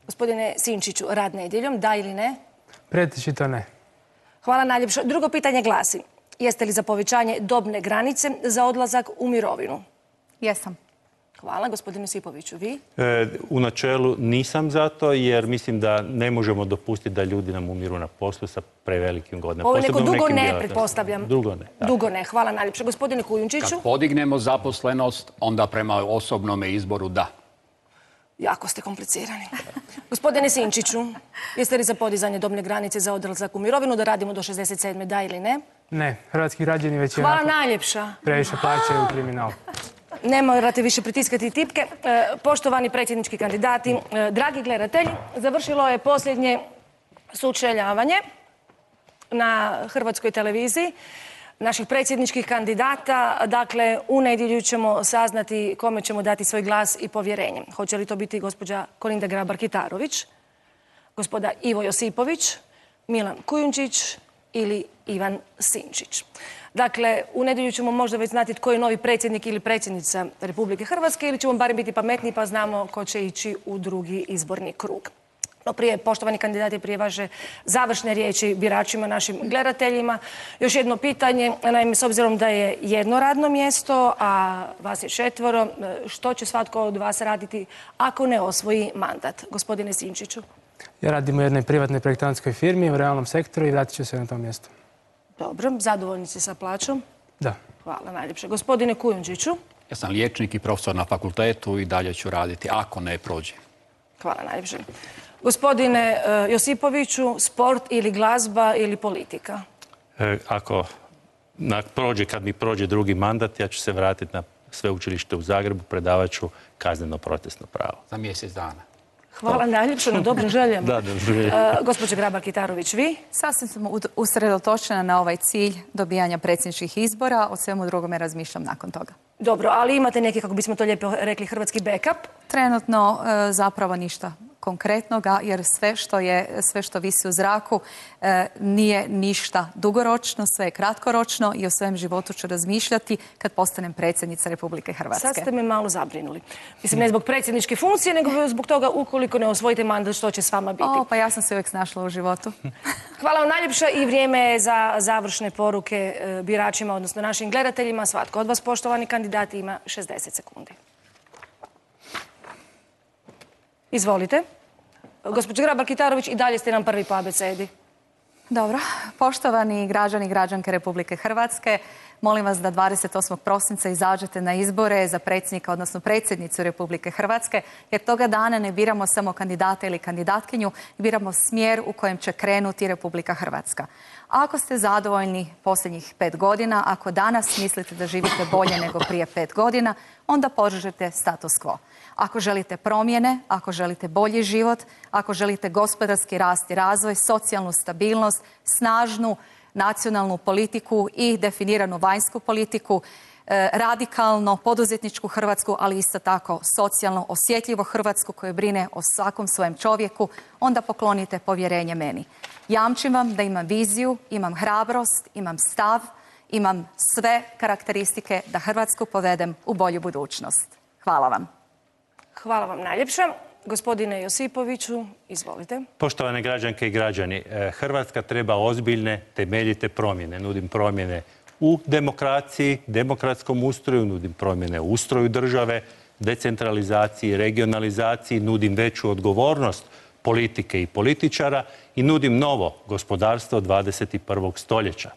Gospodine Sinčiću, rad nedjeljom, da ili ne? Pretežito ne. Hvala najljepša. Drugo pitanje glasi. Jeste li za povećanje dobne granice za odlazak u mirovinu? Jesam. Hvala. Gospodine Josipoviću, vi? U načelu nisam za to, jer mislim da ne možemo dopustiti da ljudi nam umiru na poslu sa prevelikim godinama. Ovo je neko dugo ne, pretpostavljam. Dugo ne. Dugo ne. Hvala najljepše. Gospodine Kujundžiću? Kad podignemo zaposlenost, onda prema osobnome izboru da. Jako ste komplicirani. Gospodine Sinčiću, jeste li za podizanje dobne granice za odlazak u mirovinu, da radimo do 67. da ili ne? Ne. Hrvatski građani već Hvala najljepša. Previše plaćaju kriminal. Ne morate više pritiskati tipke. Poštovani predsjednički kandidati, dragi gledatelji, završilo je posljednje sučeljavanje na Hrvatskoj televiziji naših predsjedničkih kandidata. Dakle, u nedjelju ćemo saznati kome ćemo dati svoj glas i povjerenje. Hoće li to biti gospođa Kolinda Grabar-Kitarović, gospoda Ivo Josipović, Milan Kujundžić ili Ivan Sinčić. Dakle, u nedjelju ćemo možda već znati tko je novi predsjednik ili predsjednica Republike Hrvatske ili ćemo barem biti pametniji pa znamo ko će ići u drugi izborni krug. No prije, poštovani kandidati, prije vaše završne riječi biračima, našim gledateljima, još jedno pitanje. Naime, s obzirom da je jedno radno mjesto, a vas je 4, što će svatko od vas raditi ako ne osvoji mandat? Gospodine Sinčiću. Ja radim u jednoj privatnoj projektantskoj firmi u realnom sektoru i vratit ću se na to mjesto. Dobro, zadovoljni ste sa plaćom? Da. Hvala najljepše. Gospodine Kujundžiću. Ja sam liječnik i profesor na fakultetu i dalje ću raditi, ako ne prođe. Hvala najljepše. Gospodine Josipoviću, sport ili glazba ili politika? Kad mi prođe drugi mandat, ja ću se vratiti na sveučilište u Zagrebu, predavat ću kazneno procesno pravo. Za mjesec dana. Hvala najljepše na dobrim željama. Da, dobrim željama. Gospođo Grabar-Kitarović, vi? Sasvim sam usredotočena na ovaj cilj dobijanja predsjedničkih izbora. O svemu drugome razmišljam nakon toga. Dobro, ali imate neki, kako bismo to lijepo rekli, hrvatski backup? Trenutno zapravo ništa konkretnoga, jer sve što visi u zraku nije ništa dugoročno, sve je kratkoročno i o svojem životu ću razmišljati kad postanem predsjednica Republike Hrvatske. Sad ste me malo zabrinuli. Mislim, ne zbog predsjedničke funkcije, nego zbog toga ukoliko ne osvojite mandat, što će s vama biti. Pa ja sam se uvijek snašla u životu. Hvala vam najljepša i vrijeme je za završne poruke biračima, odnosno našim gledateljima. Svatko od vas, poštovani kandidati, ima 60 sekundi. Izvolite. Gospođo Grabar-Kitarović, i dalje ste nam prvi po abecedi. Dobro. Poštovani građani i građanke Republike Hrvatske, molim vas da 28. prosinca izađete na izbore za predsjednika, odnosno predsjednicu Republike Hrvatske, jer toga dana ne biramo samo kandidata ili kandidatkinju, biramo smjer u kojem će krenuti Republika Hrvatska. Ako ste zadovoljni posljednjih 5 godina, ako danas mislite da živite bolje nego prije 5 godina, onda podržite status quo. Ako želite promjene, ako želite bolji život, ako želite gospodarski rast i razvoj, socijalnu stabilnost, snažnu nacionalnu politiku i definiranu vanjsku politiku, radikalno poduzetničku Hrvatsku, ali isto tako socijalno osjetljivo Hrvatsku koju brine o svakom svojem čovjeku, onda poklonite povjerenje meni. Jamčim vam da imam viziju, imam hrabrost, imam stav, imam sve karakteristike da Hrvatsku povedem u bolju budućnost. Hvala vam. Hvala vam najljepša. Gospodine Josipoviću, izvolite. Poštovane građanke i građani, Hrvatska treba ozbiljne, temeljite promjene. Nudim promjene u demokraciji, demokratskom ustroju, nudim promjene u ustroju države, decentralizaciji, regionalizaciji, nudim veću odgovornost politike i političara i nudim novo gospodarstvo 21. stoljeća.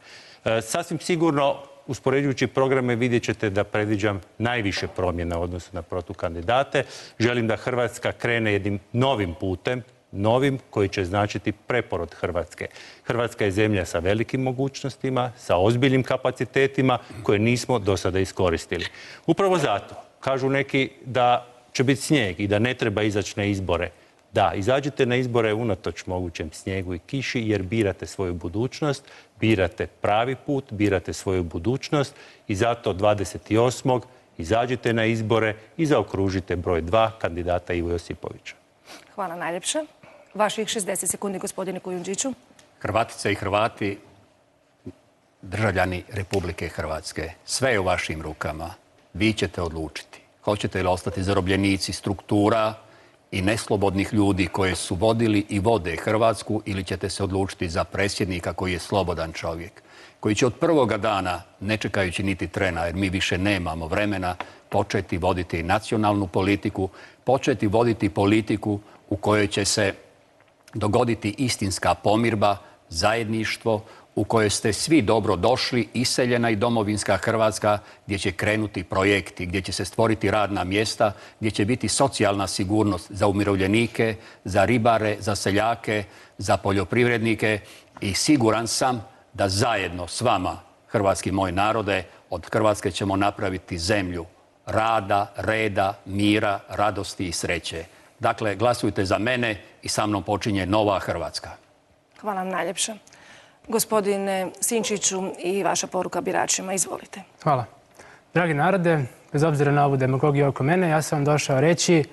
Sasvim sigurno, uspoređujući programe, vidjet ćete da predviđam najviše promjena u odnosu na protukandidate. Želim da Hrvatska krene jednim novim putem, novim koji će značiti preporod Hrvatske. Hrvatska je zemlja sa velikim mogućnostima, sa ozbiljnim kapacitetima koje nismo do sada iskoristili. Upravo zato kažu neki da će biti snijeg i da ne treba izaći na izbore. Da, izađite na izbore unatoč mogućem snijegu i kiši jer birate svoju budućnost, birate pravi put, birate svoju budućnost i zato 28. izađite na izbore i zaokružite broj 2 kandidata Ivo Josipovića. Hvala najljepše. Vaših 60 sekundi, gospodine Kujundžiću. Hrvatice i Hrvati, državljani Republike Hrvatske, sve je u vašim rukama. Vi ćete odlučiti. Hoćete li ostati zarobljenici struktura i neslobodnih ljudi koje su vodili i vode Hrvatsku ili ćete se odlučiti za predsjednika koji je slobodan čovjek, koji će od prvoga dana, ne čekajući niti trena, jer mi više nemamo vremena, početi voditi nacionalnu politiku, početi voditi politiku u kojoj će se dogoditi istinska pomirba, zajedništvo, u kojoj ste svi dobro došli, iseljena i domovinska Hrvatska, gdje će krenuti projekti, gdje će se stvoriti radna mjesta, gdje će biti socijalna sigurnost za umirovljenike, za ribare, za seljake, za poljoprivrednike i siguran sam da zajedno s vama, hrvatski moj narode, od Hrvatske ćemo napraviti zemlju rada, reda, mira, radosti i sreće. Dakle, glasujte za mene i sa mnom počinje nova Hrvatska. Hvala vam najljepše. Gospodine Sinčiću i vaša poruka biračima, izvolite. Hvala. Dragi narode, bez obzira na ovu demagogiju oko mene, ja sam vam došao reći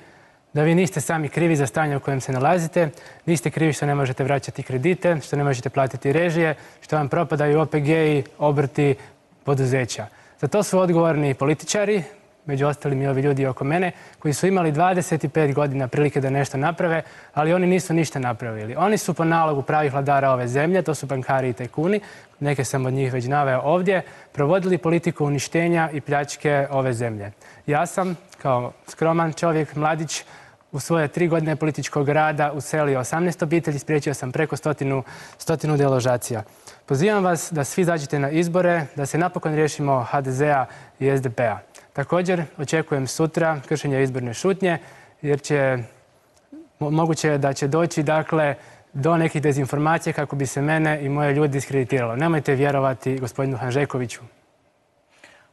da vi niste sami krivi za stanje u kojem se nalazite, niste krivi što ne možete vraćati kredite, što ne možete platiti režije, što vam propadaju OPG-i, obrti, poduzeća. Za to su odgovorni političari, među ostalim i ovi ljudi oko mene, koji su imali 25 godina prilike da nešto naprave, ali oni nisu ništa napravili. Oni su po nalogu pravih vladara ove zemlje, to su bankari i tajkuni, neke sam od njih već naveo ovdje, provodili politiku uništenja i pljačke ove zemlje. Ja sam, kao skroman čovjek, mladić, u svoje 3 godine političkog rada uselio 18 obitelji, spriječio sam preko stotinu deložacija. Pozivam vas da svi izađete na izbore, da se napokon riješimo HDZ-a i SDP-a. Također, očekujem sutra kršenje izborne šutnje, jer moguće je da će doći do nekih dezinformacija kako bi se mene i moje ljude diskreditiralo. Nemojte vjerovati gospodinu Hanžekoviću.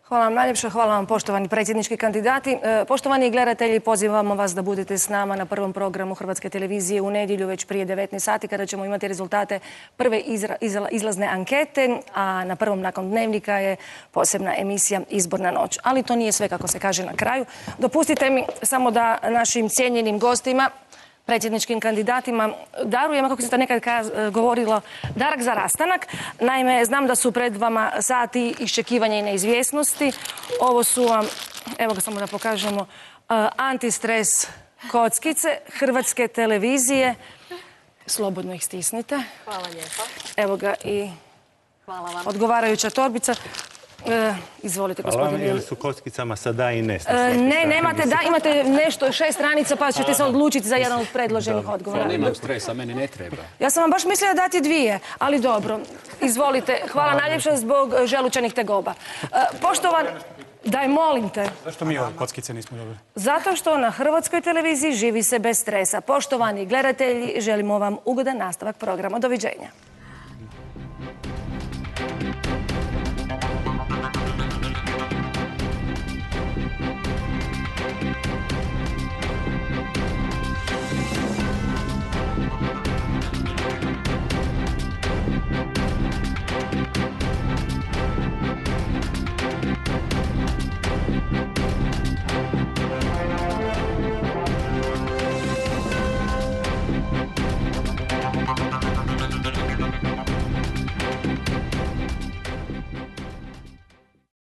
Hvala vam najljepše, hvala vam poštovani predsjednički kandidati. Poštovani gledatelji, pozivamo vas da budete s nama na prvom programu Hrvatske televizije u nedjelju već prije 19 sati kada ćemo imati rezultate prve izlazne ankete, a na prvom nakon dnevnika je posebna emisija Izborna noć. Ali to nije sve, kako se kaže, na kraju. Dopustite mi samo da našim cijenjenim gostima, predsjedničkim kandidatima darujemo, kako se to nekad govorilo, darak za rastanak. Naime, znam da su pred vama sati iščekivanja i neizvjesnosti. Ovo su vam, evo ga samo da pokažemo, antistres kockice Hrvatske televizije. Slobodno ih stisnite. Hvala lijepa. Evo ga i odgovarajuća torbica. Izvolite, gospodine. Hvala vam, ili su kockicama sa da i ne? Ne, nemate da, imate nešto 6 stranica pa ćete se odlučiti za jedan od predloženih odgovora. Nemam stresa, meni ne treba. Ja sam vam baš mislila dati 2, ali dobro. Izvolite, hvala najljepše zbog želučanih tegoba. Poštovan, daj molim te. Zašto mi ove kockice nismo dobili? Zato što na Hrvatskoj televiziji živi se bez stresa. Poštovani gledatelji, želimo vam ugodan nastavak programa. Doviđenja.